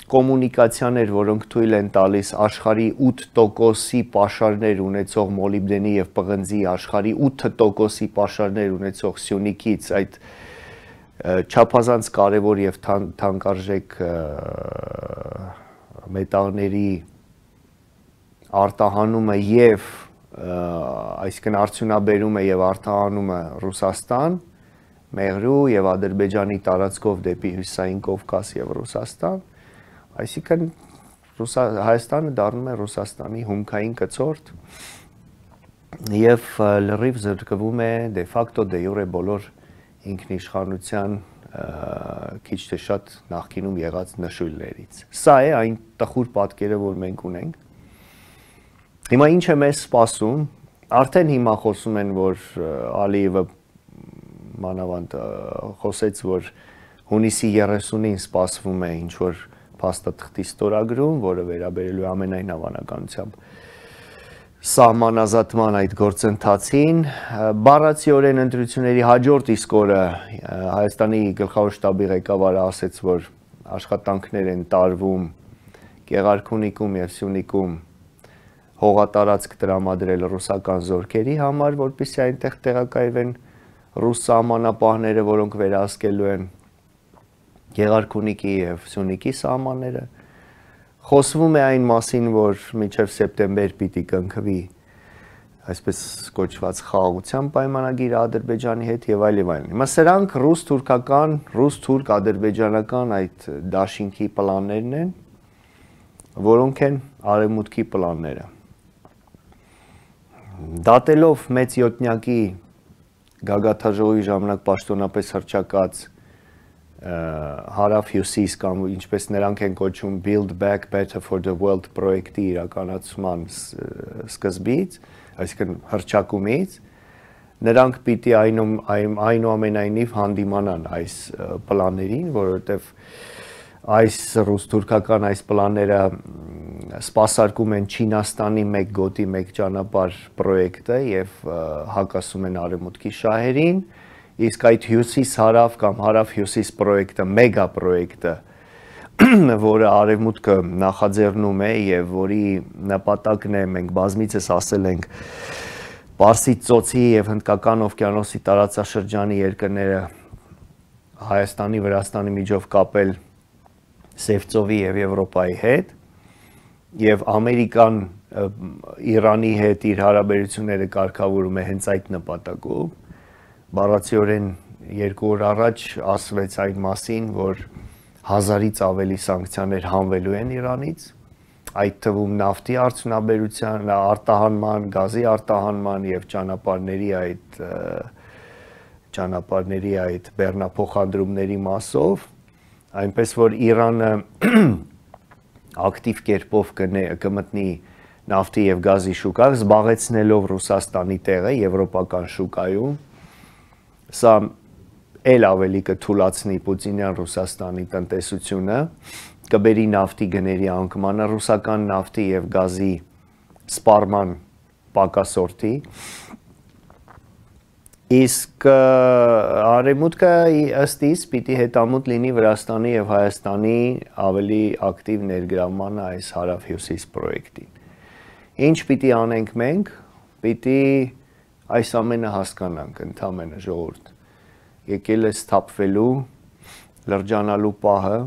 կոմունիկացիաներ, որոնք թույլ են տալիս աշխարհի ութ տոկոսի պաշարներ ունեցող մոլիբդենի եւ պղնձի աշխարհի ութ տոկոսի պաշարներ ունեցող Սյունիքից այդ չափազանց կարևոր եւ թանկարժեք մետաղների արտահանումը եւ այսինքն արդյունաբերումը եւ արտահանումը Ռուսաստան, Մեղրու եւ Ադրբեջանի տարածքով դեպի Հյուսիսային Կովկաս եւ Ռուսաստան, այսինքն Հայաստանը դառնում է Ռուսաստանի հումքային կցորդ եւ լրիվ զրկվում է դե ֆակտո դե յուրե բոլոր ինքնիշխանության քիչ թե շատ նախկինում եղած նշույլներից։ Սա է այն տխուր պատկերը, որ մենք ունենք։ Հիմա ինչ է մեզ սպասում։ Արդեն հիմա խոսում են, որ Ալիևը մանավանդ խոսեց, որ հունիսի երեսունին սպասվում է ինչ որ փաստաթղթի ստորագրում, որը վերաբերելու է ամենայն հավանականությամբ սահմանազատման այդ գործընթացին, բառացիորեն ընտրությունների հաջորդ իսկ օրը Հայաստանի գլխավոր շտաբի ղեկավարը ասեց, որ աշխատանքներ են տարվում Գեղարքունիքում եւ Սյունիքում հողատարածք տրամադրել ռուսական զորքերի համար, որպեսզի այնտեղ տեղակայվեն ռուս սահմանապահները, որոնք վերահսկելու են Գեղարքունիքի եւ Սյունիքի սահմանները։ Խոսվում է այն մասին, որ մինչև սեպտեմբեր պիտի կնքվի այսպես կոչված խաղաղության պայմանագիրը Ադրբեջանի հետ եւ այլ եւ այլն։ Հիմա սրանք ռուս-թուրքական, ռուս-թուրք-ադրբեջանական այդ դաշինքի պլաններն են, որոնք են արևմուտքի պլանները։ Դատելով մեծ յոթնյակի գագաթաժողովի ժամանակ պաշտոնապես հռչակած հարավ-հյուսիս կամ ինչպես նրանք են կոչում Build Back Better for the World պրոյեկտի իրականացման սկզբից, այսինքն հռչակումից, նրանք պիտի այնուամենայնիվ հանդիմանան այս պլաններին, որովհետև այս ռուս-թուրքական այս պլանները սպասարկում են Չինաստանի մեկ գոտի մեկ ճանապարհ պրոյեկտը եւ հակասում են արևմուտքի շահերին, իսկ այդ հյուսիս-հարավ կամ հարավ-հյուսիս պրոյեկտը, մեգա պրոյեկտը, որը արևմուտքը նախաձեռնում է եւ որի նպատակն է, մենք բազմիցս ասել ենք, Պարսից ծոցի եւ Հնդկական օվկիանոսի տարածաշրջանի երկրները Հայաստանի, Վրաստանի միջով կապել Սևծովի եւ Եվրոպայի հետ եւ Ամերիկան Իրանի հետ իր հարաբերությունները կարգավորում է հենց այդ նպատակով։ Բառացիորեն երկու օր առաջ ասվեց այն մասին, որ հազարից ավելի սանկցիաներ հանվելու են Իրանից, այդ թվում նավթի արդյունաբերության, արտահանման, գազի արտահանման եւ ճանապարհների այդ ճանապարհների այդ բեռնափոխադրումների մասով, այնպես որ Իրանը ակտիվ կերպով կմտնի նավթի եւ գազի շուկա, զբաղեցնելով Ռուսաստանի տեղը եվրոպական շուկայում, սա էլ ավելի կթուլացնի Պուտինյան Ռուսաստանի տնտեսությունը, կբերի նավթի գների անկմանը, ռուսական նավթի եւ գազի սպառման պակասորթի, Իսկ արևմուտքը ըստ իս պիտի հետամուտ լինի Վրաստանի եւ Հայաստանի ավելի ակտիվ ներգրավմանը այս հարավ-հյուսիս պրոյեկտին։ Ինչ պիտի անենք մենք, պիտի այս ամենը հասկանանք ընդամենը ժողովուրդ։ Եկել է սթափվելու, լրջանալու պահը,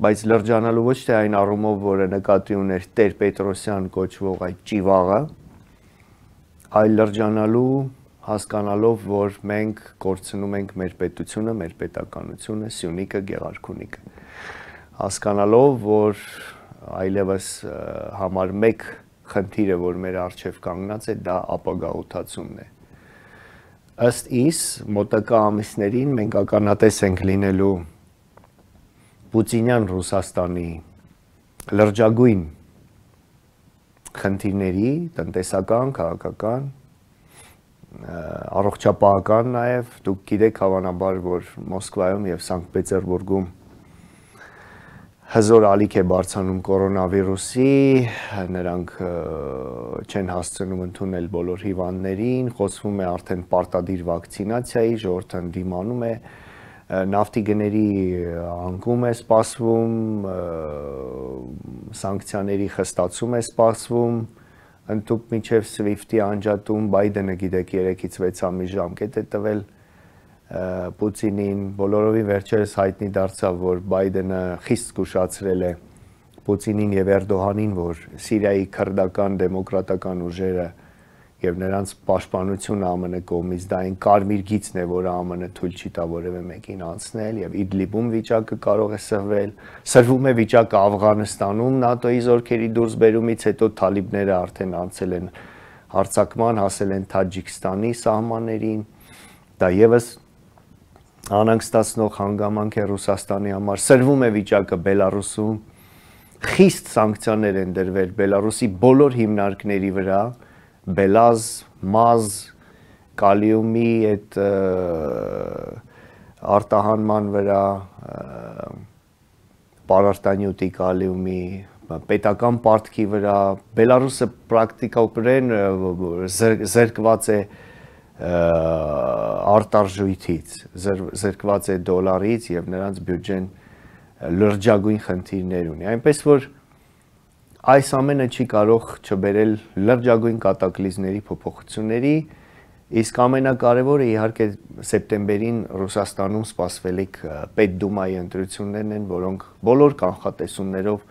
բայց լրջանալու ոչ թե այն առումով, որը նկատի ուներ Տեր Պետրոսյան կոչվող այդ ճիվաղը, այլ լրջանալու հասկանալով, որ մենք կորցնում ենք մեր պետությունը, մեր պետականությունը, Սյունիքը, Գեղարքունիքը։ Հասկանալով, որ այլևս համար մեկ խնդիրը, որ մեր առջև կանգնած է, դա ապագաղութացումն է։ Ըստ իս, մոտակա ամիսներին մենք ականատես ենք լինելու Պուտինյան Ռուսաստանի լրջագույն խնդիրների, տնտեսական, քաղաքական, առողջապահական նաև, դուք գիտեք հավանաբար, որ Մոսկվայում եւ Սանկտ Պետերբուրգում հզոր ալիք է բարձրանում կորոնավիրուսի, նրանք չեն հասցնում ընդունել բոլոր հիվանդներին, խոսվում է արդեն պարտադիր վակցինացիայի, ժողովուրդը դիմանում է, նավթի գների անկում է սպասվում, սանկցիաների խստացում է սպասվում, ընդհուպ մինչև Սվիֆտի անջատում Բայդենը գիտեք երեքից վեց ամիս ժամկետ է տվել Պուտինին, բոլորովին վերջերս հայտնի դարձավ, որ Բայդենը խիստ զգուշացրել է Պուտինին եւ Էրդողանին, որ Սիրիայի քրդական դեմոկրատական ուժերը եւ նրանց պաշտպանությունը ԱՄՆ կողմից դա այն կարմիր գիծն է, որը ԱՄՆ թույլ չի տա որևէ մեկին անցնել եւ Իդլիբում վիճակը կարող է սրվել, սրվում է վիճակը Աֆղանստանում ՆԱՏՕ-ի զորքերի դուրսբերումից հետո թալիբները արդեն անցել են հարձակման, հասել են Թաջիկստանի սահմաններին, դա եւս անհանգստացնող հանգամանք է Ռուսաստանի համար, սրվում է վիճակը Բելարուսում, խիստ սանկցիաներ են դրվել Բելարուսի բոլոր հիմնարկների վրա, Բելազ, մազ, կալիումի այդ արտահանման վրա, պարարտանյութի կալիումի, պետական պարտքի վրա, Բելարուսը պրակտիկորեն զրկված է արտարժույթից, զրկված է դոլարից եւ նրանց բյուջեն լրջագույն խնդիրներ ունի, այնպես որ այս ամենը չի կարող չբերել լրջագույն կատակլիզմների փոփոխությունների, իսկ ամենակարևորը իհարկե սեպտեմբերին Ռուսաստանում սպասվելիք Պետդումայի ընտրություններն են, որոնք բոլոր կանխատեսումներով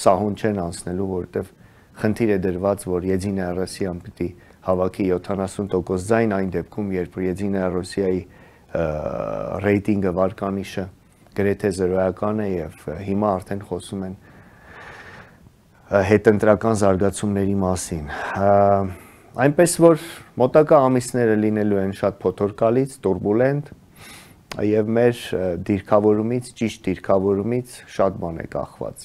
սահուն չեն անցնելու, որովհետև խնդիր է դրված, որ Եդինայա Ռոսիան պիտի հավաքի յոթանասուն տոկոս ձայն այն դեպքում, երբ Եդինայա Ռոսիայի ռեյտինգը վարկանիշը գրեթե զրոյական է եւ հիմա արդեն խոսում են հետընտրական զարգացումների մասին։ Այնպես որ մոտակա ամիսները լինելու են շատ փոթորկալից, տուրբուլենտ եւ մեր դիրքավորումից, ճիշտ դիրքավորումից շատ բան է կախված։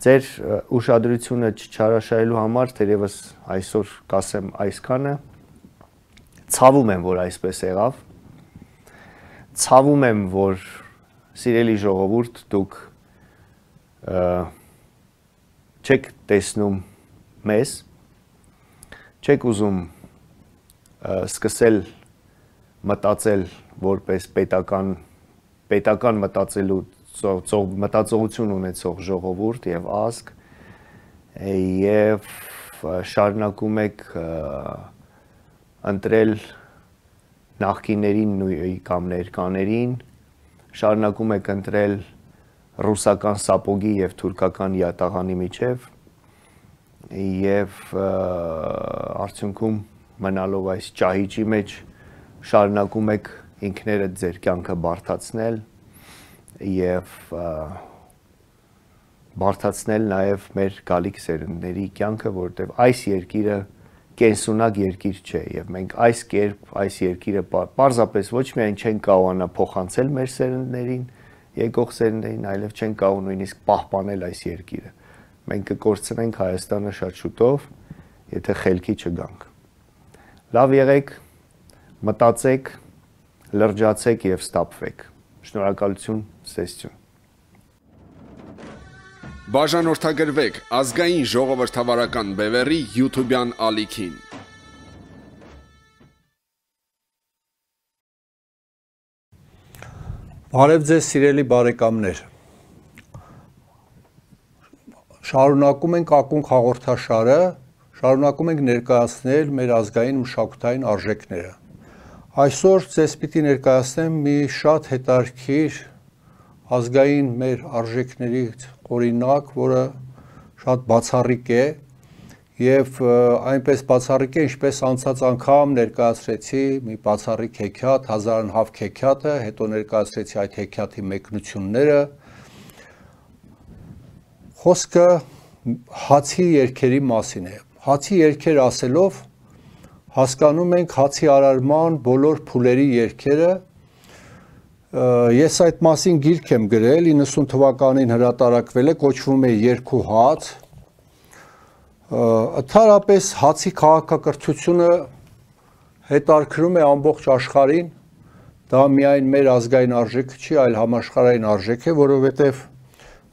Ձեր ուշադրությունը չչարաշահելու համար թերևս այսօր կասեմ այսքանը, ցավում եմ, որ այսպես եղավ, ցավում եմ, որ սիրելի ժողովուրդ, դուք չեք տեսնում մեզ, չեք ուզում սկսել մտածել որպես պետական, պետական մտածելու մտածողություն ունեցող ժողովուրդ եւ ազգ եւ շարունակում եք ընտրել նախկիներին կամ ներկաներին, շարունակում եք ընտրել ռուսական սապոգի եւ թուրքական յատաղանի միջև եւ արդյունքում մնալով այս ճահիճի մեջ շարունակում եք ինքներդ ձեր կյանքը բարթացնել եւ բարթացնել նաեւ մեր գալիք սերունդների կյանքը, որովհետեւ այս երկիրը կենսունակ երկիր չէ եւ մենք այս կերպ այս երկիրը պարզապես ոչ միայն չենք կարողանա փոխանցել մեր սերունդներին, եկող սերունդներին, այլև չենք կարող նույնիսկ պահպանել այս երկիրը։ Մենք կկորցնենք Հայաստանը շատ շուտով, եթե խելքի չգանք։ Լավ եղեք, մտածեք, լրջացեք եւ ստապվեք։ Շնորհակալություն, սեստյուն։ Բաժանորդագրվեք ազգային ժողովրդավարական բևեռի YouTube-յան ալիքին։ Բարև ձեզ սիրելի բարեկամներ։ Շարունակում ենք ակունք հաղորդաշարը, շարունակում ենք ներկայացնել մեր ազգային մշակութային արժեքները։ Այսօր ձեզ պիտի ներկայացնեմ մի շատ հետաքրքիր ազգային մեր արժեքների օրինակ, որը շատ բացառիկ է եւ այնպես բացառիկ է, ինչպես անցած անգամ ներկայացրեցի մի բացառիկ հեքիաթ, հազարանհավ հեքիաթը, հետո ներկայացրեցի այդ հեքիաթի մեկնությունները։ Խոսքը հացի երգերի մասին է։ Հացի երգեր ասելով հասկանում ենք հացի արարման բոլոր փուլերի երգերը։ Ես այդ մասին գիրք եմ գրել, իննսուն թվականին հրատարակվել է, կոչվում է Երգ ու հաց։ Ընդհանրապես հացի քաղաքակրթությունը հետաքրքրում է ամբողջ աշխարհին, դա միայն մեր ազգային արժեքը չի, այլ համաշխարհային արժեք է, որովհետև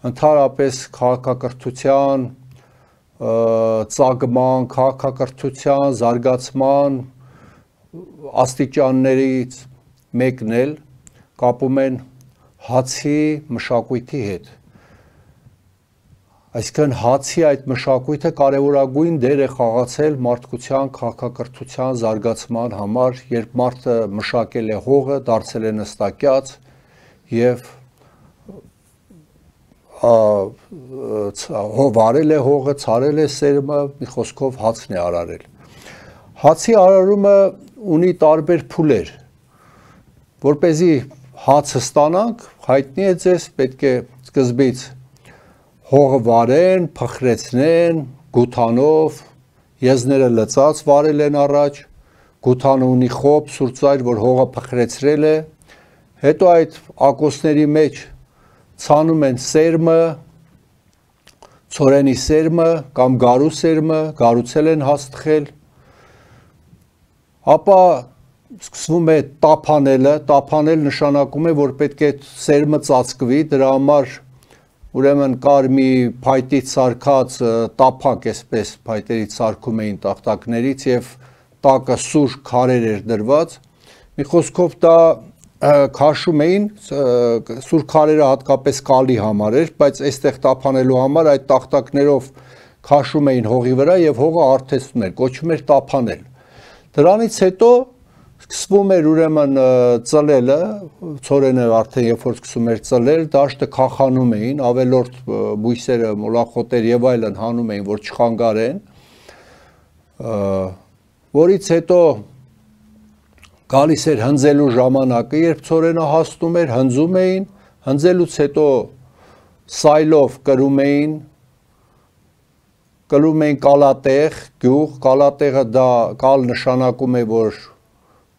ընդհանրապես քաղաքակրթության ծագման, քաղաքակրթության զարգացման աստիճաններից մեկն էլ կապում են հացի մշակույթի հետ։ Այսինքն հացի այդ մշակույթը կարևորագույն դեր է խաղացել մարդկության քաղաքակրթության զարգացման համար, երբ մարդը մշակել է հողը, դարձել է նստակյաց եւ վարել է հողը, ցարել է սերմը, մի խոսքով հացն է արարել։ Հացի արարումը ունի տարբեր փուլեր։ Որպեսզի հացը ստանանք, հայտնի է ձեզ, պետք է սկզբից հողը վարեն, փխրեցնեն, գութանով, եզները լծած վարել են առաջ, գութանը ունի խոբ, սուրծայր, որ հողը փխրեցրել է, հետո այդ ակոսների մեջ ցանում են սերմը, ցորենի սերմը կամ գարու սերմը, գարուցել են հաստխել, ապա սկսվում է տափանելը, տափանել նշանակում է, որ պետք է սերմը ծածկվի, դրա համար ուրեմն կար մի փայտից սարքած տափակ, այսպես փայտերից սարքում էին տախտակներից եւ տակը սուր քարեր էր դրված։ Մի խոսքով դա քաշում էին, սուր քարերը հատկապես կալի համար էր, բայց այստեղ տափանելու համար այդ տախտակներով քաշում էին հողի վրա եւ հողը արթեսվում էր, կոչվում էր տափանել։ Դրանից հետո սկսվում էր ուրեմն ծլելը, ցորենը արդեն երբ որ սկսում էր ծլել, դաշտը քախանում էին, ավելորդ բույսերը, մոլախոտեր եւ այլն հանում էին, որ չխանգարեն, որից հետո գալիս էր հնձելու ժամանակը, երբ ցորենը հաստում էր, հնձում էին, հնձելուց հետո սայլով կրում էին, կրում էին կալատեղ, գյուղ, կալատեղը դա կալ նշանակում է, որ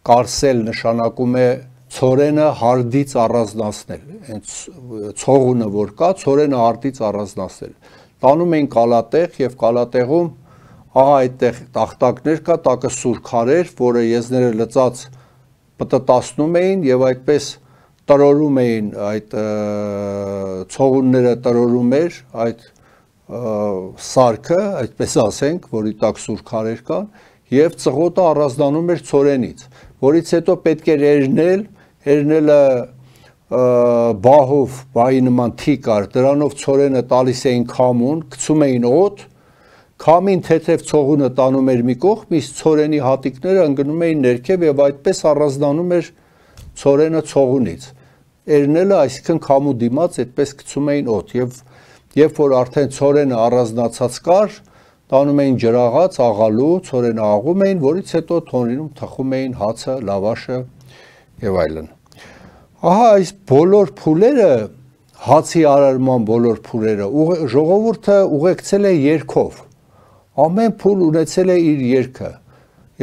կարսել նշանակում է ցորենը հարդից առանձնացնել, հենց ցողունը որ կա, ցորենը հարդից առանձնացնել։ Տանում էին կալատեղ եւ կալատեղում ահա այդտեղ տախտակներ կա, տակը սուր քարեր, որը եզները լծած պտտացնում էին եւ այդպես տրորում էին այդ ցողունները տրորում էր այդ սարքը, այդպես ասենք, որի տակ սուր քարեր կան եւ ծղոտը առանձնանում էր ցորենից, որից հետո պետք էր երնել, երնելը բահով, բահի նման թի կար, դրանով ցորենը տալիս էին քամուն, գցում էին օդ, քամին թեթև ցողունը տանում էր մի կողմ, իսկ ցորենի հատիկները ընկնում էին ներքև եւ այդպես առանձնանում էր ցորենը ցողունից։ Երնելը, այսինքն քամու դիմաց այդպես գցում էին օդ եւ երբ որ արդեն ցորենը առանձնացած կար, տանում էին ջրաղաց, աղալու, ցորենը աղում էին, որից հետո թոնրինում թխում էին հացը, լավաշը եւ այլն։ Ահա այս բոլոր փուլերը, հացի արարման բոլոր փուլերը ժողովուրդը ուղեկցել է երգով։ Ամեն փուլ ունեցել է իր երգը։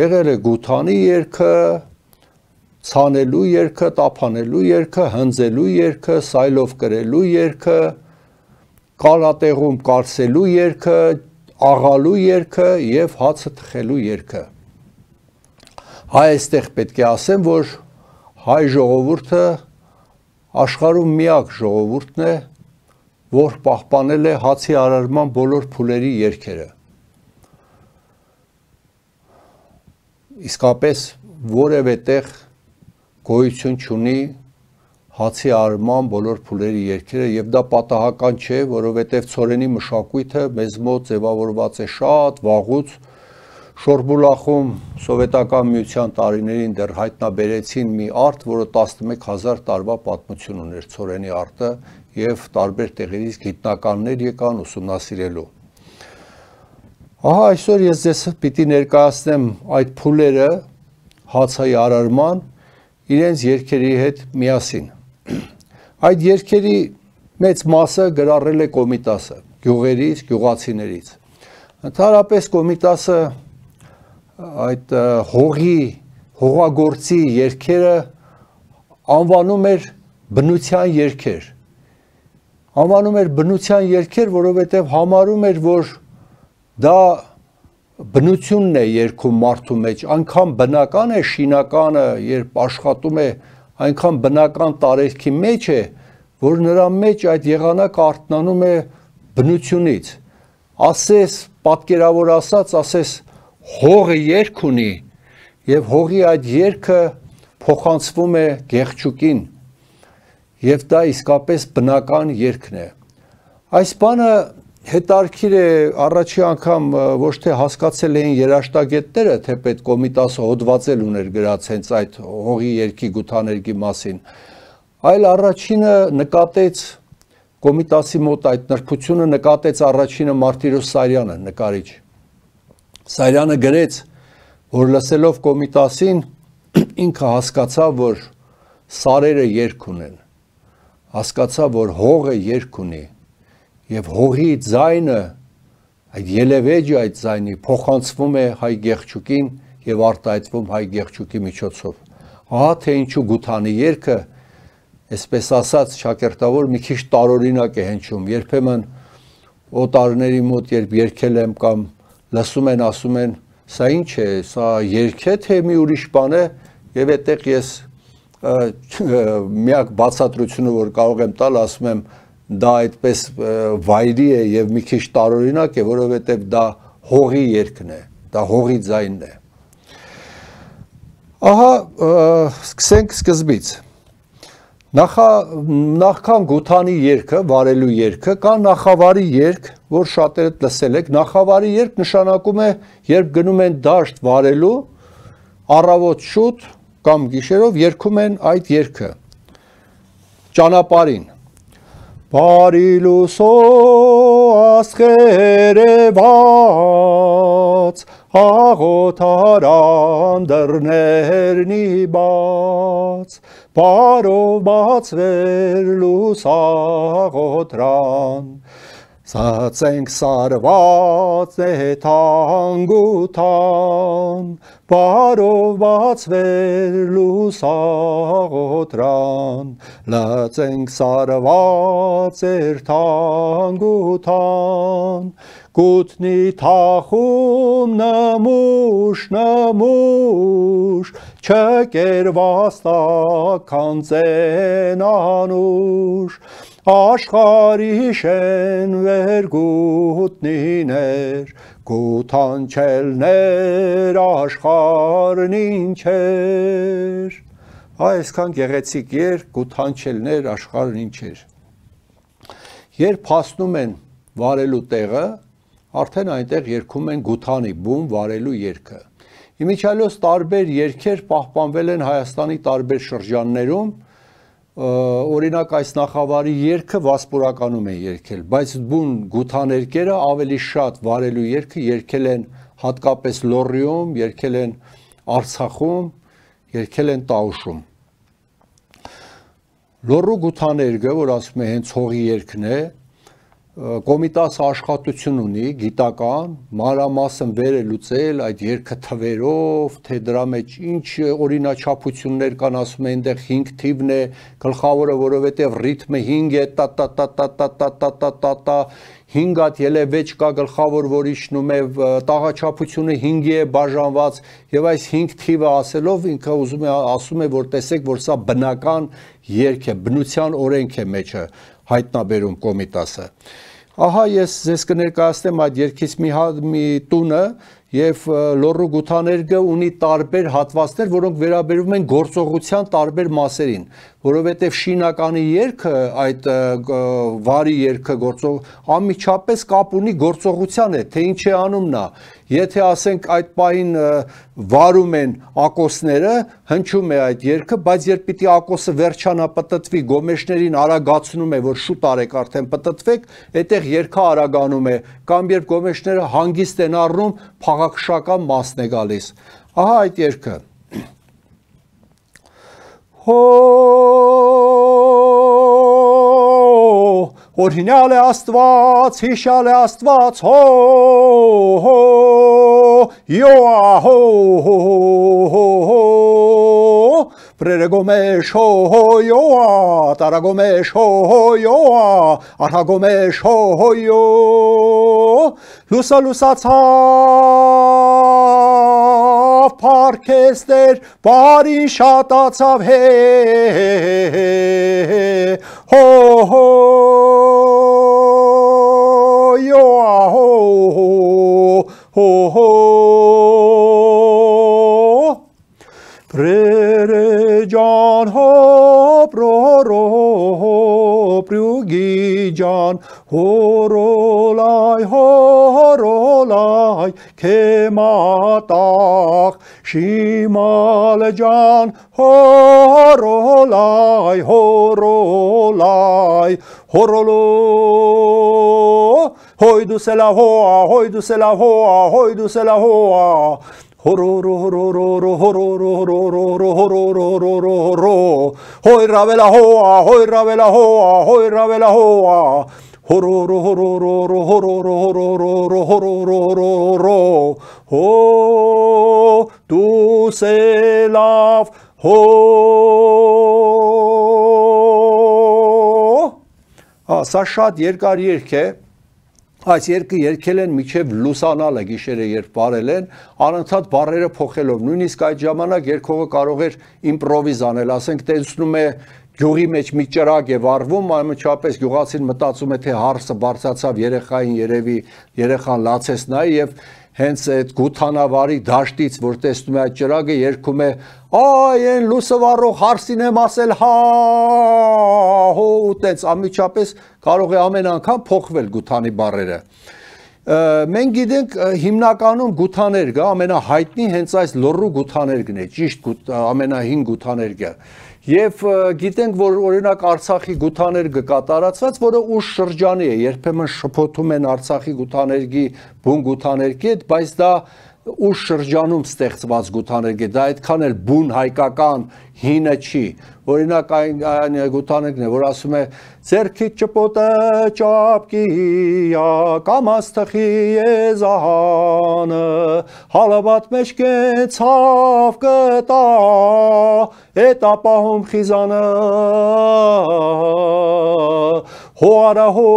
Եղել է գութանի երգը, ցանելու երգը, տափանելու երգը, հնձելու երգը, սայլով կրելու երգը, կալատեղում կարսելու երգը, աղալու երգը եւ հացը թխելու երգը։ Հայ այստեղ պետք է ասեմ, որ հայ ժողովուրդը աշխարհում միակ ժողովուրդն է, որ պահպանել է հացի արարման բոլոր փուլերի երգերը։ Իսկապես որևէ տեղ գոյություն չունի հացի արման բոլոր փուլերի երգերը եւ դա պատահական չէ, որովհետեւ ցորենի մշակույթը մեզ մոտ ձևավորված է շատ վաղուց Շորբուլախում սովետական միության տարիներին դեռ հայտնաբերեցին մի արտ, որը տասնմեկ հազար տարվա պատմություն ուներ ցորենի արտը եւ տարբեր տեղերից գիտնականներ եկան ուսումնասիրելու։ Ահա այսօր ես ձեզ պիտի ներկայացնեմ այդ փուլերը հացայի արարման իրենց երգերի հետ միասին։ Այդ երգերի մեծ մասը գրառել է Կոմիտասը, գյուղերից, գյուղացիներից։ Ընդհանրապես Կոմիտասը այդ հողի, հողագործի երգերը անվանում էր բնության երգեր։ Անվանում էր բնության երգեր, որովհետև համարում էր, որ դա բնությունն է երգում մարդու մեջ, այնքան բնական է շինականը, երբ աշխատում է, այնքան բնական տարերքի մեջ է, որ նրա մեջ այդ եղանակը արթնանում է բնությունից։ Ասես, պատկերավոր ասած, ասես հողը երգ ունի եւ հողի այդ երգը փոխանցվում է գեղչուկին եւ դա իսկապես բնական երգն է։ Այս բանը հետարքիր է առաջի անգամ ոչ թե հասկացել էին երաշտագետները, թե պետք Կոմիտասը հոդվածել ուներ գրած հենց այդ հողի երգի գութաներգի մասին, այլ առաջինը նկատեց Կոմիտասի մոտ այդ նրբությունը նկատեց առաջինը Մարտիրոս Սարյանը, նկարիչ։ Սարյանը գրեց, որ լսելով Կոմիտասին ինքը հասկացավ, որ սարերը երգ ունեն, հասկացավ, որ հողը երգ ունի եւ հողի ձայնը, այդ ելևեջը այդ ձայնի փոխանցվում է հայ գեղչուկին եւ արտահայտվում հայ գեղչուկի միջոցով։ Ահա թե ինչու գութանի երգը, այսպես ասած, շակերտավոր մի քիչ տարօրինակ է հնչում։ Երբեմն օտարների մոտ երբ երգել եմ կամ լսում են, ասում են, սա ինչ է, սա երգ է, թե մի ուրիշ բան է, եւ այդտեղ ես միակ բացատրությունը, որ կարող եմ տալ, ասում եմ, դա այդպես վայրի է եւ մի քիչ տարօրինակ է, որովհետեւ դա հողի երգն է, դա հողի ձայնն է։ Ահա սկսենք սկզբից։ Նախա նախքան գութանի երգը, վարելու երգը, կա նախավարի երգ, որ շատերդ լսել եք, նախավարի երգ նշանակում է, երբ գնում են դաշտ վարելու, առավոտ շուտ կամ գիշերով երգում են այդ երգը։ Ճանապարհին Բարի լուսո ասխերեված, աղոթարան դռներնի բաց, բարով բացվեր լուսաղոթրան, Սացենք սարված է թանգութան, բարով բացվեր լուսաղոթրան, լծենք սարված էր թանգութան, կուտնի թախում նմուշ, նմուշ, չկերված տաքան ծենանուշ, աշխարհի շեն վեր գուտնիներ, գութանչելներ աշխարհն ինչեր։ Այսքան գեղեցիկ երգ, գութանչելներ աշխարհն ինչեր։ Երբ հասնում են վարելու տեղը, արդեն այնտեղ երգում են գութանի բում վարելու երգը։ Իմիջիայլոց տարբեր երգեր պահպանվել են Հայաստանի տարբեր շրջաններում, օրինակ այս նախավարի երգը վասպուրականում են երգել, բայց բուն գութաներգերը ավելի շատ վարելու երգը երգել են հատկապես Լոռիում, երգել են Արցախում, երգել են Տաուշում։ Լոռու գութաներգը, որ ասում է հենց հողի երգն է, Կոմիտասը աշխատություն ունի, գիտական, մանրամասն վեր է լուծել այդ երգը թվերով, թե դրա մեջ ինչ օրինաչափություններ կան, ասում են այնտեղ հինգ թիվն է, գլխավորը, որովհետև ռիթմը հինգ է, տա տա տա տա տա տա տա տա տա տա հինգ հատ ելևեջ կա գլխավոր, որ իջնում է, տաղաչափությունը հինգի է բաժանված, եւ այս հինգ թիվը ասելով ինքը ուզում է ասում է, որ տեսեք, որ սա բնական երգ է, բնության օրենք է մեջը հայտնաբերում Կոմիտասը։ Ահա ես ձեզ կներկայացնեմ այդ երգից մի, մի տունը եւ Լոռու գութաներգը ունի տարբեր հատվածներ, որոնք վերաբերում են գործողության տարբեր մասերին։ որովհետև շինականի երգը, այդ վարի երգը գործող անմիջապես կապ ունի գործողության հետ, թե ինչ է անում նա։ Եթե ասենք այդ պահին վարում են ակոսները, հնչում է այդ երգը, բայց երբ պիտի ակոսը վերջանա պտտվի, գոմեշներին արագացնում է, որ շուտ արեք արդեն պտտվեք, այդտեղ երգը արագանում է, կամ երբ գոմեշները հանգիստ են առնում, փաղաքշական մասն է գալիս։ Ահա այդ երգը։ Հո Օրհինյալ է Աստված, հիշյալ է Աստված, հո հո յոա հո հո հո Պրերեգոմեշ հո հո յոա տարագոմեշ հո հո յոա արհագոմեշ հո հո յո լուսա լուսացավ փարքեստեր բարի շատացավ հե հո հո յոա հո հո հո Prere Jan ho proro prugi Jan horolai horolai kematach shimal Jan horolai horolai horolo hoidu sela hoa hoidu sela hoa hoidu sela hoa Hororo hororo hororo hororo hororo hororo Hoi ravela hoa hoi ravela hoa hoi ravela hoa Hororo hororo hororo hororo hororo Ho tu selav ho Սա շատ երկար երգ է Այս երկը երգել են միջև լուսանալը գիշերը երբ բարել են, անընդհատ բառերը փոխելով, նույնիսկ այդ ժամանակ երգողը կարող էր իմպրովիզ անել, ասենք տեսնում է գյուղի մեջ մի ճրագ է վառվում, անմիջապես գյուղացին մտածում է թե հարսը բարձրացավ երեխային երևի երեխան լացես նայի եւ հենց այդ գութանավարի դաշտից որ տեսնում է այդ ճրագը երգում է այ այն լուսը վառող հարսին եմ ասել հա հո ուտեց անմիջապես կարող է ամեն անգամ փոխվել գութանի բառերը մենք գիտենք հիմնականում գութաներգը ամենահայտնի հենց այս լոռու գութաներգն է ճիշտ ամենահին գութաներգը Եվ գիտենք, որ օրինակ Արցախի գութաներգը կատարածված, որը ուշ շրջանի է, երբեմն շփոթում են Արցախի գութաներգի բուն գութաներգի հետ, բայց դա ուշ շրջանում ստեղծված գութաներգ է, դա այդքան էլ բուն հայկական հինը չի, օրինակ այն գութաներգն է, որ ասում է ձերքիդ ճպոտը ճապկիա, կամաց թխի եզահանը, հալաբատ մեջ կեցավ կտա, էտ ապահում խիզանը, հո արա հո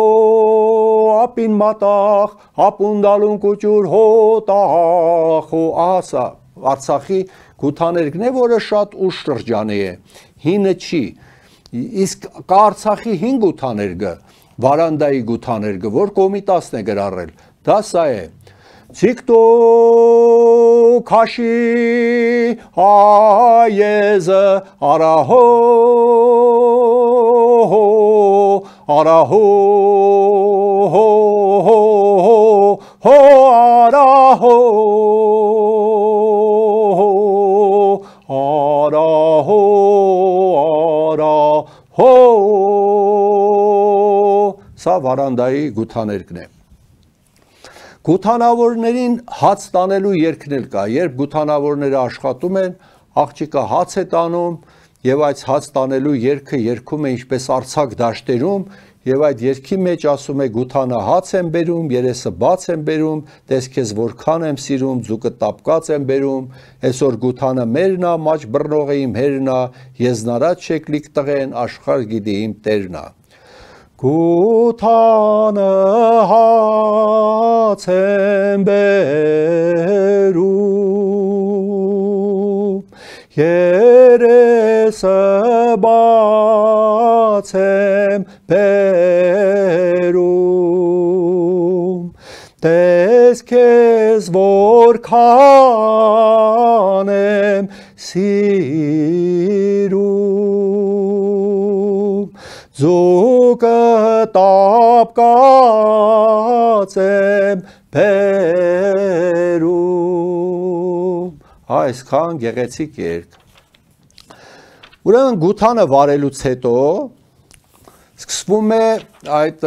ապին մատախ, ապունդալուն կուճուր հոտախ, հո ասա, Արցախի գութաներգն է, որը շատ ուշ շրջանի է, հինը չի, իսկ կա Արցախի հին գութաներգը, վարանդայի գութաներգը, որ Կոմիտասն է գրառել, դա սա է, Ցիկտո քաշի այեզը արահո արահո հո արահո արահո արահո Սա վարանդայի գութաներգն է Գութանավորներին հաց տանելու երգն էլ կա, երբ գութանավորները աշխատում են, աղջիկը հաց է տանում եւ այդ հաց տանելու երգը երգում է ինչպես Արցախ դաշտերում եւ այդ երգի մեջ ասում է գութանը հաց եմ բերում, երեսը բաց եմ բերում, տես քեզ որքան եմ սիրում, ձուկը տապկած եմ բերում, այսօր գութանը մերն է, մաչ բռնող է իմ հերն է, եզնարած շեկլիկ տղեն աշխարհ գիտի իմ տերն է Գութանը հաց եմ բերում, երեսը բաց եմ բերում, տես քեզ որքան եմ սիրում ձուկը տապկած եմ բերում։ Այսքան գեղեցիկ երգ։ Ուրեմն գութանը վարելուց հետո սկսվում է այդ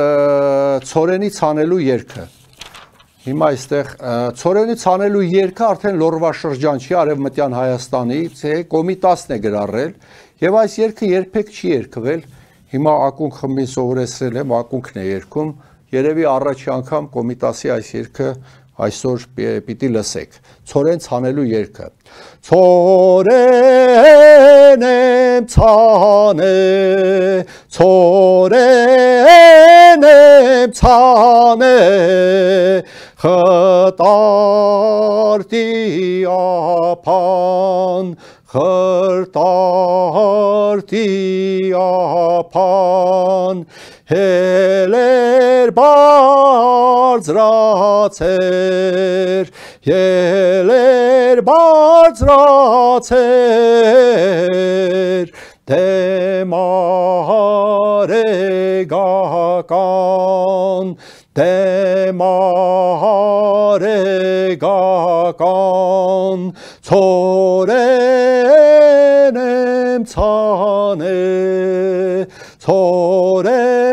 ցորենի ցանելու երգը։ Հիմա այստեղ ցորենի ցանելու երգը արդեն Լոռվա շրջան չի, Արևմտյան Հայաստանի, Կոմիտասն է գրառել, եւ այս երգը երբեք չի երգվել։ Հիմա ակունք խմբին սովորեցրել եմ, ակունքն է երգում, երևի առաջի անգամ Կոմիտասի այս երգը այսօր պիտի լսեք։ Ցորեն ցանելու երգը։ Ցորեն եմ ցանել, ցորեն եմ ցանել, խտարտի ափան, խրտարտի ափան, հելեր բարձրացեր, ելեր բարձրացեր, դեմ արեգական, դեմ արեգական, ցորեն եմ ցանել, ցորեն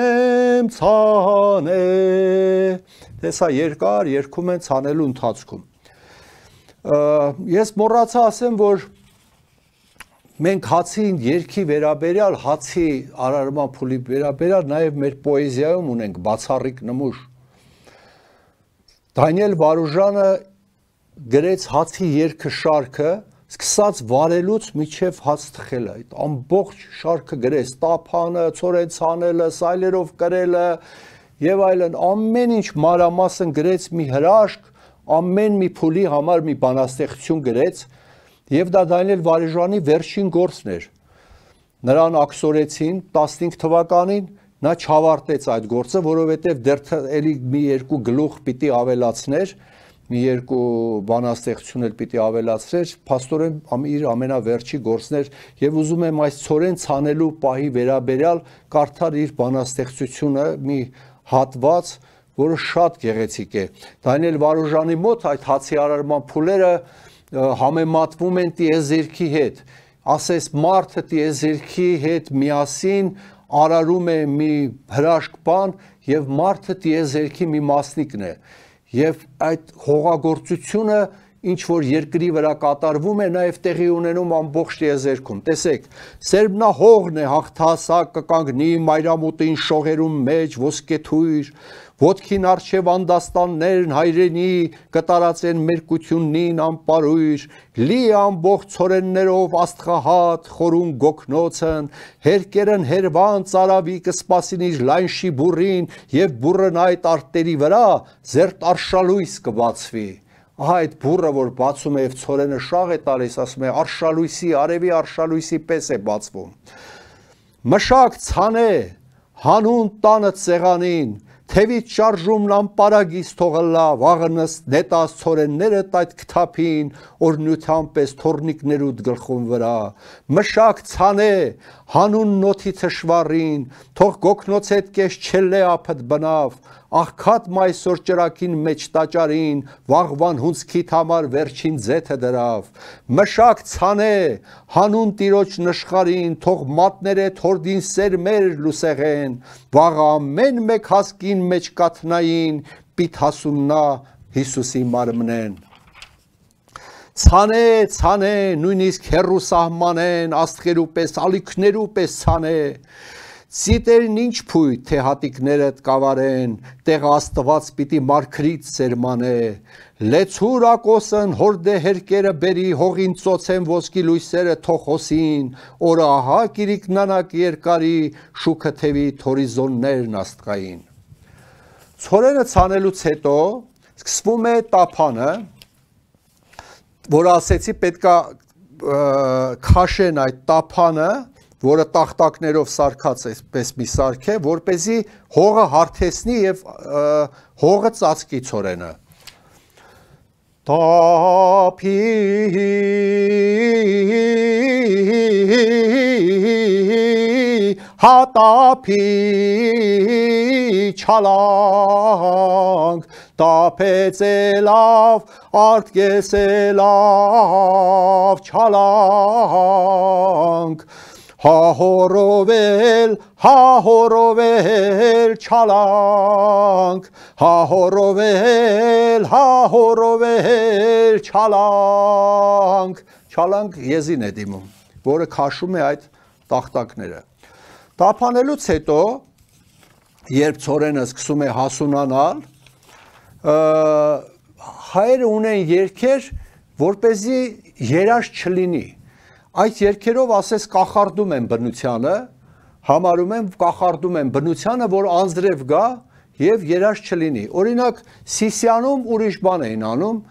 եմ ցանել։ Տեսա երկար երգում են ցանելու ընթացքում։ Ես մոռացա ասեմ, որ մենք հացի երգի վերաբերյալ, հացի արարման փուլի վերաբերյալ նաև մեր պոեզիայում ունենք բացառիկ նմուշ։ Դանիել Վարուժանը գրեց հացի երգը շարքը, սկսած վարելուց մինչև հաց թխելը, այդ ամբողջ շարքը գրեց, տափանը, ցորեն ցանելը, սայլերով կրելը եւ այլն, ամեն ինչ մանրամասն գրեց, մի հրաշք, ամեն մի փուլի համար մի բանաստեղծություն գրեց, եւ դա Դանիել Վարուժանի վերջին գործն էր։ Նրան աքսորեցին տասնհինգ թվականին, նա չավարտեց այդ գործը, որովհետեւ դեռ էլի մի երկու գլուխ պիտի ավելացներ, մի երկու բանաստեղծություն էլ պիտի ավելացներ, փաստորեն իր ամենավերջի գործն էր, եւ ուզում եմ այս ցորեն ցանելու պահի վերաբերյալ կարդալ իր բանաստեղծությունը, մի հատված, որը շատ գեղեցիկ է։ Դանիել Վարուժանի մոտ այդ հացի արարման փուլերը համեմատվում են տիեզերքի հետ, ասես մարդը տիեզերքի հետ միասին արարում է մի հրաշք բան եւ մարդը տիեզերքի մի մասնիկն է եւ այդ հողագործությունը ինչ որ երկրի վրա կատարվում է նաեւ տեղի ունենում ամբողջ տիեզերքում։ Տեսեք, Սերբնահողն է հաղթահասակ կկանգնի մայրամուտին շողերում մեջ ոսկեթույր, ոտքին առջև անդաստաններն հայրենի կտարածեն մերկություննին անպարույր, լի ամբողջ ցորեններով աստղահատ խորուն գոքնոցն, հերկերն հերվան ծարավի կսպասին իր լայն շիբուրին եւ բուրըն այդ արտերի վրա զերտ արշալույս կբացվի։ Ահա այդ բուրը, որ բացում է եւ ցորենը շաղ է տալիս, ասում է արշալույսի, արևի արշալույսի պես է բացվում։ Մշակ ցանե, հանուն տանը ցեղանին, թևից շարժումն անպարագիս թողլա, վաղնս նետած ցորենները տայտ կթափին, որ նյութան պես թորնիկներուդ գլխում վրա, մշակ ցանե, հանուն նոթի թշվառին, թող գոքնոցետ կես չելե ափդ բնավ, աղքատ մայսոր ճրակին մեջ տաճարին, վաղվան հունցքիդ համար վերջին ձեթը դրավ, մշակ ցանե, հանուն տիրոջ նշխարին, թող մատները թորդին սերմեր լուսեղեն, վաղ ամեն մեկ հասկին մեջ կաթնային, պիտ հասուննա Հիսուսի մարմնեն։ Ցանե, ցանե, նույնիսկ հերու սահմանեն, աստղերու պես, ալիքներու պես ցանե, Ցիտերն ինչ փույթ, թե հատիկներդ կավարեն, տեղ աստված պիտի մարգրից սերմանե, լեցուր ակոսն հորդե հերկերը բերի, հողին ծոցեն ոսկի լույսերը թոխոսին, օրը ահա կիրիկնանակ երկարի, շուքը թևի թորիզոններն աստղային։ Ցորենը ցանելուց հետո սկսվում է տափանը, որ ասեցի պետքա քաշեն այդ տափանը, որը տախտակներով սարքած է, պես մի սարք է, որպեսզի հողը հարթեցնի եւ հողը ծածկի ցորենը։ Տափի հատապի չալանք, տապեցելով, արտկեսելով չալանք, հահորովել, հահորովել չալանք, հահորովել, հահորովել չալանք, չալանք եզին է դիմում, որը քաշում է այդ տախտակները։ Տափանելուց հետո, երբ ցորենը սկսում է հասունանալ, հայերը ունեն երգեր, որպեսզի երաշտ չլինի։ Այդ երգերով ասես կախարդում են բնությանը, համարում են կախարդում են բնությանը, որ անձրև գա եւ երաշտ չլինի։ Օրինակ Սիսիանում ուրիշ բան էին անում,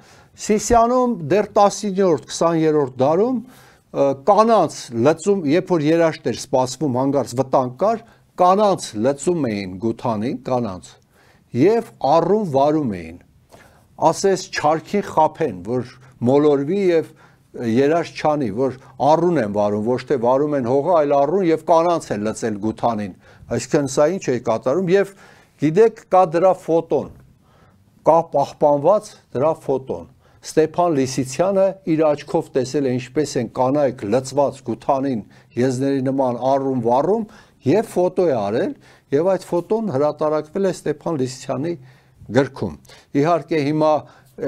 Սիսիանում դեռ տասնյոթերորդ քսաներորդ դարում կանանց լծում, երբ որ երաշտ էր սպասվում, հանգարց վտանգ կար, կանանց լծում էին գութանին, կանանց եւ առում վարում էին, ասես չարքին խափեն, որ մոլորվի եւ երաշտ չանի, որ առուն են վարում, ոչ թե վարում են հողը, այլ առուն եւ կանանց են լծել գութանին, այսինքն սա ինչ է կատարում եւ գիտեք կա դրա ֆոտոն, կա պահպանված դրա ֆոտոն, Ստեփան Լիսիցյանը իր աչքով տեսել է ինչպես են կանայք լծված գութանին եզների նման առում վառում եւ ֆոտո է արել եւ այդ ֆոտոն հրատարակվել է Ստեփան Լիսիցյանի գրքում։ Իհարկե հիմա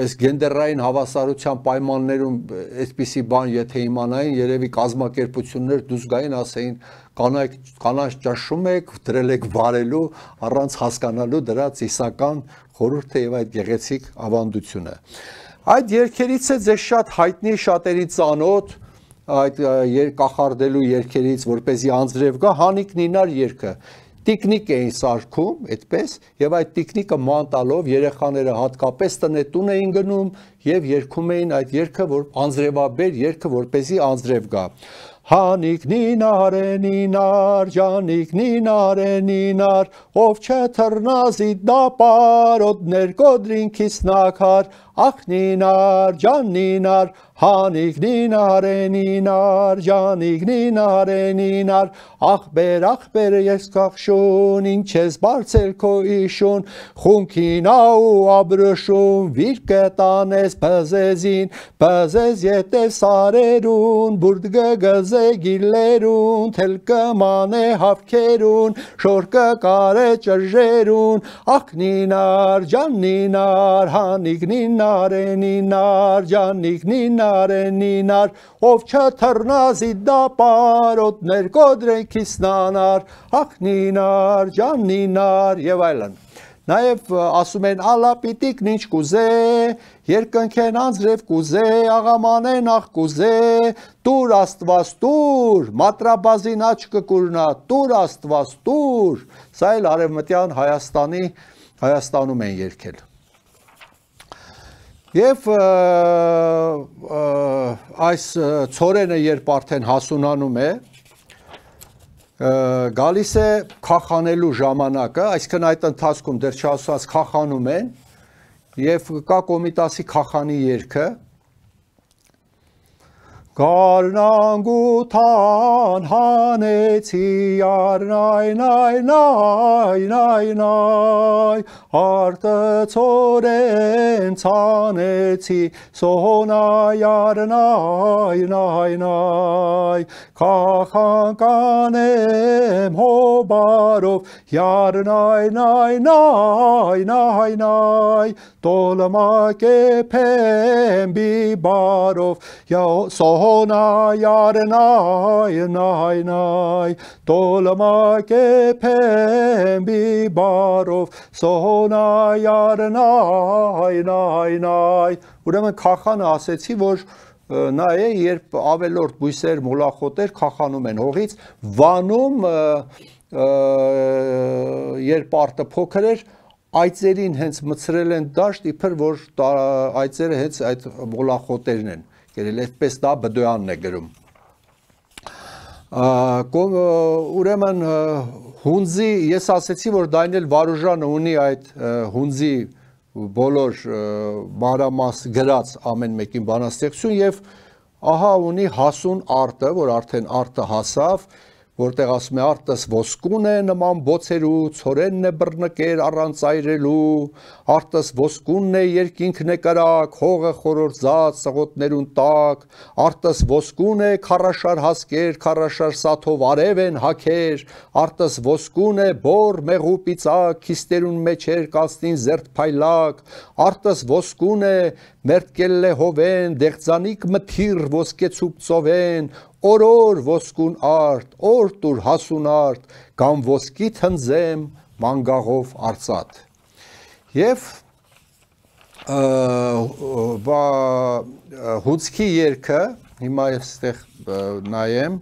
այս գենդերային հավասարության պայմաններում այսպիսի բան եթե իմանային, երևի կազմակերպություններ դուրս գային, ասեին կանայք կանանց ճաշում եք, դրել եք վարելու առանց հասկանալու դրա ծիսական խորհուրդը եւ այդ գեղեցիկ ավանդությունը։ Այդ երգերից է ձեզ շատ հայտնի, շատերի ծանոթ, այդ կախարդելու երգերից, որպեսզի անձրև գա, Հանիկ Նինար երգը։ Տիկնիկ էին սարքում, այդպես, եւ այդ տիկնիկը ման տալով երեխաները հատկապես տնետուն էին գնում եւ երգում էին այդ երգը, որ անձրևաբեր երգը, որպեսզի անձրև գա։ Հանիկ նինար է նինար, ջանիկ նինար է նինար, ով չթռնազի դապարոդներ կոդրինքից նակար, ախ նինար, ջան նինար, հանիկ նինար է նինար, ջանիկ նինար է նինար, ախբեր, ախբեր ես կախշուն, ինչ ես բարձել քո իշուն, խունքին աու աբրշում, վիր կտանես բզեզին, բզեզ ետև սարերուն, բուրդ գգզե գիլերուն, թել կմանե հավքերուն, շոր կկարե ճրժերուն, ախ նինար, ջան նինար, հանիկ նինար է նինար, ջանիկ նինար է նինար, ով չթռնազի դապարոդներ կոդրենքից նանար, ախ նինար, ջան նինար եւ այլն։ Նաև ասում են ալապիտիկն ինչ կուզե, երկնքեն անձրև կուզե, աղամանեն աղ կուզե, տուր աստված տուր, մատրաբազին աչ կկուրնա, տուր աստված տուր, սա էլ արևմտյան Հայաստանի, Հայաստանում են երգել։ Եվ այս ցորենը երբ արդեն հասունանում է, գալիս է քախանելու ժամանակը, այսինքն այդ ընթացքում դեռ չասած քախանում են եւ կա Կոմիտասի քախանի երգը Գարնանգութան հանեցի արնայ նայ նայ նայ նայ արտը ցորեն ցանեցի սոհոնայ արնայ նայ նայ քախան կանեմ հոբարով յարնայ նայ նայ նայ նայ տոլմակեփեմ բիբարով Sohonay arnay nay nay Tolmakepem bibarov Sohonay arnay nay nay Ուրեմն քախանը ասեցի, որ նա է, երբ ավելորդ բույսեր, մոլախոտեր քախանում են հողից, վանում երբ արտը փոքր էր, այծերին հենց մցրել են դաշտ, իբր որ այծերը հենց այդ մոլախոտերն են Կերել այդպես դա Բդոյանն է գրում։ Ուրեմն հունձի, ես ասեցի, որ Դանիել Վարուժանը ունի այդ հունձի բոլոր մանրամաս գրած ամեն մեկին բանաստեղծություն եւ ահա ունի հասուն արտը, որ արդեն արտը հասավ, որտեղ ասում է արտս ոսկուն է նման բոցերու, ցորենն է բռնկեր առանց այրելու, արտս ոսկունն է երկինքն է կրակ, հողը խորորձած սղոտներուն տակ, արտս ոսկուն է քարաշար հասկեր, քարաշար սաթով արև են հակեր, արտս ոսկուն է բոր մեղու պիծակ, քիստերուն մեջեր կացնին զերտ փայլակ, արտս ոսկուն է մերտկել է հովեն, դեղձանիկ մթիր ոսկեցուկ ծովեն, օրոր ոսկուն արդ, օր տուր հասուն արդ, կամ ոսկի թնձեմ մանգաղով արծատ։ Եվ հուցքի երգը, հիմա ես ստեղ նայեմ,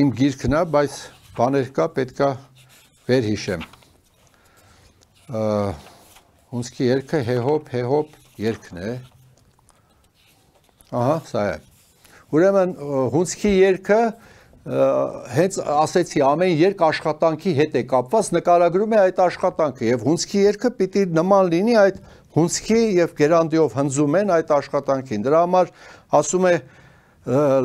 իմ գիրքն է, բայց բաներ կա, պետք է վերհիշեմ։ Հունցքի երգը հեհոպ, հեհոպ երգն է։ Ահա, սա է։ Ուրեմն հունցքի երգը հենց ասեցի ամեն երգ աշխատանքի հետ է կապված, նկարագրում է այդ աշխատանքը եւ հունցքի երգը պիտի նման լինի այդ հունցքի եւ գերանդիով հնձում են այդ աշխատանքին։ Դրա համար ասում է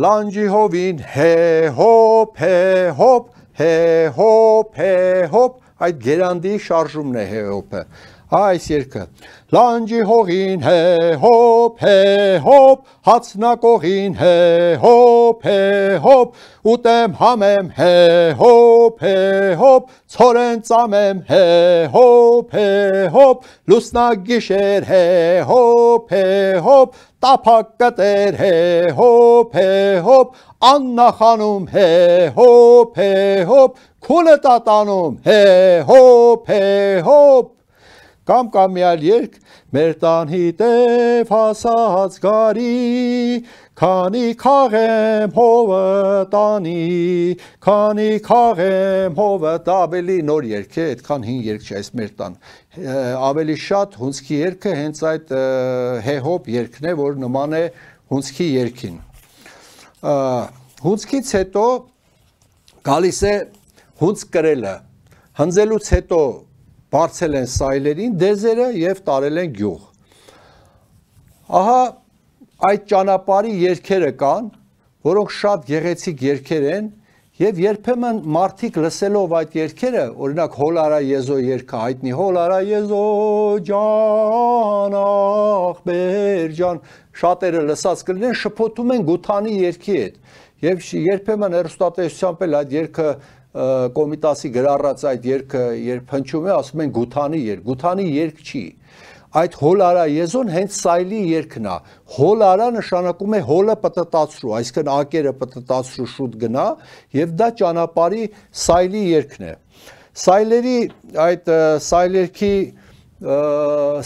լանջի հովին հեհոպ, հեհոպ, հեհոպ, հեհոպ, այդ գերանդիի շարժումն է հեհոպը։ Այս երգը լանջի հողին հեհոպ, հեհոպ, հացնակողին հեհոպ, հեհոպ, ուտեմ համեմ հեհոպ, հեհոպ, ցորեն ծամեմ հեհոպ, հեհոպ, լուսնագիշեր հեհոպ, հեհոպ, տափակ կտեր հեհոպ, հեհոպ, աննախանում հեհոպ, հեհոպ, քուլը տատանում հեհոպ, հեհոպ, կամ կամ մի այլ երգ մեր տան հիտև հասած գարի, քանի քաղեմ հովը տանի, քանի քաղեմ հովը, դա ավելի նոր երգ է, այդքան հին երգ չէ, այս մեր տան, ավելի շատ հունցքի երգը հենց այդ հեհոպ երգն է, որ նման է հունցքի երգին։ Հունցքից հետո գալիս է հունց կրելը, հնձելուց հետո բարձել են սայլերին դեզերը և տարել են գյուղ։ Ահա այդ ճանապարհի երգերը կան, որոնք շատ գեղեցիկ երգեր են և երբեմն մարդիկ լսելով այդ երգերը, օրինակ հոլարա եզո երգը հայտնի, հոլարա եզո ջան, ախպեր ջան, շատերը լսած կլինեն, շփոթում են Գութանի երգի հետ և երբեմն հեռուստատեսությամբ էլ այդ երգը Կոմիտասի գրառած այդ երգը երբ հնչում է, ասում են Գութանի երգ, Գութանի երգ չի։ Այդ հոլարա եզոն հենց սայլի երգն է։ Հոլարա նշանակում է հոլը պտտացրու, այսինքն ակերը պտտացրու շուտ գնա, եւ դա ճանապարհի սայլի երգն է։ Սայլերի այդ սայլերքի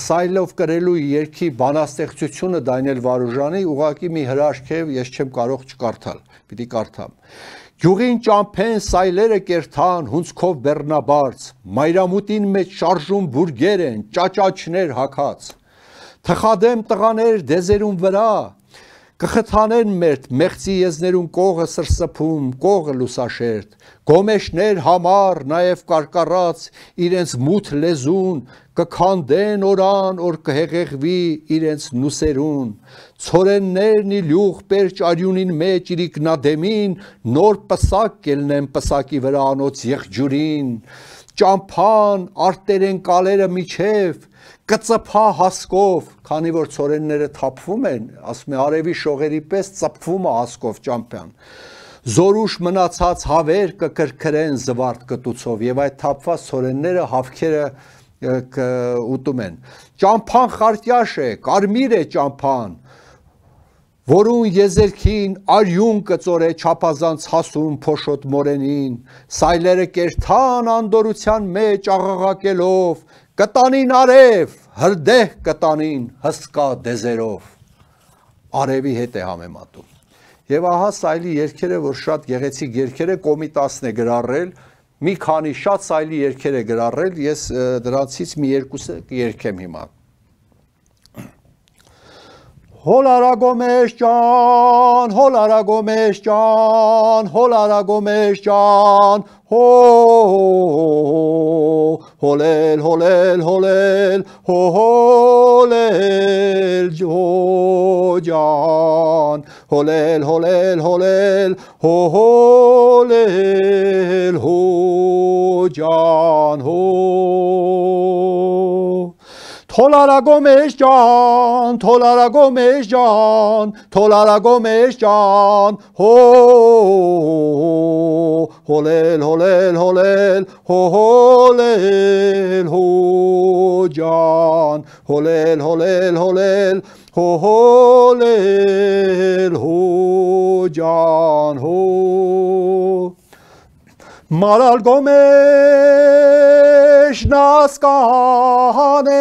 սայլով կրելու երգի բանաստեղծությունը Դանիել Վարուժանի ուղղակի մի հրաշք է, ես չեմ կարող չկարդալ, պիտի կարդամ։ Գյուղին ճամփեն սայլերը կերթան, հունցքով բեռնաբարձ, մայրամուտին մեջ շարժում բուրգեր են, ճաճաչներ հագած, թխադեմ տղաներ դեզերուն վրա, կխթանեն մերտ, մեղծի եզներուն կողը սրսփում, կողը լուսաշերտ, գոմեշներ համար, նաև կարկառած, իրենց մութ լեզուն, կքանդեն օրան, որ կհեղեղվի իրենց նուսերուն, ցորեններն իլյուղ պերճ արյունին մեջ իրիկնադեմին, նոր պսակ կելնեն պսակի վրա անոց եղջուրին, ճամփան, արտերեն կալերը միջև, կծփա հասկով, քանի որ ցորենները թափվում են, ասում է արևի շողերի պես ծփվում է հասկով ճամփան, զորուշ մնացած հավեր կկրկրեն զվարթ կտուցով եւ այդ թափված ցորենները հավքերը ուտում են։ Ճամփան խարտյաշ է, կարմիր է ճամփան, որուն եզերքին արյուն կծորե չափազանց հասուն փոշոտ մորենին, սայլերը կերթան անդորության մեջ աղաղակելով, կտանին արև, հրդեհ կտանին հսկա դեզերով, արևի հետ է համեմատում։ Եվ ահա սայլի երգերը, որ շատ գեղեցիկ երգեր է, Կոմիտասն է գրառել, մի քանի շատ սայլի երգեր է գրառել, ես դրանցից մի երկուսը կերգեմ հիմա։ Հոլարագոմեշ ջան, հոլարագոմեշ ջան, հոլարագոմեշ ջան, հո հոլել, հոլել, հոլել, հոլել ջո ջան, հոլել, հոլել, հոլել, հոլել հո ջան, հո Թոլարագոմեշ ջան, թոլարագոմեշ ջան, թոլարագոմեշ ջան, հո հոլել, հոլել, հոլել, հոլել հո ջան, հոլել, հոլել, հոլել, հոլել հո ջան, հո Մարալ գոմեշ նասկանե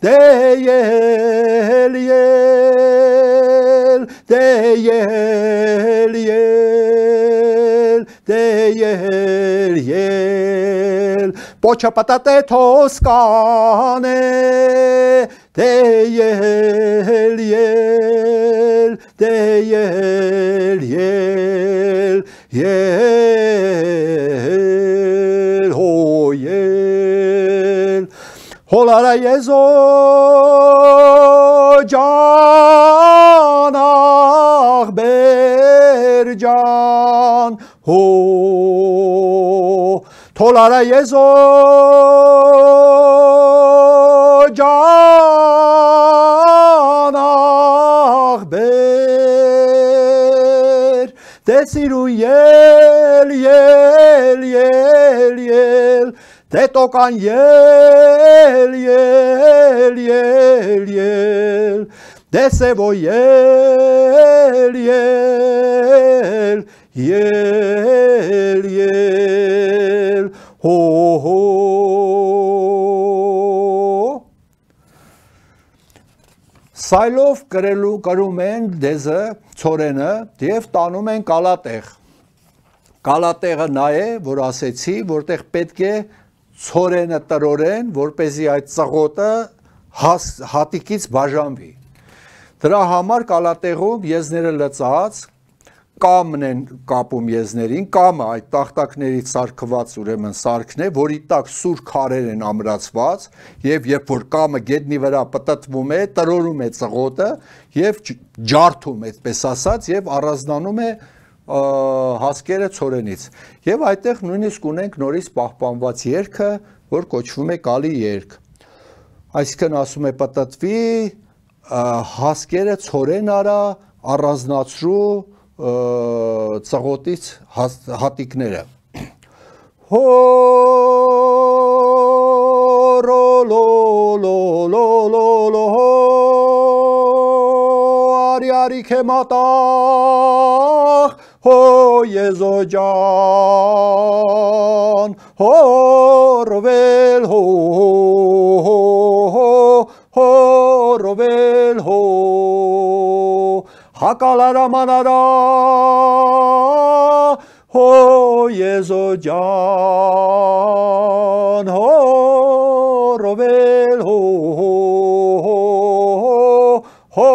դեյել ել դեյել ել դեյել ել պոչա պատատե թոսկանե դեյել ել դեյել ել Yel, ho yel, holara yezo can ah bercan, ho tolara yezo can ah ber Desiru yel, yel, yel, yel, te tocan yel, yel, yel, yel, desebo yel, yel, yel, yel, ho, ho. Սայլով կրելու կրում են դեզը, ծորենը և տանում են կալատեղ։ Կալատեղը նա է, որ ասեցի, որտեղ պետք է ծորենը տրորեն, որպեսզի այդ ծղոտը հատիկից բաժանվի։ Դրա համար կալատեղում եզները լծած, կամն են կապում եզներին, կամը այդ տախտակներից սարքված ուրեմն սարքն է, որի տակ սուր քարեր են ամրացված, և երբ որ կամը գետնի վրա պտտվում է, տրորում է ծղոտը և ջարդում, այդպես ասած, և առանձնանում է հասկերը ծորենից։ Եվ այդտեղ նույնիսկ ունենք նորից պահպանված երգը, որ կոչվում է կալի երգ։ Այսինքն ասում է պտտվի, հասկերը ծորեն արա, առանձնացրու ծղոտից հատիկները։ Հո ռո լո լո լո լո լո արի արի քե մատաղ հո եզո ջան հո ռովել հո հո ռովել հո Հակալարա մանարա հո եզո ջան հո ռովել հո հո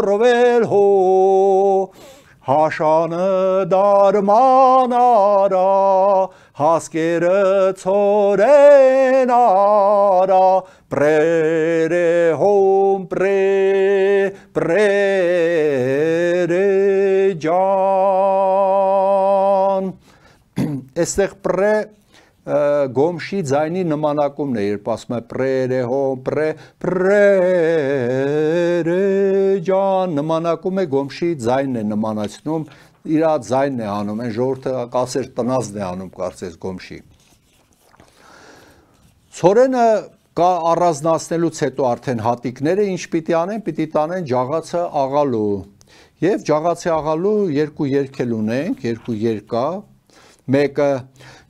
ռովել հո հաշանը դարմանարա հասկերը ծորեն արա պրերը հոմ պրե պրերը ջան Այստեղ պրե գոմշի ձայնի նմանակումն է, երբ ասում է պրերը հոմ պրե պրերը ջան նմանակում է գոմշի ձայնն է նմանացնում իր ձայնն է անում, այն ժողովուրդը կասեր տնազն է անում կարծես գոմշի Ցորենը կա առանձնացնելուց հետո արդեն հատիկները ինչ պիտի անեն, պիտի տանեն ջաղացը աղալու եւ ջաղացի աղալու երկու երգ էլ ունենք, երկու երգ կա մեկը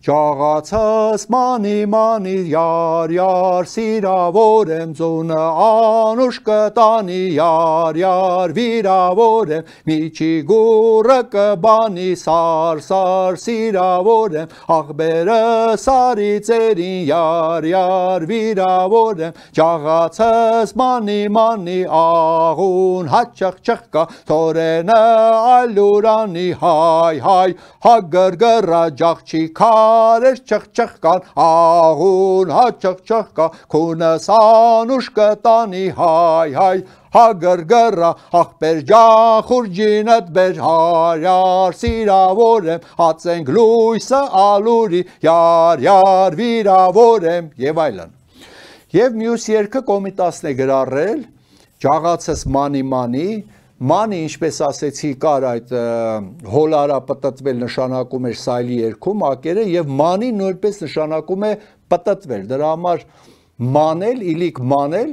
Ճաղացս մանի մանի յար յար սիրավոր եմ ձունը անուշ կտանի յար յար վիրավոր եմ միջի գուրը կբանի սար սար սիրավոր եմ աղբերը սարի ծերին յար յար վիրավոր եմ ճաղացս մանի մանի աղուն հաճախ չխկա թորենը այլուրանի հայ հայ հագրգրա ջաղչի քարեր չխ չխ կան աղուն հաճախ չխկա քունս անուշ կտանի հայ հայ հագրգրա աղբեր ջան խուրջինդ բեր հարյար սիրավոր եմ հացենք լույսը ալուրի յար յար վիրավոր եմ եւ այլն եւ մյուս երկը կոմիտասն է գրառել ջաղացս մանի մանի Մանի, ինչպես ասեցի, կար այդ հոլարա պտտվել նշանակում էր սայլի երկում ակերը և մանի նույնպես նշանակում է պտտվել, դրա համար մանել, իլիք մանել,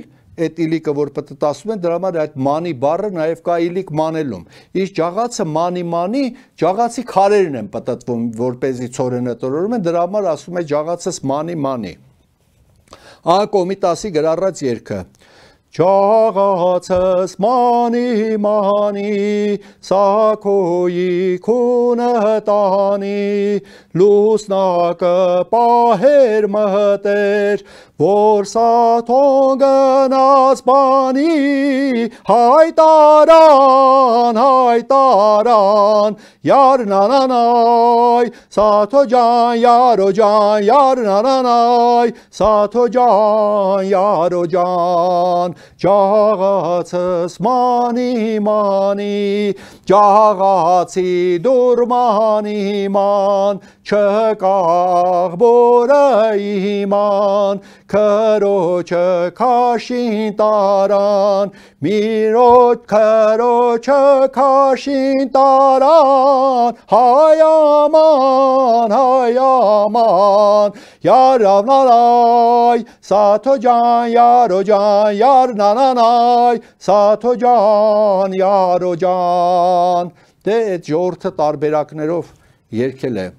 այդ իլիկը, որ պտտասում են, դրա համար այդ մանի բառը նաև կա իլիք մանելում, իսկ ջաղացը մանի մանի, ջաղացի քարերն են պտտվում, որպեսզի ցորենը տրորում են, դրա համար ասում է ջաղացս մանի մանի, ահա կոմիտասի գրառած երգը Ճաղացս մանի մանի սակոյի քունը տանի լուսնակը պահեր մհտեր որ սաթոն գնաց բանի հայտարան հայտարան յարնանանայ սաթո ջան յարո ջան յարնանանայ սաթո ջան յարո ջան Ճաղացս մանի մանի ճաղացի դուր մանի ման չկա աղբորը իման քրոջը քաշին տարան միրոջ քրոջը քաշին տարան հայ աման հայ աման յարավնալայ սաթո ջան յարո ջան յարնանանայ սաթո ջան յարո ջան դե այդ ժողովրդը տարբերակներով երգել է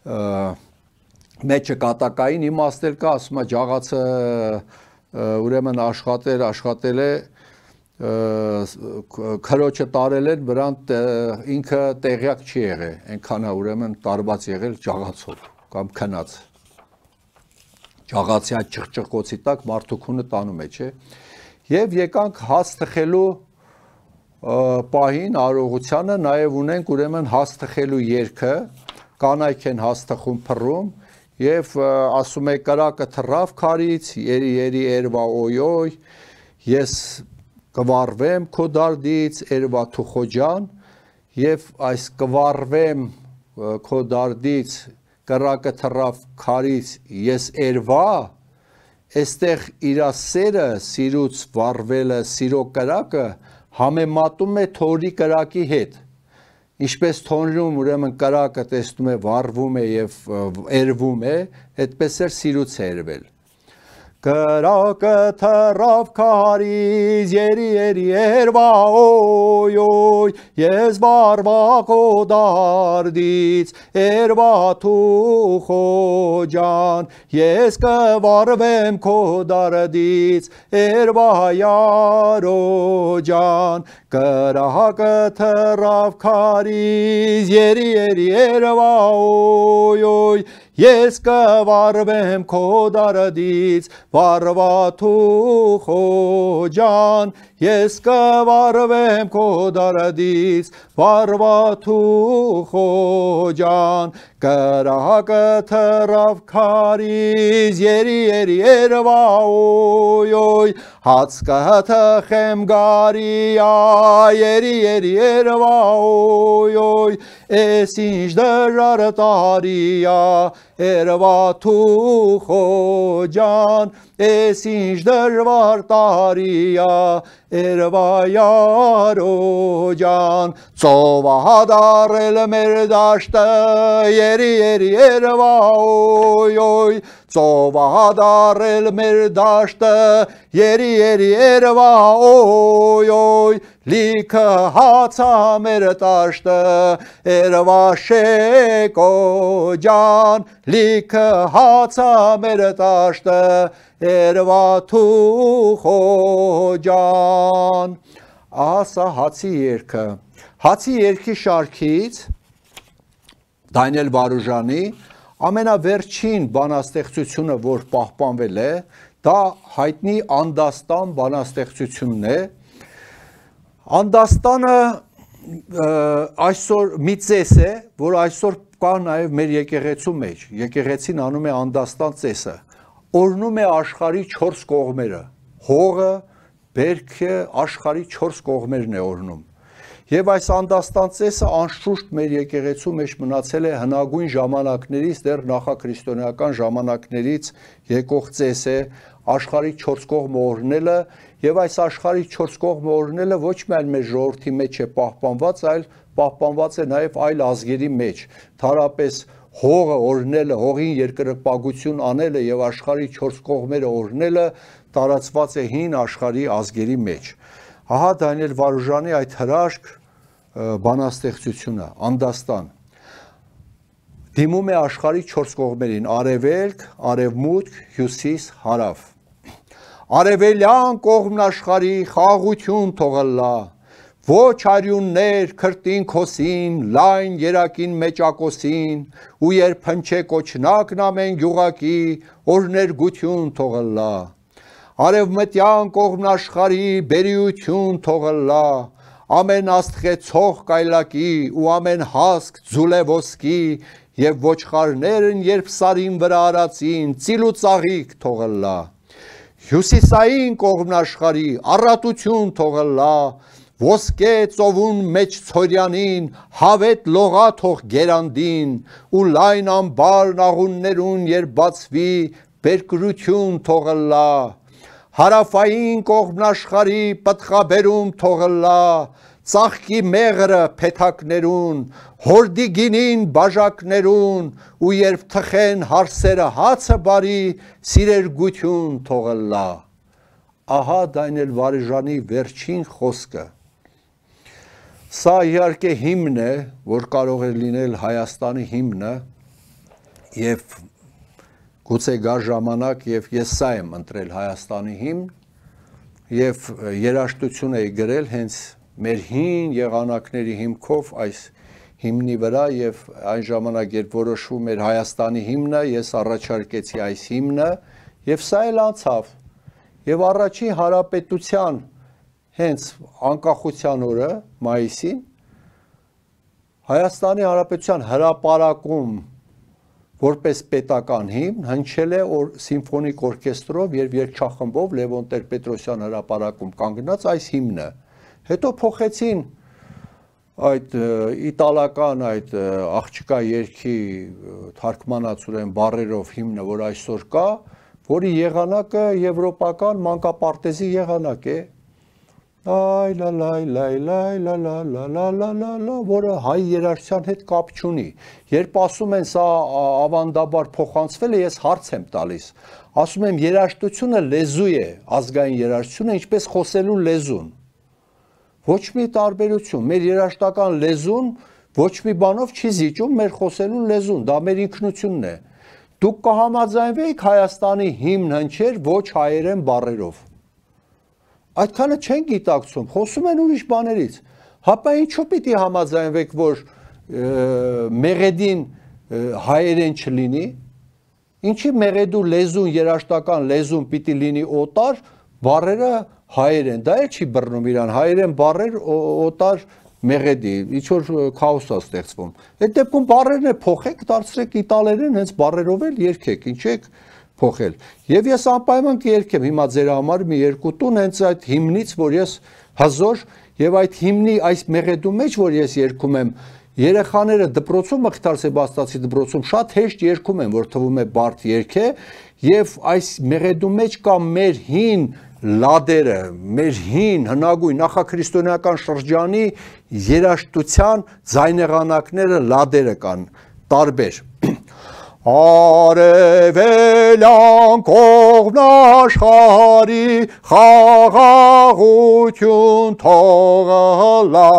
մեջը կատակային իմաստել կա ասում է ջաղացը ուրեմն աշխատել աշխատել է քրոջը տարել են վրան ինքը տեղյակ չի եղել այնքան է ուրեմն տարված եղել ջաղացով կամ քնած ջաղացի այդ ճղճղոցի տակ մարդու քունը տանում է չէ եւ եկանք հաց թխելու պահին արողությանը նաեւ ունենք ուրեմն հաց թխելու երգը կանայք են հաց թխում փռում եւ ասում է կրակը թռավ քարից երի երի երվա օյոյ ես կվառվեմ քո դարդից երվա թուխոջան եւ այս կվառվեմ քո դարդից կրակը թռավ քարից ես երվա այստեղ իր սերը սիրուց վառվելը սիրո կրակը համեմատում է թորի կրակի հետ Ինչպես թոնրում ուրեմն կրակը տեսնում է վառվում է եւ երվում է, այդպես էր սիրուց երվել։ Կրակը թռավ քարից, երի երի երվա օյ օյ, ես վառվա քո դարդից, երվա թուխո ջան, ես կվառվեմ քո դարդից, երվա յարո ջան, կրակը թռավ քարից, երի երի երվա օյ օյ, ես կվառվեմ քո դարդից, վառվա թուխո ջան, ես կվառվեմ քո դարդից, վառվա թուխո ջան, կրակը թռավ քարից, երի երի երվա օյ օյ, հաց կթխեմ գարիա, երի երի երվա օյ օյ, էս ինչ դժվար տարիա, երվա թուխո ջան, էս ինչ դժվար տարիա, երվա յարո ջան, ծովա դարել մեր դաշտը, Երի երի երևա օյ օյ ծովահարել մեր դաշտը Երի երի երևա օյ օյ լիքը հացա մեր տաշտը Երևա շեկո ջան լիքը հացա մեր տաշտը Երևա թուխո ջան Ասա հացի երգը Հացի երգի շարքից Դանիել Վարուժանի ամենավերջին բանաստեղծությունը, որ պահպանվել է, դա հայտնի Անդաստան բանաստեղծությունն է։ Անդաստանը այսօր մի ծես է, որ այսօր կա նաև մեր եկեղեցու մեջ։ Եկեղեցին անում է Անդաստան ծեսը։ Օրնում է աշխարհի չորս կողմերը։ Հողը, բերքը, աշխարհի չորս կողմերն է օրնում։ Եվ այս Անդաստան ծեսը անշուշտ մեր եկեղեցու մեջ մնացել է հնագույն ժամանակներից, դեռ նախաքրիստոնեական ժամանակներից եկող ծես է աշխարհի չորս կողմ օրհնելը, եւ այս աշխարհի չորս կողմ օրհնելը ոչ միայն մեր ժողովրդի մեջ է պահպանված, այլ պահպանված է նաեւ այլ ազգերի մեջ։ Թարապես հողը օրհնելը, հողին երկրպագություն անելը եւ աշխարհի չորս կողմերը օրհնելը տարածված է հին աշխարհի ազգերի մեջ։ Ահա Դանիել Վարուժանի այդ հրաշք բանաստեղծությունը Անդաստան դիմում է աշխարհի չորս կողմերին արևելք, արևմուտք, հյուսիս, հարավ Արևելյան կողմն աշխարհի խաղաղություն թողլա ոչ արյուններ քրտին քոսին լայն երակին մեջակոսին ու երբ հնչե կոչնակն ամեն գյուղակի օրներգություն թողլա Արևմտյան կողմն աշխարհի բերիություն թողլա ամեն աստղեցող կայլակի ու ամեն հասկ ձուլե ոսկի եւ ոչխարներն երբ սարին վրա արածին ծիլու ծաղիկ թողլա Հյուսիսային կողմն աշխարհի առատություն թողլա ոսկե ծովուն մեջ ցորյանին հավետ լողա թող գերանդին ու լայն ամբար նաղուններուն երբ բացվի բերկրություն թողլա Հարավային կողմն աշխարհի պտղաբերում թողլա ծաղկի մեղրը փեթակներուն հորդի գինին բաժակներուն ու երբ թխեն հարսերը հացը բարի սիրերգություն թողլա Ահա Դանիել Վարուժանի վերջին խոսքը Սա իհարկե հիմն է որ կարող է լինել Հայաստանի հիմնը եւ Գուցե գա ժամանակ եւ ես սա եմ ընտրել Հայաստանի հիմն եւ երաժշտություն էի գրել հենց մեր հին եղանակների հիմքով այս հիմնի վրա եւ այն ժամանակ երբ որոշվում էր Հայաստանի հիմնը ես առաջարկեցի այս հիմնը եւ սա էլ անցավ եւ առաջին հանրապետության հենց անկախության օրը մայիսին Հայաստանի հանրապետության հրապարակում որպես պետական հիմն հնչել է սիմֆոնիկ օրկեստրով եւ երգչախմբով Լևոն Տեր-Պետրոսյան հրապարակում կանգնած այս հիմնը հետո փոխեցին այդ իտալական այդ աղջկա երգի թարգմանած ուրեմն բառերով հիմնը որ այսօր կա որի եղանակը եվրոպական մանկապարտեզի եղանակ է Այ լա լայ լայ լայ լա լա լա լա լա լա լա որը հայ երաժշտության հետ կապ չունի երբ ասում են սա ավանդաբար փոխանցվել է ես հարց եմ տալիս ասում եմ երաժշտությունը լեզու է ազգային երաժշտությունը ինչպես խոսելու լեզուն ոչ մի տարբերություն մեր երաժշտական լեզուն ոչ մի բանով չի զիջում մեր խոսելու լեզուն դա մեր ինքնությունն է դուք կհամաձայնվեիք Հայաստանի հիմն հնչեր ոչ հայերեն բառերով Այդքանը չեն գիտակցում, խոսում են ուրիշ բաներից, հապա ինչու պիտի համաձայնվեք, որ մեղեդին հայերեն չլինի, ինչի մեղեդու լեզուն, երաժշտական լեզուն պիտի լինի օտար, բառերը հայերեն, դա էլ չի բռնում իրան, հայերեն բառեր օտար մեղեդի, ինչ-որ քաոս է ստեղծվում, այդ դեպքում բառերն է փոխեք, դարձրեք իտալերեն, հենց բառերով էլ երգեք, ինչ եք փոխել։ Եվ ես անպայման կերկեմ հիմա ձեր համար մի երկու տուն հենց այդ հիմնից, որ ես հզոր եւ այդ հիմնի այս մեղեդու մեջ, որ ես երգում եմ, երեխաները դպրոցում Մխիթար Սեբաստիացի դպրոցում շատ հեշտ երգում են, որ թվում է բարդ երգ է, եւ այս մեղեդու մեջ կա մեր հին լադերը, մեր հին հնագույն նախաքրիստոնեական շրջանի երաժշտության ձայնեղանակները լադերը կան։ տարբեր։ Արևելյան կողմն աշխարհի խաղաղություն թողլա,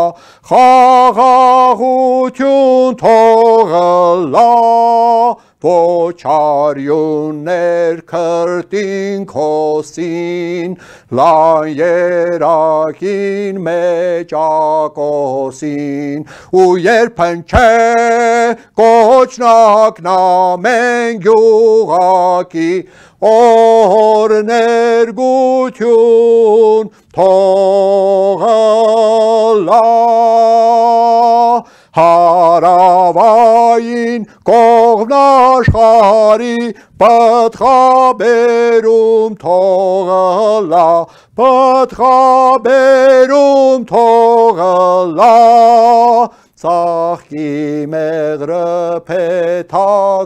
խաղաղություն թողլա, ոչ արյուններ քրտին քոսին, լան երակին մեջ ակոսին, ու երբ հնչե կոչնակն ամեն գյուղակի, օրներգություն թողլա, հարավային կողմն աշխարհի պտղաբերում թողլա, պտղաբերում թողլա, ծաղկի մեղրը փեթակներուն,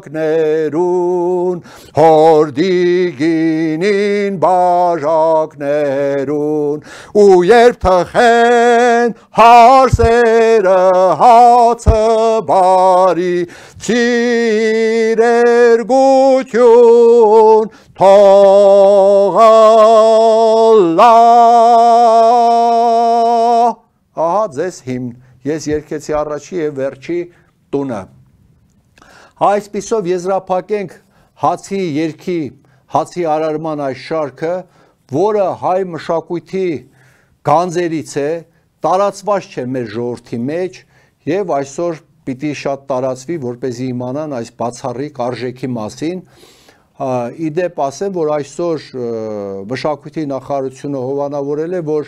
հորդի գինին բաժակներուն, ու երբ թխեն հարսերը հացը բարի, ցիրերգություն թողլա։ Ահա ձեզ հիմն, ես երկեցի առաջի և վերջի տունը։ Այսպիսով եզրափակենք հացի երգի, հացի արարման այս շարքը, որը հայ մշակույթի գանձերից է, տարածված չէ մեր ժողովրդի մեջ և այսօր պիտի շատ տարածվի, որպեսզի իմանան այս բացառիկ արժեքի մասին։ Իդեպ ասեմ, որ այսօր մշակույթի նախարարությունը հովանավորել է, որ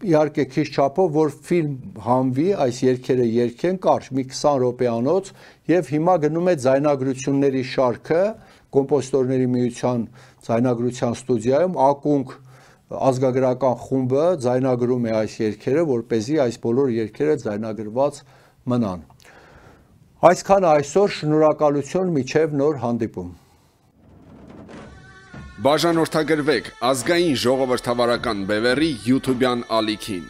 իհարկե քիչ չափով, որ ֆիլմ հանվի, այս երգերը երգեն կարճ մի քսան րոպեանոց և հիմա գնում է ձայնագրությունների շարքը կոմպոզիտորների միության ձայնագրության ստուդիայում, ակունք ազգագրական խումբը ձայնագրում է այս երգերը, որպեսզի այս բոլոր երգերը ձայնագրված մնան։ Այսքանը այսօր, շնորհակալություն, մինչև նոր հանդիպում։ Բաժանորդագրվեք ազգային ժողովրդավարական բևեռի յութուբյան ալիքին։